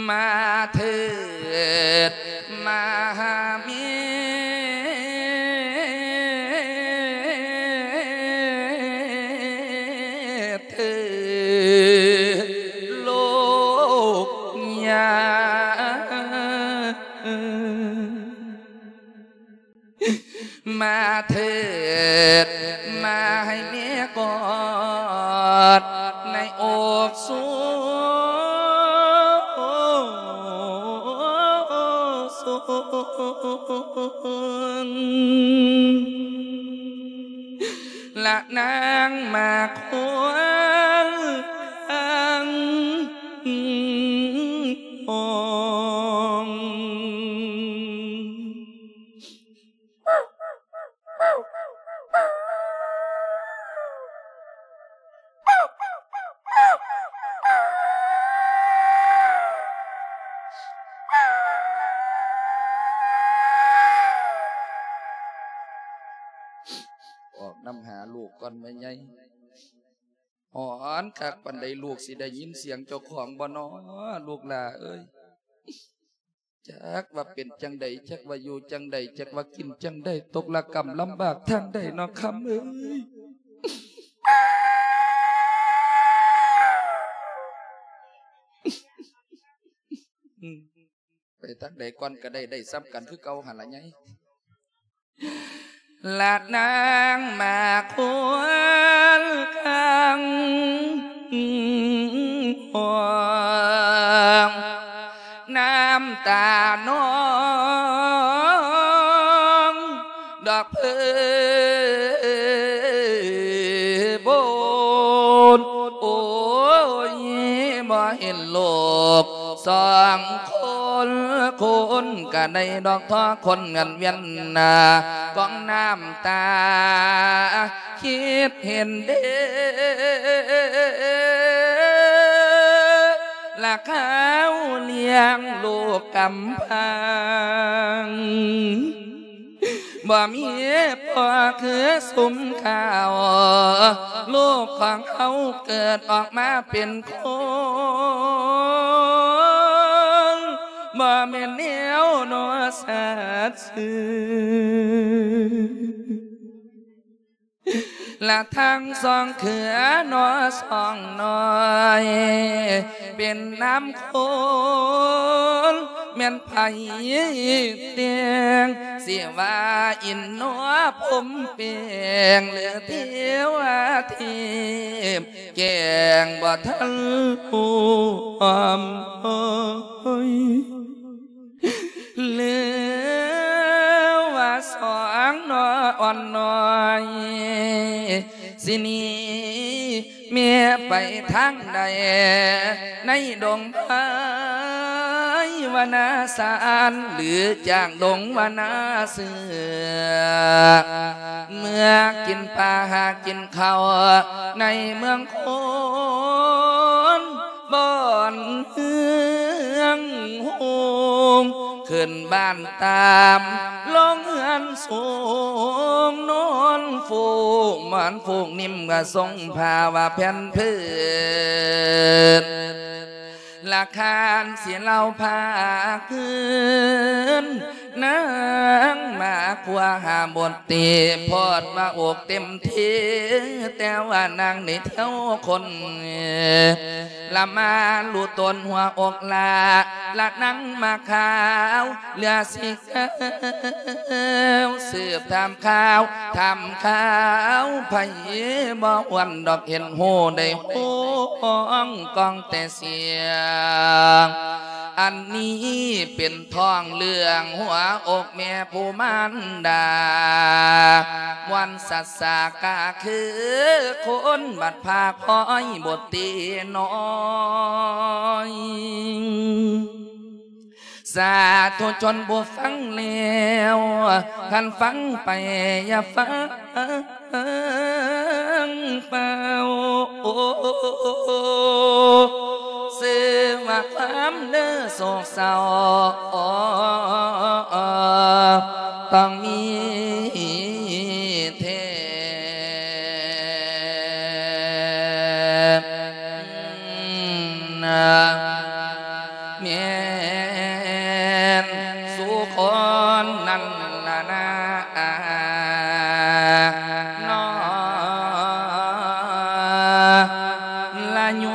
ມາເທີດມາຫາແມ່ເທີດລູກຍ່າ ມາເທີດມາໃຫ້ແມ່ກອດໃນອົກສູນ ລະນາງມາຄວນທາງຫ້ອງ. ອອກນຳຫາລູກກ່ອນແມ່ໃຫຍ່. ຮ້ອນຄັກປານໃດ ລູກຊິໄດ້ຍິນສຽງເຈົ້າຂອງບໍ່ນໍ ລູກຫຼ້າເອີຍ? ຈັກວ່າເປັນຈັ່ງໃດ ຈັກວ່າຢູ່ຈັ່ງໃດ ຈັກວ່າກິນຈັ່ງໃດ ຕົກລະກຳລຳບາກທາງໃດນໍຄຳເອີຍ. ໄປທາງໃດກ່ອນກະໄດ້ ໄດ້ສ່ຳກັນຄືເກົ່າຫັ້ນລະໃຫຍ່. ລະນາງມາຄວນຄາງຫ້ອງ ນ້ຳຕານອງດອກເພີບົນ ໂອ້ຍ ບໍ່ເຫັນລູກ ສອງຄົນ ຄົນກະໄດ້ດອກທໍຄົນກັນວຽນໜ້າ ກອງນ້ຳຕາຄິດເຫັນເດ້ ລະຄາວລ້ຽງລູກກຳພັງ. ບໍ່ມີພໍ່ຄືຊຸມເຂົາ ລູກຂອງເຮົາເກີດອອກມາເປັນຄົນ ບໍ່ແມ່ນແນວນໍສັດຊື່ ລະທັງສອງເຄືອນໍສອງນ້ອຍ ເປັນນາມຄົນ ແມ່ນໃຜແຕ່ງ ຊິວ່າອິນນົມເປັງ ຫຼືເທວະເທບແກ້ງ ບໍ່ທັນຮູ້ອ້ອມເອີຍ ຫຼືວ່າສອງນໍອ່ອນນ້ອຍ ຊິໜີແມ່ໄປທາງໃດ ໃນດົງໄພວະນາສານ ຫຼືຈາກດົງວະນາເສືອ ເມືອກິນປາຫາກິນເຂົ້າໃນເມືອງຄົນ ບ່ອນເຮືອງໂຮງ ຂຶ້ນບ້ານຕາມ ລົງເຮືອນສູງ ນອນຟູກໝອນຟູກໜິ່ມ ກະຊົງຜ້າວ່າແຜ່ນພື້ນ ລະຄານຊິເລົ່າພາຄືນ ນາງມາຄວາຫາບົດຕິ ໂພດວ່າອົກເຕັມທີ່ ແຕ່ວ່ານາງນີ້ແຖວຄົນ ລະມາລຸຕົນຫົວອົກລະ ລະນາງມາຂາວ ເຫຼືອຊິກາວ ສືບຖາມຂ່າວ ຖາມຂ່າວ ໃຜບໍ່ອວນດອກ ເຫັນຮູ້ໄດ້ຮ້ອງກ້ອງແຕ່ສຽງ ອັນນີ້ເປັນທ້ອງເລື່ອງຫົວອົກແມ່ຜູ້ມານດາ ມ່ວນສັດສາກາຄືຄົນ ບັດພາກພ້ອຍບົດຕິນ້ອຍ ສາທຸຊົນຜູ້ຟັງແລ້ວ ຄັນຟັງໄປຢ່າຟັງເປົ່າ ຊື່ວ່າຄວາມເດີໂສກເສົ້າ ຕ້ອງມີແທ້ ນາ ແມ່ ໂຍ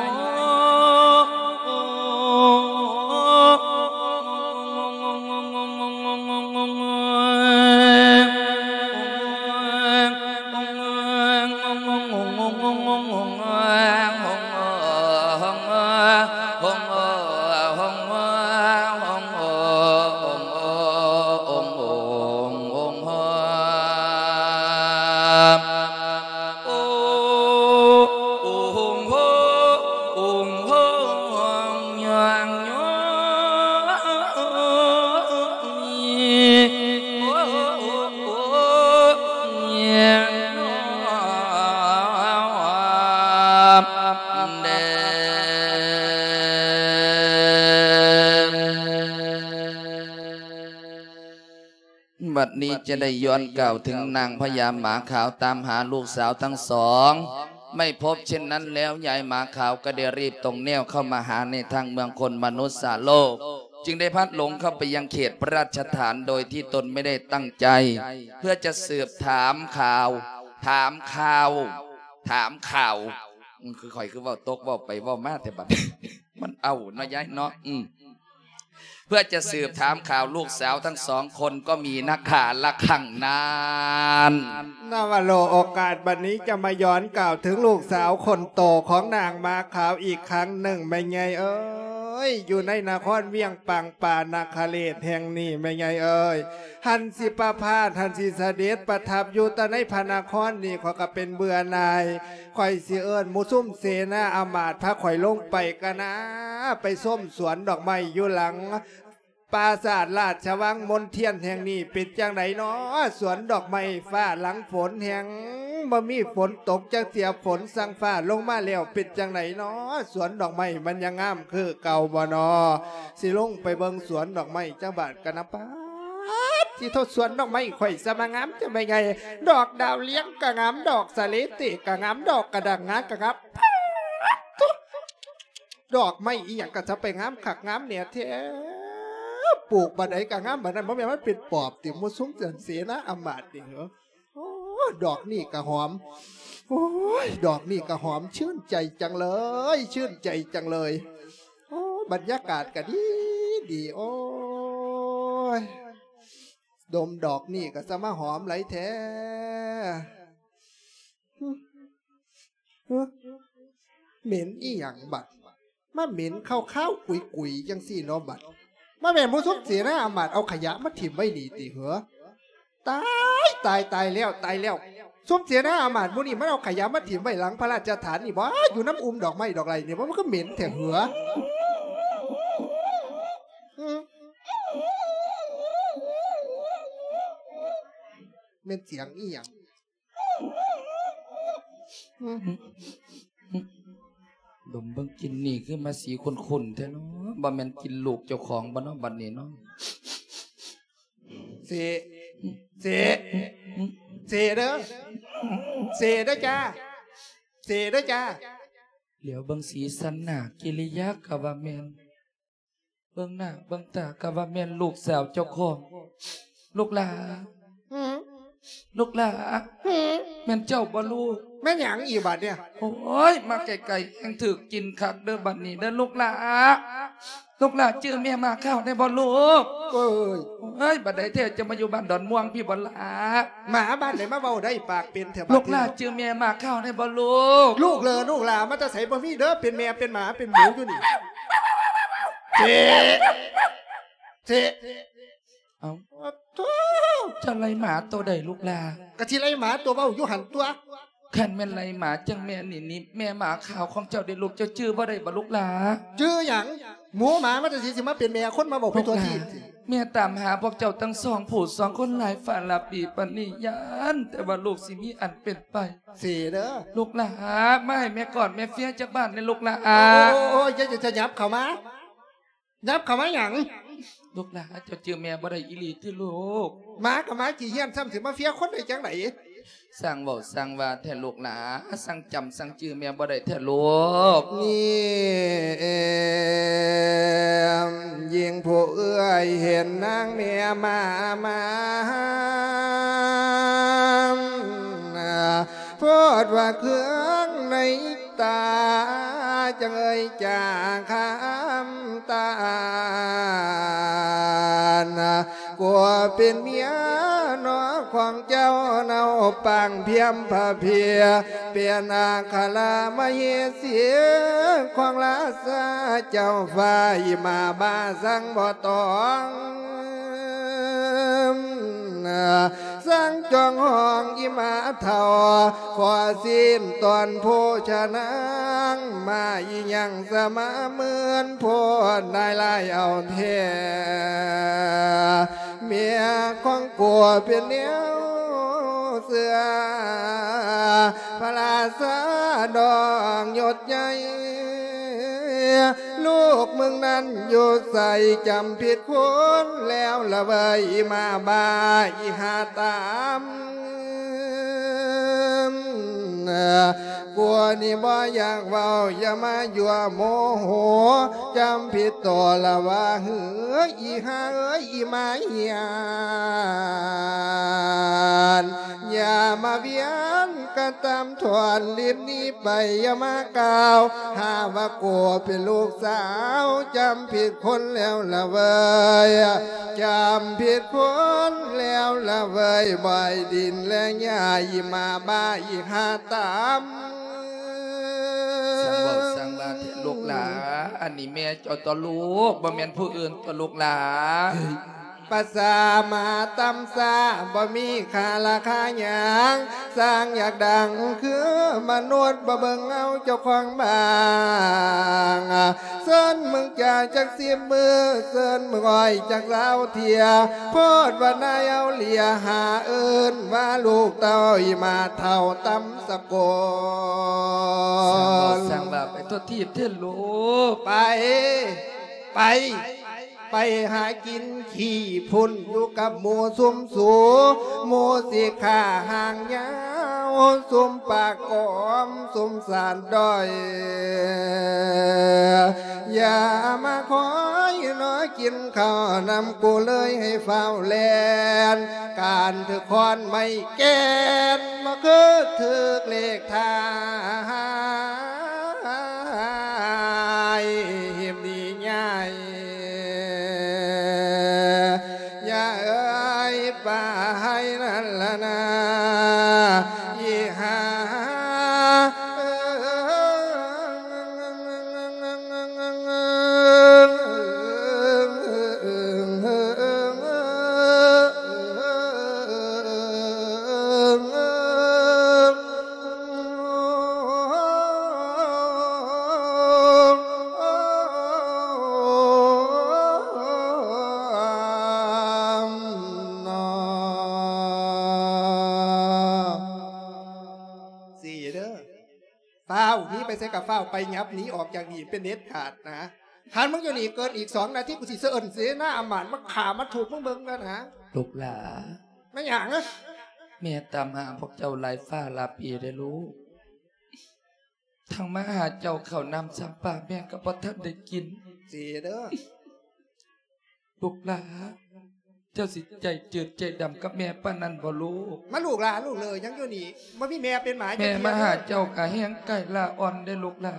ບັດນີ້ຈະໄດ້ຍ້ອນກ່າວເຖິງນາງພະຍາໝາຂາວຕາມຫາລູກສາວທັງສອງ ໄມ່ພົບເຊັ່ນນັ້ນແລ້ວ ຍາຍໝາຂາວກໍໄດ້ຣີບຕົງແນວເຂົ້າມາຫາໃນທາງເມືອງຄົນມະນຸດສະໂລກ ຈຶ່ງໄດ້ພລັດຫຼົງເຂົ້າໄປຍັງເຂດພະລາຊະຖານໂດຍທີ່ຕົນໄມ່ໄດ້ຕັ້ງໃຈ ເພື່ອຈະສືບຖາມຂ່າວ ຖາມຂ່າວ ຖາມຂ່າວ ອືມ ຄືຂ້ອຍຄືເວົ້າຕົກເວົ້າໄປເວົ້າມາແທ້ບັດ ມັນເອົາເນາະຍາຍເນາະ ອືມ ເພື່ອຈະສືບຖາມຂ່າວລູກສາວທັງສອງຄົນກໍມີນະຄະລະຄັງນັ້ນ. ນະວະໂລ ໂອກາດບັດນີ້ຈະມາຍ້ອນກ່າວເຖິງລູກສາວຄົນໂຕຂອງນາງໝາຂາວອີກຄັ້ງໜຶ່ງ ແມ່ໃຫຍ່ເອີຍ ຢູ່ໃນນະຄອນວຽງປາງປານະຄະເລດແຫ່ງນີ້ ແມ່ໃຫຍ່ເອີຍ ຫັ້ນຊິປະພາດ ຫັ້ນຊິສະເດັດປະທັບຢູ່ແຕ່ໃນພະນະຄອນນີ້ ຂ້ອຍກໍເປັນເບື່ອໜ່າຍ ຂ້ອຍຊິເອີ້ນໝູ່ຊຸມເສນາອາມາດພາຂ້ອຍລົງໄປກະນາ ໄປຊົມສວນດອກໄມ້ຢູ່ຫຼັງປາສາດລາຊະວັງມົນທຽນແຫ່ງນີ້ ເປັນຈັ່ງໃດນໍ ສວນດອກໄມ້ຟ້າຫຼັງຝົນແຮງ ບໍ່ມີຝົນຕົກຈັກເທື່ອ ຝົນສັ່ງຟ້າລົງມາແລ້ວ ເປັນຈັ່ງໃດນໍ ສວນດອກໄມ້ມັນຍັງງາມຄືເກົ່າບໍ່ນໍ ຊິລົງໄປເບິ່ງສວນດອກໄມ້ຈັກບາດກະນະ ປາດ ຊິໂທດ ສວນດອກໄມ້ຂ້ອຍສະມາງາມແທ້ແມ່ໃຫຍ່ ດອກດາວເລືອງກະງາມ ດອກສະເລເຕກະງາມ ດອກກະດັງງາກະງາມ ປາດໂທ້ ດອກໄມ້ອີ່ຫຍັງກະຊະໄປງາມຄັກງາມແນ່ແທ້ ປູກບາດໃດກະງາມບາດນັ້ນ ບໍ່ແມ່ນມັນເປັນປອບຕິ ໝູ່ຊຸມເສນາອາມາດນີ້ເຫີ ໂອ້ ດອກນີ້ກະຫອມ ໂອ້ຍ ດອກນີ້ກະຫອມ ຊື່ນໃຈຈັງເລີຍ ຊື່ນໃຈຈັງເລີຍ ໂອ້ ບັນຍາກາດກະດີດີ ໂອ້ຍ ດົມດອກນີ້ກະຊະມາຫອມຫຼາຍແທ້ ຫຶ ຫຶ ເໝັນອີ່ຫຍັງບັດ ມາເໝັນຄາວໆ ກຸຍໆ ຈັ່ງຊີ້ເນາະບັດ ມາແມ່ນໝູ່ຊຸມເສນາອາມາດເອົາຂະຫຍະມາຖິ້ມໄວ້ນີ້ຕິເຫີ ຕາຍ ຕາຍ ຕາຍແລ້ວ ຕາຍແລ້ວ ຊຸມເສນາອາມາດໝູ່ນີ້ມັນເອົາຂະຫຍະມາຖິ້ມໄວ້ຫຼັງພະລາຊະຖານນີ້ບໍ ຢູ່ນຳອຸ່ມດອກໄມ້ດອກໄຫຼນີ້ບໍ ມັນຄືເໝັນແທ້ເຫີ ຫຶ ແມ່ນສຽງອີ່ຫຍັງ? ດົມເບິ່ງກິ່ນນີ້ຄືມາສີຂຸ້ນໆແທ້ເນາະ ບໍ່ແມ່ນກິ່ນລູກເຈົ້າຂອງບໍ່ເນາະບັດນີ້ເນາະ? ເສ ເສ ເສເດີ ເສເດີຈ້າ ເສເດີຈ້າ. ຫຼຽວເບິ່ງສີສັນໜ້າກິລິຍາກະວ່າແມ່ນ ເບິ່ງໜ້າເບິ່ງຕາກະວ່າແມ່ນລູກສາວເຈົ້າຂອງ. ລູກຫຼ້າ ຫືມ ລູກຫຼ້າ ຫືມ ແມ່ນເຈົ້າບໍ່ລູກ? ແມ່ນຫຍັງອີກບາດນີ້? ໂອ້ຍ ມາໄກໆ ແຮ່ງຖືກກິ່ນຄັກເດີບັດນີ້ເດີລູກຫຼ້າ. ລູກຫຼ້າຈື່ແມ່ໝາຂາວໄດ້ບໍ່ລູກ? ເອີຍ ເອີຍ ບັດໃດແທ້ຈະມາຢູ່ບ້ານດອນມ່ວງພີ້ບໍ່ຫຼ້າ? ໝາບ້ານໃດມາເວົ້າໄດ້ປາກເປັນແທ້ບັດນີ້? ລູກຫຼ້າຈື່ແມ່ໝາຂາວໄດ້ບໍ່ລູກ? ລູກເລີ ລູກຫຼ້າມາແຕ່ໃສ? ບໍ່ມີເດີ ເປັນແມ່ເປັນໝາເປັນໝູຢູ່ນີ້. ເຈ ເຈ ເອົ້າ ໂທ້ ເຈົ້າໄລ່ໝາໂຕໃດລູກຫຼ້າ? ກະຊິໄລ່ໝາໂຕເວົ້າຢູ່ຫັ້ນຕົວະ. ຄັນແມ່ນໄລ່ໝາຈັ່ງແມ່ນີ້ ນີ້ແມ່ໝາຂາວຂອງເຈົ້າເດລູກ ເຈົ້າຈື່ບໍ່ໄດ້ບໍ່ລູກຫຼ້າ? ຈື່ຫຍັງ? ໝູໝາມາແຕ່ໃສ ຊິມາເປັນແມ່ຄົນມາເວົ້າໄປທົ່ວທີບ. ແມ່ຕາມຫາພວກເຈົ້າທັງສອງຜູ້ສອງຄົນຫຼາຍຟ້າຫຼາຍປີປານນີ້ ຢ້ານແຕ່ວ່າລູກຊິມີອັນເປັນໄປ. ເສເດີ ລູກຫຼ້າ ມາໃຫ້ແມ່ກອດແມ່ເຟຍຈັກບາດແດ່ລູກຫຼ້າ. ໂອ້ຍ ຢ່າ ຢ່າ ຢ່າຫຍັບເຂົ້າມາ. ຫຍັບເຂົ້າມາຫຍັງ? ລູກຫຼ້າ ເຈົ້າຈື່ແມ່ບໍ່ໄດ້ອີ່ຫຼີຕິລູກ? ໝາກໍໝາຂີ້ເຫ້ຍນ ຊ້ຳຊິມາເຟຍຄົນໄດ້ຈັ່ງໃດ? ຊ່າງເວົ້າຊ່າງວ່າແທ້ລູກຫຼ້າ ຊ່າງຈຳຊ່າງຈື່ແມ່ບໍ່ໄດ້ແທ້ລູກ. ນີ້ເອງ ຍິ່ງຜູ້ເອື້ອຍເຫັນນາງແມ່ມາມາ ໂພດວ່າເຄືອງໃນຕາ ຈັ່ງເອີຍຈາຄຳຕານ ກົວເປັນເມຍນ້ອງຂອງເຈົ້າເນົາ ປາງພຽມພະເພຍ ເປັນອັກຄະລະມະເຫສີຂອງລາຊາເຈົ້າຟ້າ ອີ່ໝາບ້າສັງບໍ່ຕ້ອງ ສັງຈ້ອງຫ້ອງອີ່ໝາເຖົ້າ ຂໍຊີ້ນຕອນໂພຊະນາງ ມາອີ່ຫຍັງສະມາເໝືອນໂພດ ນາຍລາຍເອົາແທ້ ເມຍຂອງກົວເປັນແນວເຊື່ອ ພະລາຊາດອກຍົດໃຫຍ່ ລູກມຶງນັ້ນຢູ່ໃສ ຈຳຜິດຄົນແລ້ວລະເວີຍ ອີ່ໝາບ້າ ອີ່ຫາຕາມ ກົວນີ້ບໍ່ຢາກເວົ້າ ຢ່າມາຍົວໂມໂຫ ຈຳຜິດໂຕລະວ່າ ເຮີ ອີ່ຫາເອີຍ ອີ່ໝາຫຍານ ຢ່າມາວຽນກັນຕາມທວນ ລີບໜີໄປ ຢ່າມາກ່າວຫາວ່າ ໂກເປັນລູກສາວ ຈຳຜິດຄົນແລ້ວລະເວີຍ ຈຳຜິດຄົນແລ້ວລະເວີຍ ບໍ່ໃຫ້ດິນແລະຫຍ້າ ອີ່ໝາບ້າ ອີ່ຫາຕາມ ຊ່າງເວົ້າຊ່າງວ່າເຖາະລູກຫຼາ ອັນນີ້ແມ່ເຈົ້າຕົວະລູກ ບໍ່ແມ່ນຜູ້ອື່ນຕົວະລູກຫຼາ. ພາສາໝາຕ່ຳຊ້າ ບໍ່ມີຄ່າລາຄາຫຍັງ ຊ່າງຢາກດັງຄືມະນຸດ ບໍ່ເບິ່ງເອົາເຈົ້າຂອງບ້າງ ເຊີນມຶງຈາຈັກສິບມື້ ເຊີນມຶງອ້ອຍຈັກຊາວເທື່ອ ໂພດວ່ານາຍເອົາເຫຼຍ ຫາເອີ້ນວ່າລູກເຕົ້າ ອີ່ໝາເຖົ້າຕ່ຳສະໂກນ ຊ່າງເວົ້າຊ່າງວ່າ ໄປທົ່ວທີບເຖາະລູກ ໄປ ໄປ ໄປຫາກິນຂີ້ພຸ້ນ ຢູ່ກັບໝູ່ຊຸມສູ ໝູ່ຊິຂ້າຫາງຍາວ ຊຸມປາກກອມ ຊຸມສານດ້ອຍ ຢ່າມາຄອຍລໍກິນເຂົ້ານຳກູເລີຍ ໃຫ້ຟ້າວແລ່ນ ການຖືກຄ້ອນໄມ້ແກ່ນ ບໍ່ຄືຖືກເລກທ້າຍ ເຫັນດີໃຫຍ່ ຢ່າເອີຍປາຍນັ້ນລະນາ ອີ່ຫາ ສີ່ເດີ ຟ້າວໜີໄປໃສກະຟ້າວໄປ ຫຍັບໜີອອກຈາກນີ້ເປັນເດັດຂາດນະ. ຄັນມຶງຢູ່ນີ້ເກີນອີກສອງນາທີ ກູຊິເຊີນເສນາອາມາດມາຂ້າມາທຸບມຶງເບິ່ງນະ. ລູກຫຼາ ແມ່ນຫຍັງ? ແມ່ຕາມຫາພວກເຈົ້າຫຼາຍຟ້າຫຼາຍປີເດ້ລູກ. ທັງມາຫາເຈົ້າເຂົ້ານ້ຳຊຳປາແມ່ກໍບໍ່ທັນໄດ້ກິນ. ເສເດີ ລູກຫຼາ ເຈົ້າຊິໃຈຈືດໃຈດຳກັບແມ່ປານນັ້ນບໍ່ລູກ? ມາລູກຫຼາ ລູກເລີຍ ຍັງຢູ່ນີ້ ບໍ່ມີແມ່ເປັນໝາ. ແມ່ມາຫາເຈົ້າກະແຮງໄກລາອ່ອນເດ້ລູກຫຼາ.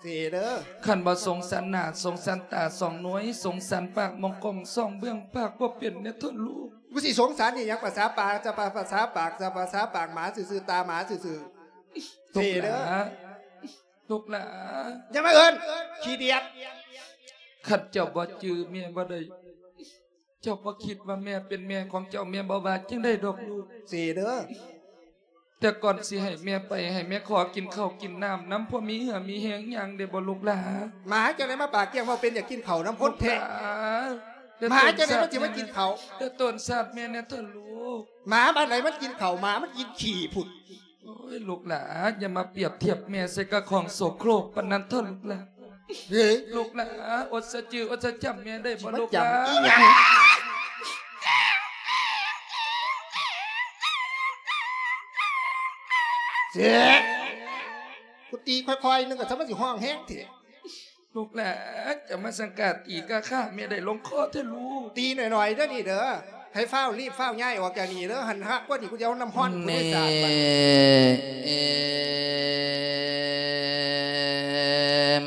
ເສເດີ ຄັນບໍ່ສົງສານໜ້າ ສົງສານຕາສອງໜ່ວຍ ສົງສານປາກມອງກ້ອງ ສອງເບື້ອງປາກບໍ່ເປັນແດ່ເທີລູກ. ກູຊິສົງສານອີ່ຫຍັງ ປະສາປາກ ຈະປະ ປະສາປາກ ຈະປະສາປາກໝາຊື່ໆ ຕາໝາຊື່ໆ. ເສເດີ ລູກຫຼາ ຢ່າມາເອີ້ນ ຂີ້ດຽດ. ຄັນເຈົ້າບໍ່ຈື່ແມ່ບໍ່ໄດ້ ເຈົ້າບໍ່ຄິດວ່າແມ່ເປັນແມ່ຂອງເຈົ້າ ແມ່ບໍ່ວ່າຈັ່ງໃດດອກລູກ. ເສເດີ ແຕ່ກ່ອນຊິໃຫ້ແມ່ໄປ ໃຫ້ແມ່ຂໍກິນເຂົ້າກິນນ້ຳນຳ ພໍມີເຫື່ອມີແຮງຍ່າງໄດ້ບໍ່ລູກຫຼາ? ໝາຈັ່ງໃດມາປາກກ້ຽງ ເວົ້າເປັນຢາກກິນເຂົ້ານຳຄົນແທ້. ໝາຈັ່ງໃດມັນຊິມາກິນເຂົ້າ? ແຕ່ຕົ້ນຊາດແມ່ແນ່ເທີລູກ. ໝາບ້ານໃດມັນກິນເຂົ້າ ໝາມັນກິນຂີ້ພຸ້ນ. ໂອ້ຍ ລູກຫຼາ ຢ່າມາປຽບທຽບແມ່ໃສ່ກັບຂອງໂສໂຄຣກປານນັ້ນເທີລູກຫຼາ. ເອີຍ ລູກຫຼາ ອົດສະຈື່ອົດສະຈຳແມ່ໄດ້ບໍ່ລູກຫຼາ? ມາຈຳອີ່ຫຍັງ? ເສ ກູຕີຄ່ອຍໆໜຶ່ງກໍຊະ ມັນຊິຮ້ອງແຮງແທ້. ລູກຫຼາ ຈະມາສັງກາດຕີກະຂ້າແມ່ໄດ້ລົງຄໍເທີລູກ. ຕີໜ້ອຍໆເດີນີ້ເດີ ໃຫ້ຟ້າວລີບຟ້າວຍ້າຍອອກຈາກນີ້ເດີ. ຫັ້ນຮາກກວ່ານີ້ ກູຈະເອົານ້ຳຮ້ອນກູໄດ້ສາດບັດ. ແມ່ ເອັມ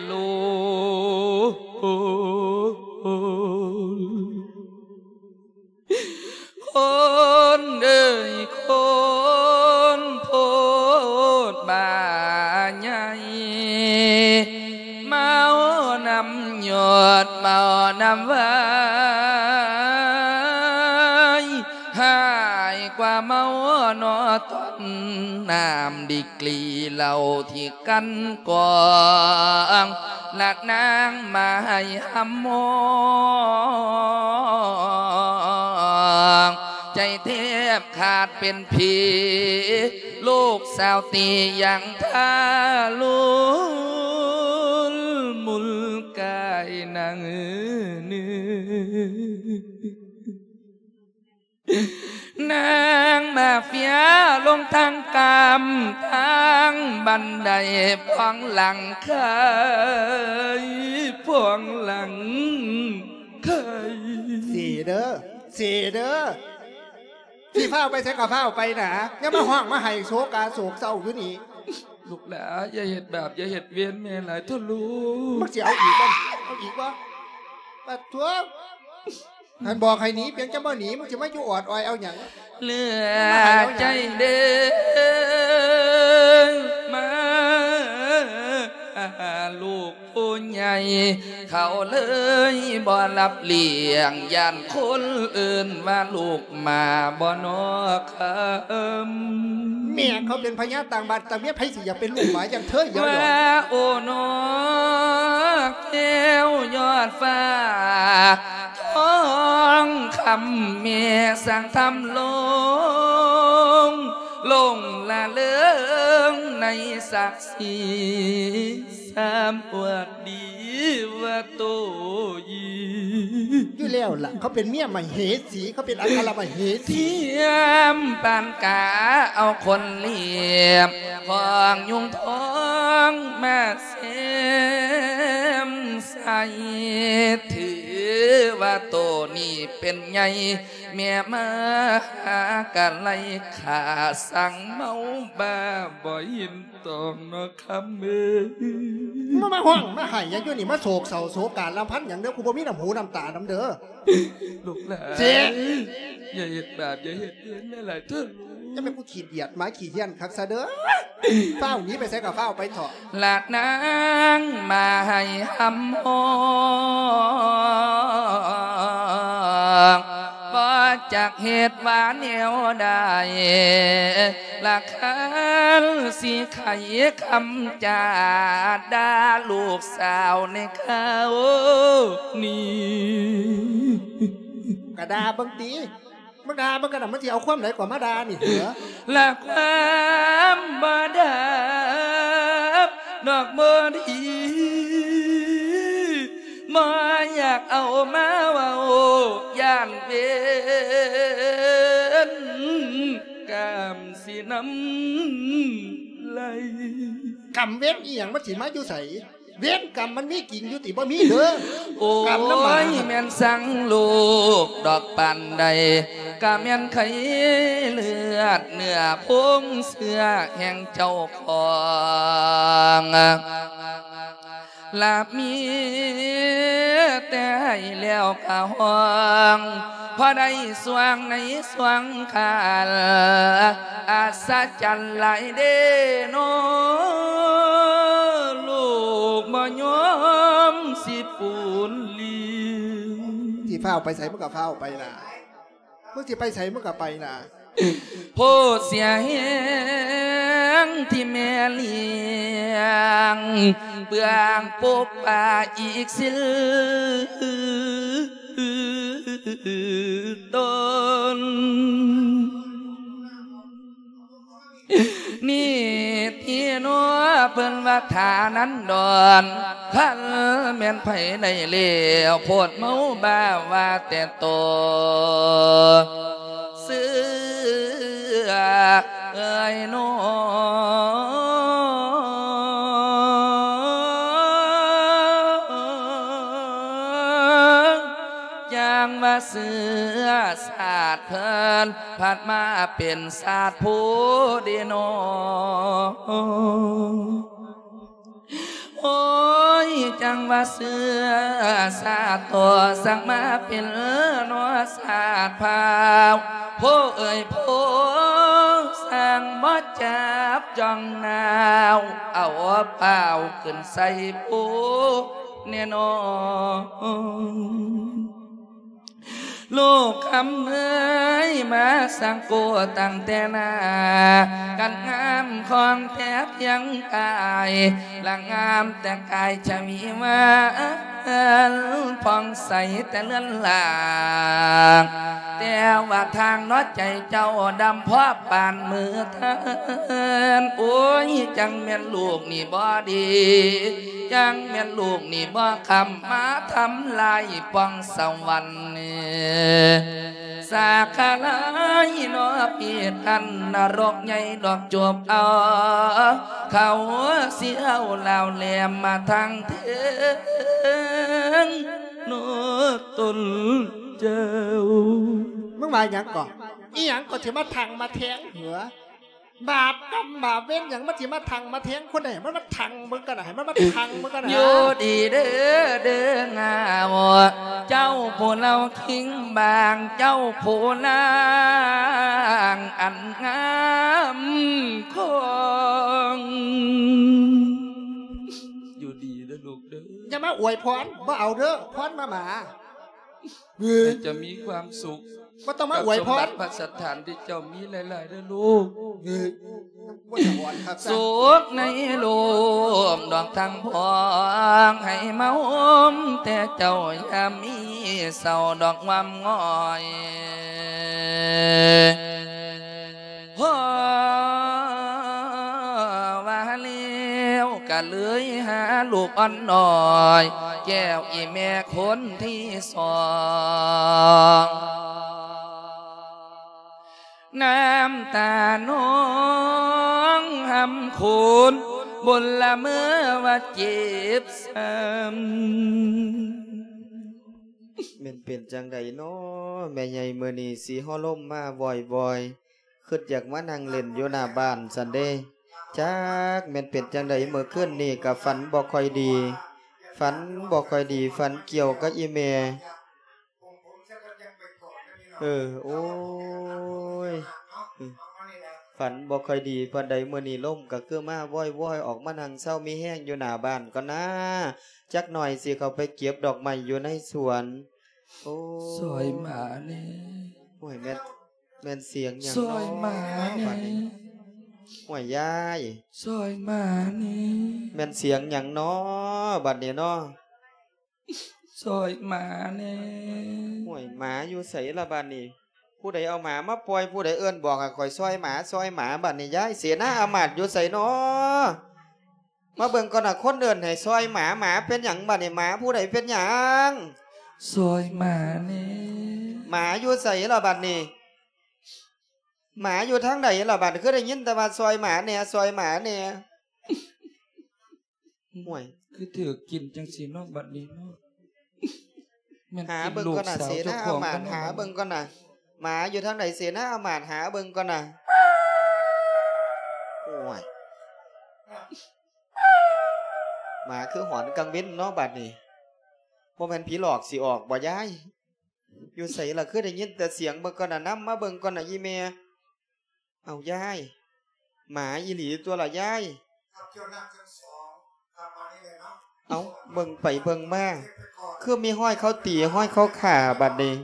ລູກ ຄົນເອີຍ ຄົນໂພດບາໃຫຍ່ ເມົານຳຍອດ ເມົານຳວາຍ ຮ້າຍກວ່າເມົານໍ ຕ້ອນນ້ຳດິກຣີເຫຼົ້າທີ່ ກັນກອງ ລະນາງມາໃຫ້ຮຳມອງ ໃຈແທບຂາດເປັນຜີ ລູກສາວຕີຍັງທາລຸນ ມຸນກາຍນາງເອີ ນາງມາເຟຍລົງທາງກາມ ທາງບັນໄດພວງຫຼັງໄຄ ພວງຫຼັງໄຄ ເສເດີ ເສເດີ ຊິຟ້າວໄປໃສກໍຟ້າວໄປນາ ຢ່າມາຮ້ອງມາໄຫ້ໂສກາໂສກເສົ້າຢູ່ນີ້ ລູກຫຼາ ຢ່າເຮັດບາບ ຢ່າເຮັດເວນແມ່ຫຼາຍເຖາະລູກ ມັນຊິເອົາອີກບໍ່ ເອົາອີກບໍ່ ປະທ້ວງ ຫັ້ນບອກໃຫ້ໜີ ເປັນຈັ່ງບໍ່ໜີ ມຶງຊິມາຢູ່ອອດອອຍເອົາຫຍັງ ເຫຼືອໃຈເດີ ມາ ລູກຜູ້ໃຫຍ່ ເຂົາເລີຍບໍ່ຮັບລ້ຽງ ຢ້ານຄົນເອີ້ນວ່າລູກໝາບໍ່ນໍຄຳ ແມ່ເຂົາເປັນພະຍາຕ່າງບ້ານຕ່າງເມືອງ ໃຜຊິຢາກເປັນລູກໝາຢ່າງເທີຍ ວ່າ ໂອ້ນໍ ແກ້ວຍອດຟ້າ ທອງຄຳແມ່ສ້າງທຳລົງ ຫຼົງລະເລີງໃນສັກສີ ສາມອວດດີວ່າໂຕຢີ ຢູ່ແລ້ວລະ ເຂົາເປັນເມຍມະເຫສີ ເຂົາເປັນອັກຄະລະມະເຫສີ ທຽມປານກາເອົາຄົນລຽບ ຂອງຍຸງທອງມາແຊມໃສ່ ຖືວ່າໂຕນີ້ເປັນໃຫຍ່ ແມ່ມາຫາກະໄລຂ້າ ສັ່ງເມົາບ້າບໍ່ເຫັນຕອງເນາະຄຳເອີຍ ມາ ມາຮ້ອງມາໄຫ້ຫຍັງຢູ່ນີ້ ມາໂສກເສົ້າໂສກາລຳພັນຫຍັງເດີ ກູບໍ່ມີນ້ຳຫູນ້ຳຕານຳເດີ ລູກຫຼານ ເສ ຢ່າເຮັດບາບ ຢ່າເຮັດເວນຫຼາຍໆເທີະ ຢ່າແມ່ນຜູ້ຂີ້ດຽດໝາຂີ້ຫ້ຽນຄັກຊະເດີ ຟ້າວໜີໄປໃສກໍຟ້າວໄປເຖາະ ລະນາງມາໃຫ້ຮຳຮອງ ບໍ່ຈັກເຮັດວ່າແນວໃດ ລະຄັນຊິໄຂຄຳຈາດ່າລູກສາວໃນຄາວນີ້ ກະດ່າເບິ່ງຕິ ມາດ່າມັນກະນຳ ມັນຊິເອົາຄວາມໃດກວ່າມາດ່ານີ້ເຫືອ ລະຄວາມບໍ່ດັບດອກບໍ່ດີ ບໍ່ຢາກເອົາມາເວົ້າ ຢ້ານເວນກຳຊິນຳໄລ່ ກຳເວນອີ່ຫຍັງ ມັນຊິມາຢູ່ໃສ? ເວນກຳມັນມີຈິງຢູ່ຕິ? ບໍ່ມີເດີ. ໂອ້ຍ ກຳນຳໝາ ແມ່ນສັງລູກດອກປານໃດ ກະແມ່ນໄຂ່ເລືອດເນື້ອໂພງເຊື້ອແຫ່ງເຈົ້າຂອງ ລະມີແຕ່ໃຫ້ແລ້ວກະຮ້ອງ ພໍໄດ້ຊ່ວງໃນຊ່ວງຄານ ອັດສະຈັນຫຼາຍເດເນາະ ລູກບໍ່ຍອມຊິປູນລີ້. ຊິຟ້າວໄປໃສ ມຶງກໍຟ້າວໄປລະ ມຶງຊິໄປໃສ ມຶງກໍໄປລະ. ໂພດເສຍແຮງທີ່ແມ່ລ້ຽງ ເບື້ອງປົກປາອີກສິນ ຕົນນີ້ທີ່ໜໍ ເພິ່ນວ່າຖານັນດອນ ຄັນແມ່ນໃຜໄດ້ແລ້ວ ໂພດເມົາບ້າວ່າແຕ່ໂຕ ເສືອເອີຍໜໍ ຢ່າງວ່າເສືອຊາດເພິ່ນ ພັດມາເປັນຊາດຜູ້ເດເນາະ. ໂອ້ຍ ຈັ່ງວ່າເຊື້ອຊາດຕໍ່ ສັກມາເປັນເນາະຊາດພາວ ໂພເອີຍໂພ ສ້າງບໍ່ຈັບຈ້ອງນາວ ເອົາປ້າວຂຶ້ນໃສ່ພູແນ່ນອນ. ລູກຄຳເອີຍ ມາສັງໂກຕັ້ງແຕ່ໜ້າ ກັນງາມຂອງແທ້ພຽງກາຍ ລະງາມແຕ່ກາຍຊະວີວານ ຜ່ອງໃສແຕ່ເລືອນລາງ ແຕ່ວ່າທາງເນາະໃຈເຈົ້າດຳພອບປານມືເທີນ ໂອ້ຍ ຈັ່ງແມ່ນລູກນີ້ບໍ່ດີ ຈັ່ງແມ່ນລູກນີ້ບໍ່ຄຳ ມາທຳລາຍປ່ອງສະຫວັນ ສາຂະລາຍເນາະ ເປັນອັນນະລົກໃຫຍ່ດອກ ຈົບເອົາ ເຂົາຊິເອົາລາວແຫຼມມາທາງເທິງເນາະຕົນເຈົ້າ. ມຶງວ່າຫຍັງເກາະ? ອີຫຍັງກໍຊິມາທັງມາແທງເຫືອ? ບາບກຳບາບເວນຫຍັງ ມັນຊິມາທັງມາແທງຄົນໃດ? ມັນມາທັງເບິ່ງກັນນະ ໃຫ້ມັນມາທັງເບິ່ງກັນນະ. ຢູ່ດີເດີ ເດີງາວ ເຈົ້າຜູ້ເລົ່າຄິງບາງ ເຈົ້າຜູ້ນາງອັນງາມຂອງ ຢູ່ດີເດີລູກເດີ. ຢ່າມາອວຍພອນ ບໍ່ເອົາເດີ ພອນໝາໆ. ໃຫ້ເຈົ້າມີຄວາມສຸກ ບໍ່ຕ້ອງມາອວຍພອນ ກັບສົມບັດພັດສະຖານທີ່ເຈົ້າມີຫຼາຍໆເດີລູກ. ເອີຍ ບໍ່ຢາກອວຍຄັກຊະ. ສຸກໃນໂລກດອກທັງພວງ ໃຫ້ມາໂຮມແຕ່ເຈົ້າ ຢ່າມີເສົ້າດອກງວາມງອຍ. ພໍວ່າແລ້ວກະເລີຍຫາລູກອ່ອນນ້ອຍ ແກ້ວອີ່ແມ່ຄົນທີສອງ ນ້ຳຕານອງຮຳໂຄນ ບົນລະເມີວ່າເຈັບຊ້ຳ. ແມ່ນເປັນຈັ່ງໃດນໍ ແມ່ໃຫຍ່ ມື້ນີ້ສີຫົວລົມມາວອຍໆ ຄຶດຢາກມານັ່ງຫຼິ້ນຢູ່ໜ້າບ້ານຊັ້ນເດ້. ຈັກແມ່ນເປັນຈັ່ງໃດ ມື້ຄືນນີ້ກະຝັນບໍ່ຄ່ອຍດີ ຝັນບໍ່ຄ່ອຍດີ ຝັນກ່ຽວກັບອີ່ແມ່. ເອີ ໂອ້ຍ ຝັນບໍ່ຄ່ອຍດີປານໃດ ມື້ນີ້ລົມກະຄືມາວອຍໆ ອອກມານັ່ງເຊົາມີແຮງຢູ່ໜ້າບ້ານກ່ອນນາ. ຈັກໜ່ອຍຊິເຂົ້າໄປເກັບດອກໄມ້ຢູ່ໃນສວນ. ໂອ້ ຊ່ອຍໝາແດ່. ໂອ້ຍ ແມ່ນ ແມ່ນສຽງຫຍັງ ຊ່ອຍໝາແດ່ ເນາະບາດນີ້? ໂອ້ຍ ຍາຍ ຊ່ອຍໝາແດ່. ແມ່ນສຽງຫຍັງເນາະບາດນີ້ເນາະ? ຊ່ອຍໝາແດ່. ໂອ້ຍ ໝາຢູ່ໃສລະບາດນີ້? ຜູ້ໃດເອົາໝາມາປ່ອຍ? ຜູ້ໃດເອີ້ນບອກໃຫ້ຂ້ອຍຊ່ອຍໝາ ຊ່ອຍໝາບາດນີ້? ຍາຍ ເສນາອາມາດຢູ່ໃສເນາະ? ມາເບິ່ງກ່ອນນະ ຄົນເອີ້ນໃຫ້ຊ່ອຍໝາ. ໝາເປັນຫຍັງບາດນີ້? ໝາຜູ້ໃດເປັນຫຍັງ? ຊ່ອຍໝາແດ່. ໝາຢູ່ໃສລະບາດນີ້? ໝາຢູ່ທາງໃດລະບາດ? ຄືໄດ້ຍິນແຕ່ວ່າຊ່ອຍໝາແດ່ ຊ່ອຍໝາແດ່. ໂອ້ຍ ຄືຖືກກິນຈັ່ງຊີ້ເນາະ ບັດນີ້ເນາະ. ແມ່ນ ຫາເບິ່ງກ່ອນນະ ເສນາອາມາດ ຫາເບິ່ງກ່ອນນະ. ໝາຢູ່ທາງໃດ ເສນາອາມາດ ຫາເບິ່ງກ່ອນນະ. ໂອ້ຍ ໝາຄືຫອນກາງເວັນເນາະ ບັດນີ້. ບໍ່ແມ່ນຜີຫຼອກຊິອອກບໍ່ຍາຍ? ຢູ່ໃສລະ ຄືໄດ້ຍິນແຕ່ສຽງ? ເບິ່ງກ່ອນນະ ນຳມາເບິ່ງກ່ອນນະ ອີ່ແມ່. ເອົາຍາຍ ໝາອີ່ຫຼີຕົວລະຍາຍ. ເອົາ ເບິ່ງໄປເບິ່ງມາ ຄືມີຮອຍເຂົາຕີ ຮອຍເຂົາຂ້າບາດນີ້.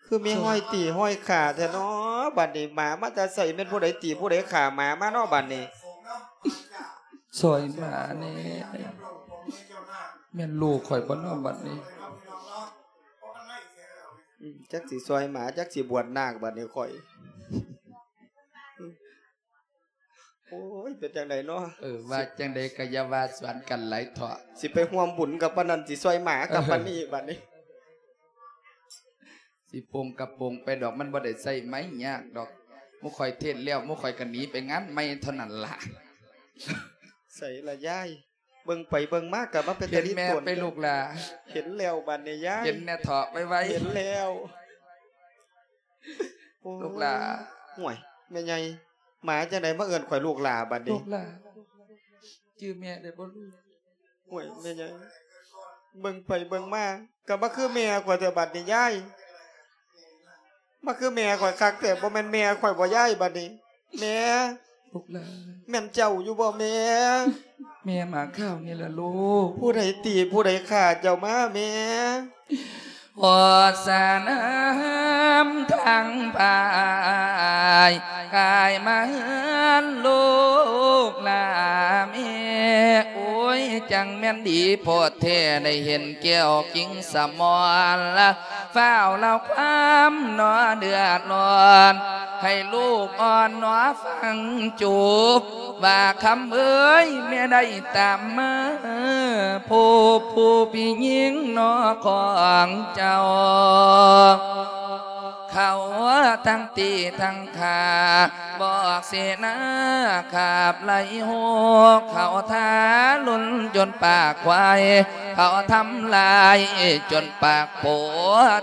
ຄືມີຮອຍຕີຮອຍຂ້າແທ້ເນາະບາດນີ້. ໝາມາແຕ່ໃສ? ແມ່ນຜູ້ໃດຕີຜູ້ໃດຂ້າໝາມາເນາະບາດນີ້? ຊ່ອຍໝາແດ່. ແມ່ນລູກຂ້ອຍບໍ່ເນາະບັດນີ້? ອືມ ຈັກຊິຊ່ອຍໝາ ຈັກຊິບວດນາກບາດນີ້ຂ້ອຍ. ໂອ້ຍ ເປັນຈັ່ງໃດເນາະ? ເອີ ວ່າຈັ່ງໃດກະຢ່າວ່າສວນກັນຫຼາຍເຖາະ. ຊິໄປຮ່ວມບຸນກັບປານນັ້ນ ຊິຊ່ອຍໝາກັບປານນີ້ບາດນີ້. ຊິໂປ່ງກະໂປ່ງໄປດອກ ມັນບໍ່ໄດ້ໃຊ້ໄມ້ຍາກດອກ. ໝູ່ຂ້ອຍເທດແລ້ວ ໝູ່ຂ້ອຍກະໜີໄປງານໃໝ່ເທົ່ານັ້ນລະ. ໃສລະຍາຍ? ເບິ່ງໄປເບິ່ງມາກະມາເປັນຕາລີ້ຕົນ ເຫັນແມ່ໄປລູກຫຼາ. ເຫັນແລ້ວບາດນີ້ຍາຍ ເຫັນແນ່ເຖາະໄວໆ. ເຫັນແລ້ວ ໂອ້ຍ ລູກຫຼາ. ໂອ້ຍ ແມ່ໃຫຍ່ ໝາຈັ່ງໃດມາເອີ້ນຂ້ອຍລູກຫຼາບາດນີ້? ລູກຫຼາ ຈື່ແມ່ໄດ້ບໍ່ລູກ? ໂອ້ຍ ແມ່ໃຫຍ່ ເບິ່ງໄປເບິ່ງມາ ກໍມາຄືແມ່ຂ້ອຍແທ້ບັດນີ້ຍາຍ ມາຄືແມ່ຂ້ອຍຄັກແທ້ ບໍ່ແມ່ນແມ່ຂ້ອຍບໍ່ຍາຍ ບັດນີ້ ແມ່ ລູກຫຼານ ແມ່ນເຈົ້າຢູ່ບໍ່ແມ່? ແມ່ໝາຂາວນີ້ລະລູກ. ຜູ້ໃດຕີຜູ້ໃດຂ້າເຈົ້າມາແມ່? ໂອສະນາມທາງພາຍ ກາຍມາເຮືອນລູກຫຼາແມ່. ໂອ້ຍ ຈັ່ງແມ່ນດີໂພດແທ້ ໄດ້ເຫັນແກ້ວກິ່ງສະໝອນລະ ຟ້າວເລົ່າຄວາມໜໍເດືອດຮ້ອນ ໃຫ້ລູກອ່ອນໜໍຟັງຈູບ ວ່າຄຳເອີຍ ແມ່ໄດ້ຕາມມາ ພົບຜູ້ພີ່ຍິງໜໍຂອງເຈົ້າ ເຂົາທັງຕີທັງຂ້າ ບອກເສນາຂາບໄລ່ໂຮກ ເຂົາທາລຸນຈົນປາກຄວາຍ ເຂົາທຳລາຍຈົນປາກໂປ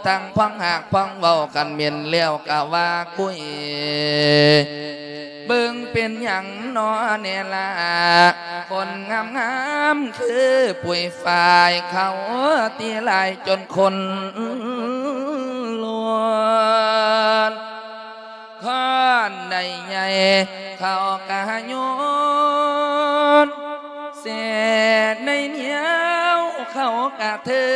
ທັງພວງຫາກພວງເວົ້າກັນເໝັນແລ້ວກະວ່າຄຸຍ ເບິ່ງເປັນຫຍັງນໍແນ່ລະ ຄົນງາມໆຄືປຸຍຝ້າຍ ເຂົາຕີຫຼາຍຈົນຄົນລວນ ຄອນໄດ້ໃຫຍ່ ເຂົາກະໂຍນ ແສໃນໜຽວ ເຂົາກະເທີ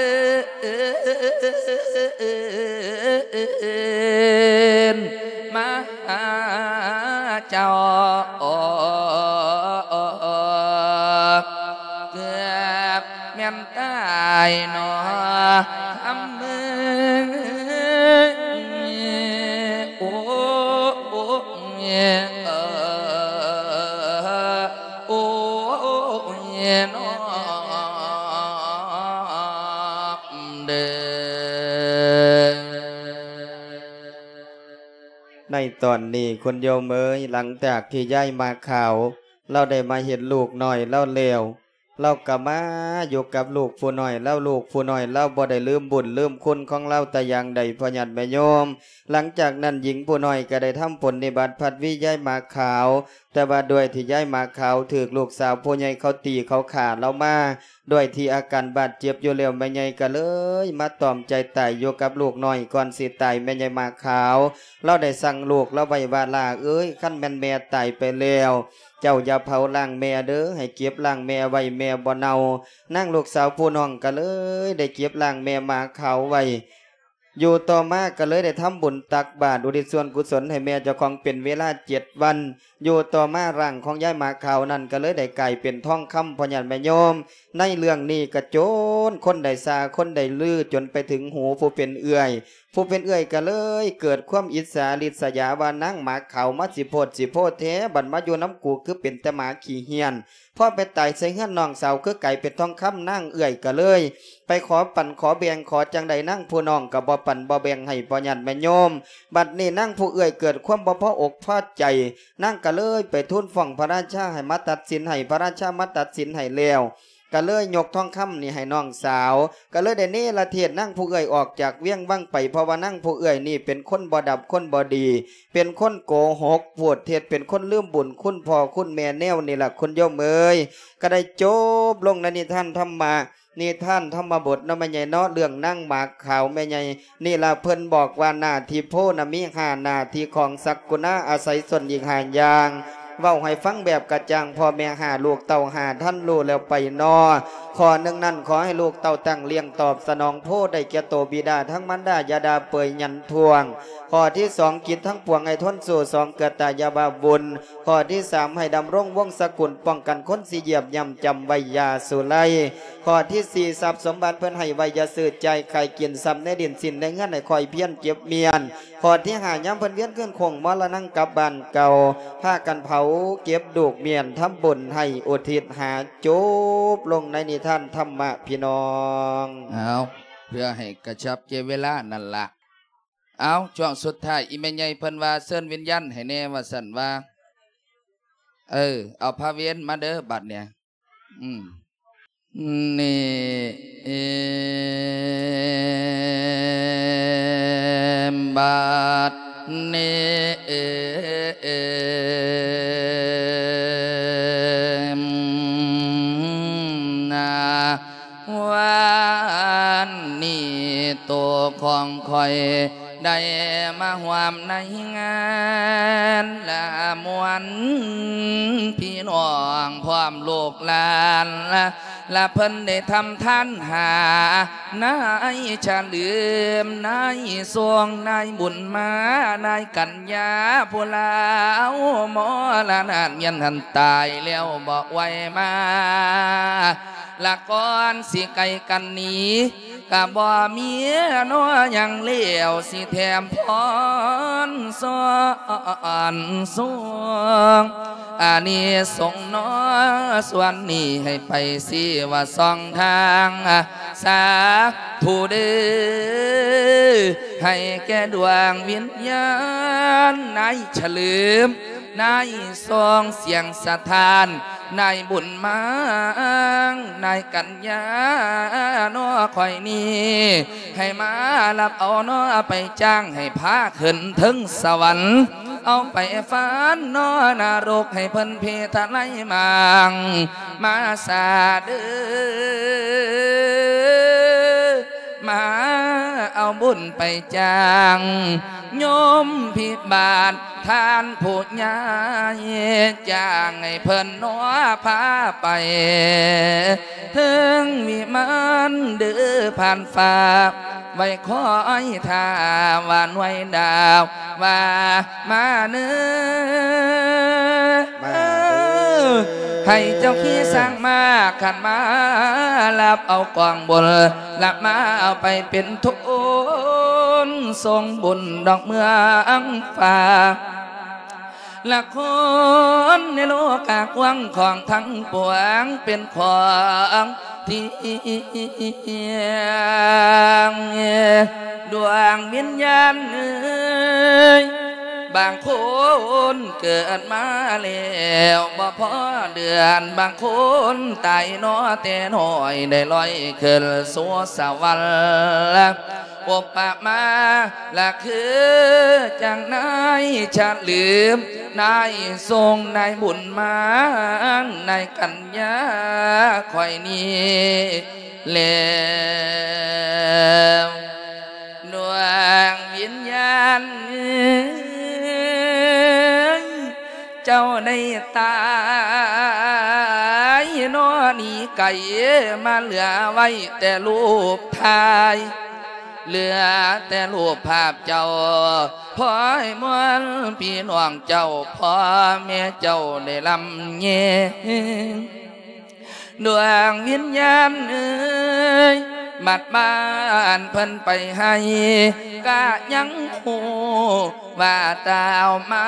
ນມາຫາເຈົ້າ ເກືອບແມ່ນຕາຍໜໍຄຳເອີຍ ໂອ້ ໂອ້ ເອີ ໂອ້ຍ ນ້ອງເດີ. ໃນຕອນນີ້ ຄຸນໂຍມເອີຍ, ຫຼັງຈາກທີ່ຍາຍໝາກຂາວ ລາວໄດ້ມາເຫັນລູກນ້ອຍລາວແລ້ວ, ລາວກໍມາຢູ່ກັບລູກຜູ້ນ້ອຍລາວ, ລູກຜູ້ນ້ອຍລາວບໍ່ໄດ້ລືມບຸນລືມຄຸນຂອງລາວແຕ່ຢ່າງໃດ ພໍ່ຍາດແມ່ໂຍມ. ຫຼັງຈາກນັ້ນ ຍິງຜູ້ນ້ອຍກໍໄດ້ທຳບຸນນິບັດພັດວີຍາຍໝາກຂາວ, ແຕ່ວ່າດ້ວຍທີ່ຍາຍໝາກຂາວຖືກລູກສາວຜູ້ໃຫຍ່ເຂົາຕີເຂົາຂ້າລາວມາ, ດ້ວຍທີ່ອາການບາດເຈັບຢູ່ແລ້ວ, ແມ່ໃຫຍ່ກໍເລີຍມາຕອມໃຈຕາຍຢູ່ກັບລູກນ້ອຍ. ກ່ອນຊິຕາຍ ແມ່ໃຫຍ່ໝາກຂາວລາວໄດ້ສັ່ງລູກລາວໄວ້ວ່າ ຫຼ້າເອີຍ, ຄັນແມ່ນແມ່ຕາຍໄປແລ້ວ ເຈົ້າຢ່າເຜົາຮ່າງແມ່ເດີ, ໃຫ້ເກັບຮ່າງແມ່ໄວ້, ແມ່ບໍ່ເນົ່າ. ນາງລູກສາວຜູ້ນ້ອງກໍເລີຍໄດ້ເກັບຮ່າງແມ່ໝາກຂາວໄວ້. ຢູ່ຕໍ່ມາກໍເລີຍໄດ້ທຳບຸນຕັກບາດ ອຸທິດສ່ວນກຸສົນໃຫ້ແມ່ເຈົ້າຂອງເປັນເວລາເຈັດວັນ. ຢູ່ຕໍ່ມາ ຮ່າງຂອງຍາຍໝາກຂາວນັ້ນກໍເລີຍໄດ້ກາຍເປັນທອງຄຳ ພໍ່ຍາດແມ່ໂຍມ. ໃນເລື່ອງນີ້ກໍຈົນຄົນໄດ້ຊ່າ ຄົນໄດ້ລື ຈົນໄປເຖິງຫູຜູ້ເປັນເອື້ອຍ. ຜູ້ເປັນເອື້ອຍກໍເລີຍເກີດຄວາມອິດສາລິດສະຢາວ່າ ນາງໝາກຂາວມາຊິໂພດຊິໂພແທ້, ບັດມາຢູ່ນຳກູຄືເປັນແຕ່ໝາຂີ້ເຫ້ຍນ. ພໍໄປຕາຍໃສ່ເຮືອນນ້ອງສາວ ຄືກາຍເປັນທອງຄຳ, ນາງເອື້ອຍກໍເລີຍໄປຂໍປັນຂໍແບ່ງ ຂໍຈັ່ງໃດນາງຜູ້ນ້ອງກໍບໍ່ປັນບໍ່ແບ່ງໃຫ້ ພໍ່ຍາດແມ່ໂຍມ. ບັດນີ້ນາງຜູ້ເອື້ອຍເກີດຄວາມບໍ່ພໍອົກພໍໃຈ, ນາງກໍເລີຍໄປທູນຟ້ອງພະລາຊາໃຫ້ມາຕັດສິນໃຫ້, ພະລາຊາມາຕັດສິນໃຫ້ແລ້ວ ກໍເລີຍຍົກທອງຄຳນີ້ໃຫ້ນ້ອງສາວ, ກໍເລີຍໄດ້ເນລະເທດນາງຜູ້ເອື້ອຍອອກຈາກວຽງວັງໄປ, ເພາະວ່ານາງຜູ້ເອື້ອຍນີ້ເປັນຄົນບໍ່ດັບ ຄົນບໍ່ດີ, ເປັນຄົນໂກຫົກ ໂພດເທັດ, ເປັນຄົນລືມບຸນຄຸນພໍ່ຄຸນແມ່ແນວນີ້ລະ ຄຸນໂຍມເອີຍ. ກໍໄດ້ຈົບລົງໃນນິທານທຳມະ ນິທານທຳມະບົດເນາະ ແມ່ໃຫຍ່ເນາະ, ເລື່ອງນາງໝາກຂາວແມ່ໃຫຍ່ນີ້ລະ. ເພິ່ນບອກວ່າ ໜ້າທີ່ໂພນະມີຫ້າໜ້າທີ່ ຂອງສັກກຸນາອາໄສສົ້ນອີກຫ້າຢ່າງ. ເວົ້າໃຫ້ຟັງແບບກະຈ່າງ, ພໍ່ແມ່ຫ້າ ລູກເຕົ້າຫ້າ ທ່ານຮູ້ແລ້ວໄປນໍ. ຂໍ້ໜຶ່ງນັ້ນ ຂໍໃຫ້ລູກເຕົ້າຕັ້ງລ້ຽງຕອບສະໜອງໂພໄດ້ແກ່ໂຕບິດາທັງມານດາ ຢ່າດ່າເປີຍຫຍັນທ້ວງ. ຂໍ້ທີສອງ ກິດທັງປວງໃຫ້ທົນສູ້ ສອງເກືອຕາຢ່າວ່າວຸ່ນ. ຂໍ້ທີສາມ ໃຫ້ດຳລົງວົງສະກຸນ ປ້ອງກັນຄົນຊິຢຽບຍ່ຳ ຈຳໄວ້ຢ່າສຸໄລ. ຂໍ້ທີສີ່ ຊັບສົມບັດເພິ່ນໃຫ້ໄວ້ຢ່າຊື້ ຈ່າຍຂາຍກິນ ຊັບໃນດິນສິນໃນເຮືອນໃຫ້ຄ່ອຍພຽນເກັບມ້ຽນ. ຂໍ້ທີຫ້າ ຍາມເພິ່ນວຽນຄືນໂຄ້ງມໍລະນັງກັບບ້ານເກົ່າ ພາກັນເຜົາເກັບດູກມ້ຽນ ທຳບຸນໃຫ້ອຸທິດຫາ. ຈົບລົງໃນນິທານທຳມະພີ່ນ້ອງ. ເອົາ ເພື່ອໃຫ້ກະຊັບແກ່ເວລານັ້ນລະ. ເອົາ ຊ່ວງສຸດທ້າຍ ອີແມ່ໃຫຍ່ເພິ່ນວ່າເຊີນວິນຍານໃຫ້ແດ່ວ່າຊັ້ນວ່າ. ເອີ ເອົາພະເວນມາເດີບັດເນີ້ຍ. ອືມ ນີ້ ເອມ ບັດນີ້ ເອມ ອັນນີ້ໂຕຂອງຂ້ອຍໄດ້ມາຮ່ວມໃນງານລະມ່ວນ ພີ່ນ້ອງພ້ອມລູກຫຼານ ລະເພິ່ນໄດ້ທຳທານຫາ ນາຍສະເຫຼີມ ນາຍຊົງ ນາຍບຸນມາ ນາຍກັນຍາ ຜູ້ລາວມໍລະນະ ວຽນຫັນຕາຍແລ້ວບໍ່ໄຫວມາ ລະກ່ອນຊິໄກກັນໜີ ກະບໍ່ມີນໍຫຍັງແລ້ວ ຊິແຖມພອນສອນສູງ ອານິສົງນໍ ສ່ວນນີ້ໃຫ້ໄປຊີ້ວ່າຊ່ອງທາງ ສາທຸເດີ້ ໃຫ້ແກ່ດວງວິນຍານນາຍສະເຫຼີມ ນາຍຊົງ ສຽງສະທ້ານ ນາຍບຸນມາ ນາຍກັນຍາ ນໍຂ້ອຍນີ້ ໃຫ້ມາຮັບເອົານໍໄປຈ້າງ ໃຫ້ພາຂຶ້ນເທິງສະຫວັນ ເອົາໄປຟານນໍນະລົກ ໃຫ້ເພິ່ນເພທະໄລມາງ ມາສາເດີ້ ມາເອົາບຸນໄປຈ້າງ ໂຍມພິບານທ່ານຜູ້ໃຫຍ່ ຈ້າງໃຫ້ເພິ່ນນໍພາໄປ ເທິງວິມານເດີຜ່ານຟ້າ ໄວ້ຄອຍຖ້າວ່າໜ່ວຍດາວວ່າມາເນີ ມາເດີ ໃຫ້ເຈົ້າຂີ່ຊ້າງມາ ຂັນມາຮັບເອົາກອງບຸນ ລະມາເອົາໄປເປັນທຶນສົ່ງບຸນດອກເມືອງຟ້າ ລະຄົນໃນໂລກາກວ້າງຂອງທັງປວງ ເປັນຂອງທີ່ດວງວິນຍານເອີຍ ບາງຄົນເກີດມາແລ້ວບໍ່ພໍເດືອນ ບາງຄົນຕາຍນໍແຕ່ນ້ອຍ ໄດ້ລອຍຂຶ້ນສູ່ສະຫວັນ ອຸປະມາລະຄືຈັ່ງນາຍສະເຫຼີມ ນາຍຊົງ ນາຍບຸນມາ ນາຍກັນຍາຂ້ອຍນີ້ແລ້ວ ດວງວິນຍານເອີຍ ເຈົ້າໄດ້ຕາຍນໍ ໜີໄກມາເຫຼືອໄວ້ແຕ່ຮູບຖ່າຍ ເຫຼືອແຕ່ຮູບພາບເຈົ້າ ພອຍມວນພີ່ນ້ອງເຈົ້າ ພໍ່ແມ່ເຈົ້າໄດ້ລຳແຍງ ດວງວິນຍານເອີຍ ບັດບ້ານເພິ່ນໄປໃຫ້ ກະຍັງຮູ້ວ່າຕ່າວມາ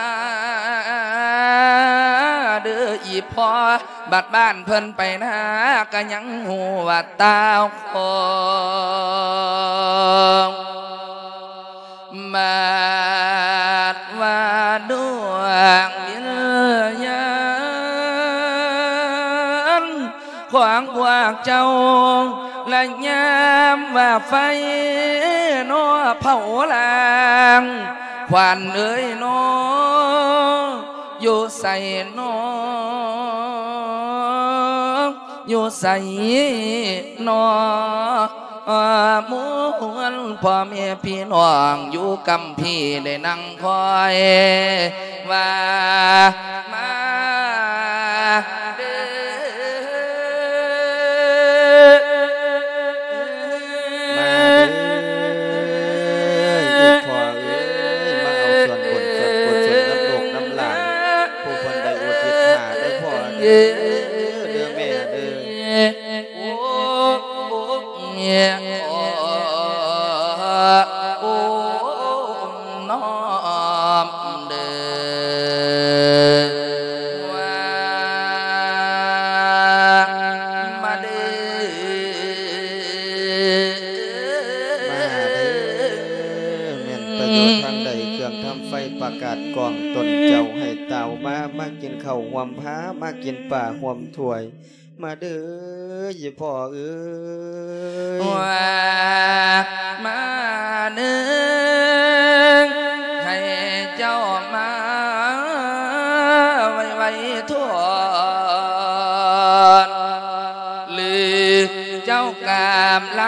ເດີອີ່ພໍ່ ບັດບ້ານເພິ່ນໄປນາ ກະຍັງຮູ້ວ່າຕ່າວຂອງ ບາດວ່າດວງວິນຍານຂອງພວກເຈົ້າ ລະຍາມວ່າໄຟນໍເຜົາລ້າງ ຂວັນເອີຍນໍ ຢູ່ໃສນໍ ຢູ່ໃສນໍ ມວນພໍ່ແມ່ພີ່ນ້ອງຢູ່ກຳພີໄດ້ນັ່ງຄອຍວ່າມາເດີ ມາເດີ ອີ່ພໍ່ເອີຍ ມາເອົາສ່ວນບຸນສ່ວນກຸສົນນຳລູກນຳຫຼານ ຜູ້ເພິ່ນໄດ້ອຸທິດຫາເດີພໍ່ເດີ ເດີແມ່ເດີ ໂອ້ ໂອ້ ໂອ້ ໂອ້ ນ້ອມເດີ ວ່າມາເດີ ມາເດີ ແມ່ນປະໂຫຍດທາງໃດ ເຄື່ອງທຳໄຟປະກາດກອງຕົນເຈົ້າໃຫ້ຕ່າວມາ ມາກິນເຂົ້າຮ່ວມພາ ມາກິນປາຮ່ວມຖ້ວຍ ມາເດີ ອີ່ພໍ່ເອີຍ ວ່າມາເດີ ໃຫ້ເຈົ້າມາໄວໆທອດ ຫຼືເຈົ້າກາບລະ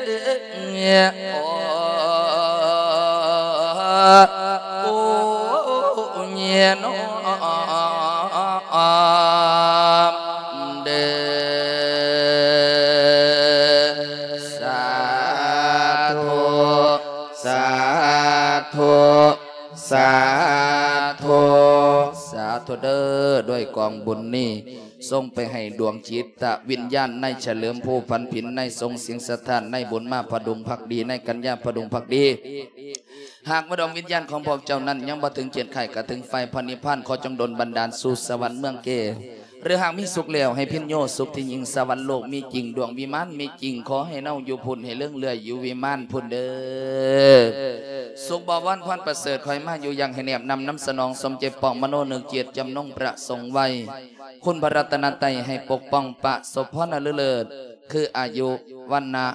ໂອ້ ໂອ້ຍເນາະ ເດີ ສາທຸ ສາທຸ ສາທຸ ສາທຸເດີ ດ້ວຍກອງບຸນນີ້ ສົ່ງໄປໃຫ້ດວງຈິດຕະວິນຍານນາຍສະເຫຼີມ ຜູ້ພັນຜິນ, ນາຍຊົງ ສິງສະຖານ, ນາຍບຸນມາ ຜະດຸງພັກດີ, ນາຍກັນຍາ ຜະດຸງພັກດີ. ຫາກວ່າດວງວິນຍານຂອງພວກເຈົ້ານັ້ນຍັງບໍ່ເຖິງຂຽດຄ້າຍກະເຖິງໄຟພະນິບພານ, ຂໍຈົ່ງດົນບັນດານສູ່ສະຫວັນເມືອງເກ. ຫຼືຫາກມີສຸກແລ້ວໃຫ້ພິນໂຍສຸກທີ່ຍິ່ງ, ສະຫວັນໂລກມີຈິງ, ດວງວິມານມີຈິງ, ຂໍໃຫ້ເຮົາຢູ່ພຸ້ນ, ໃຫ້ເລື່ອງເລື່ອຍຢູ່ວິມານພຸ້ນເດີ. ສຸກບໍວອນພອນປະເສີດ, ຂໍໃຫ້ມາຢູ່ຢ່າງໃຫ້ແນບນຳນຳສະໜອງ, ສົມໃຈປອງມະໂນນຶກຈິດ, ຈຳນົງປະສົງໄວ້. ຄຸນພະລັດຕະນະໄຕໃຫ້ປົກປ້ອງປະສົບພອນອັນເລີດ ຄືອາຍຸ ວັນນະ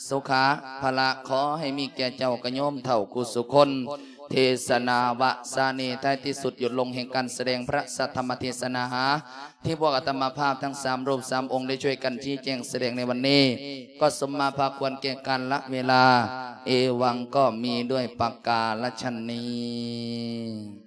ສຸຂະ ພະລະ ຂໍໃຫ້ມີແກ່ເຈົ້າກະໂຍມເຖົ້າຄູ່ສຸຄົນ. ເທສະນາວະສານີ ທ້າຍທີ່ສຸດ ຢຸດລົງແຫ່ງການສະແດງພະສັດທຳມະເທສະນາ ທີ່ພວກອາດຕະມາພາບທັງສາມຮູບສາມອົງໄດ້ຊ່ວຍກັນຊີ້ແຈງສະແດງໃນວັນນີ້ ກໍສົມມາພາຄວນແກ່ການລະເວລາ. ເອວັງ ກໍມີດ້ວຍປະກາລະຊະນນີ້.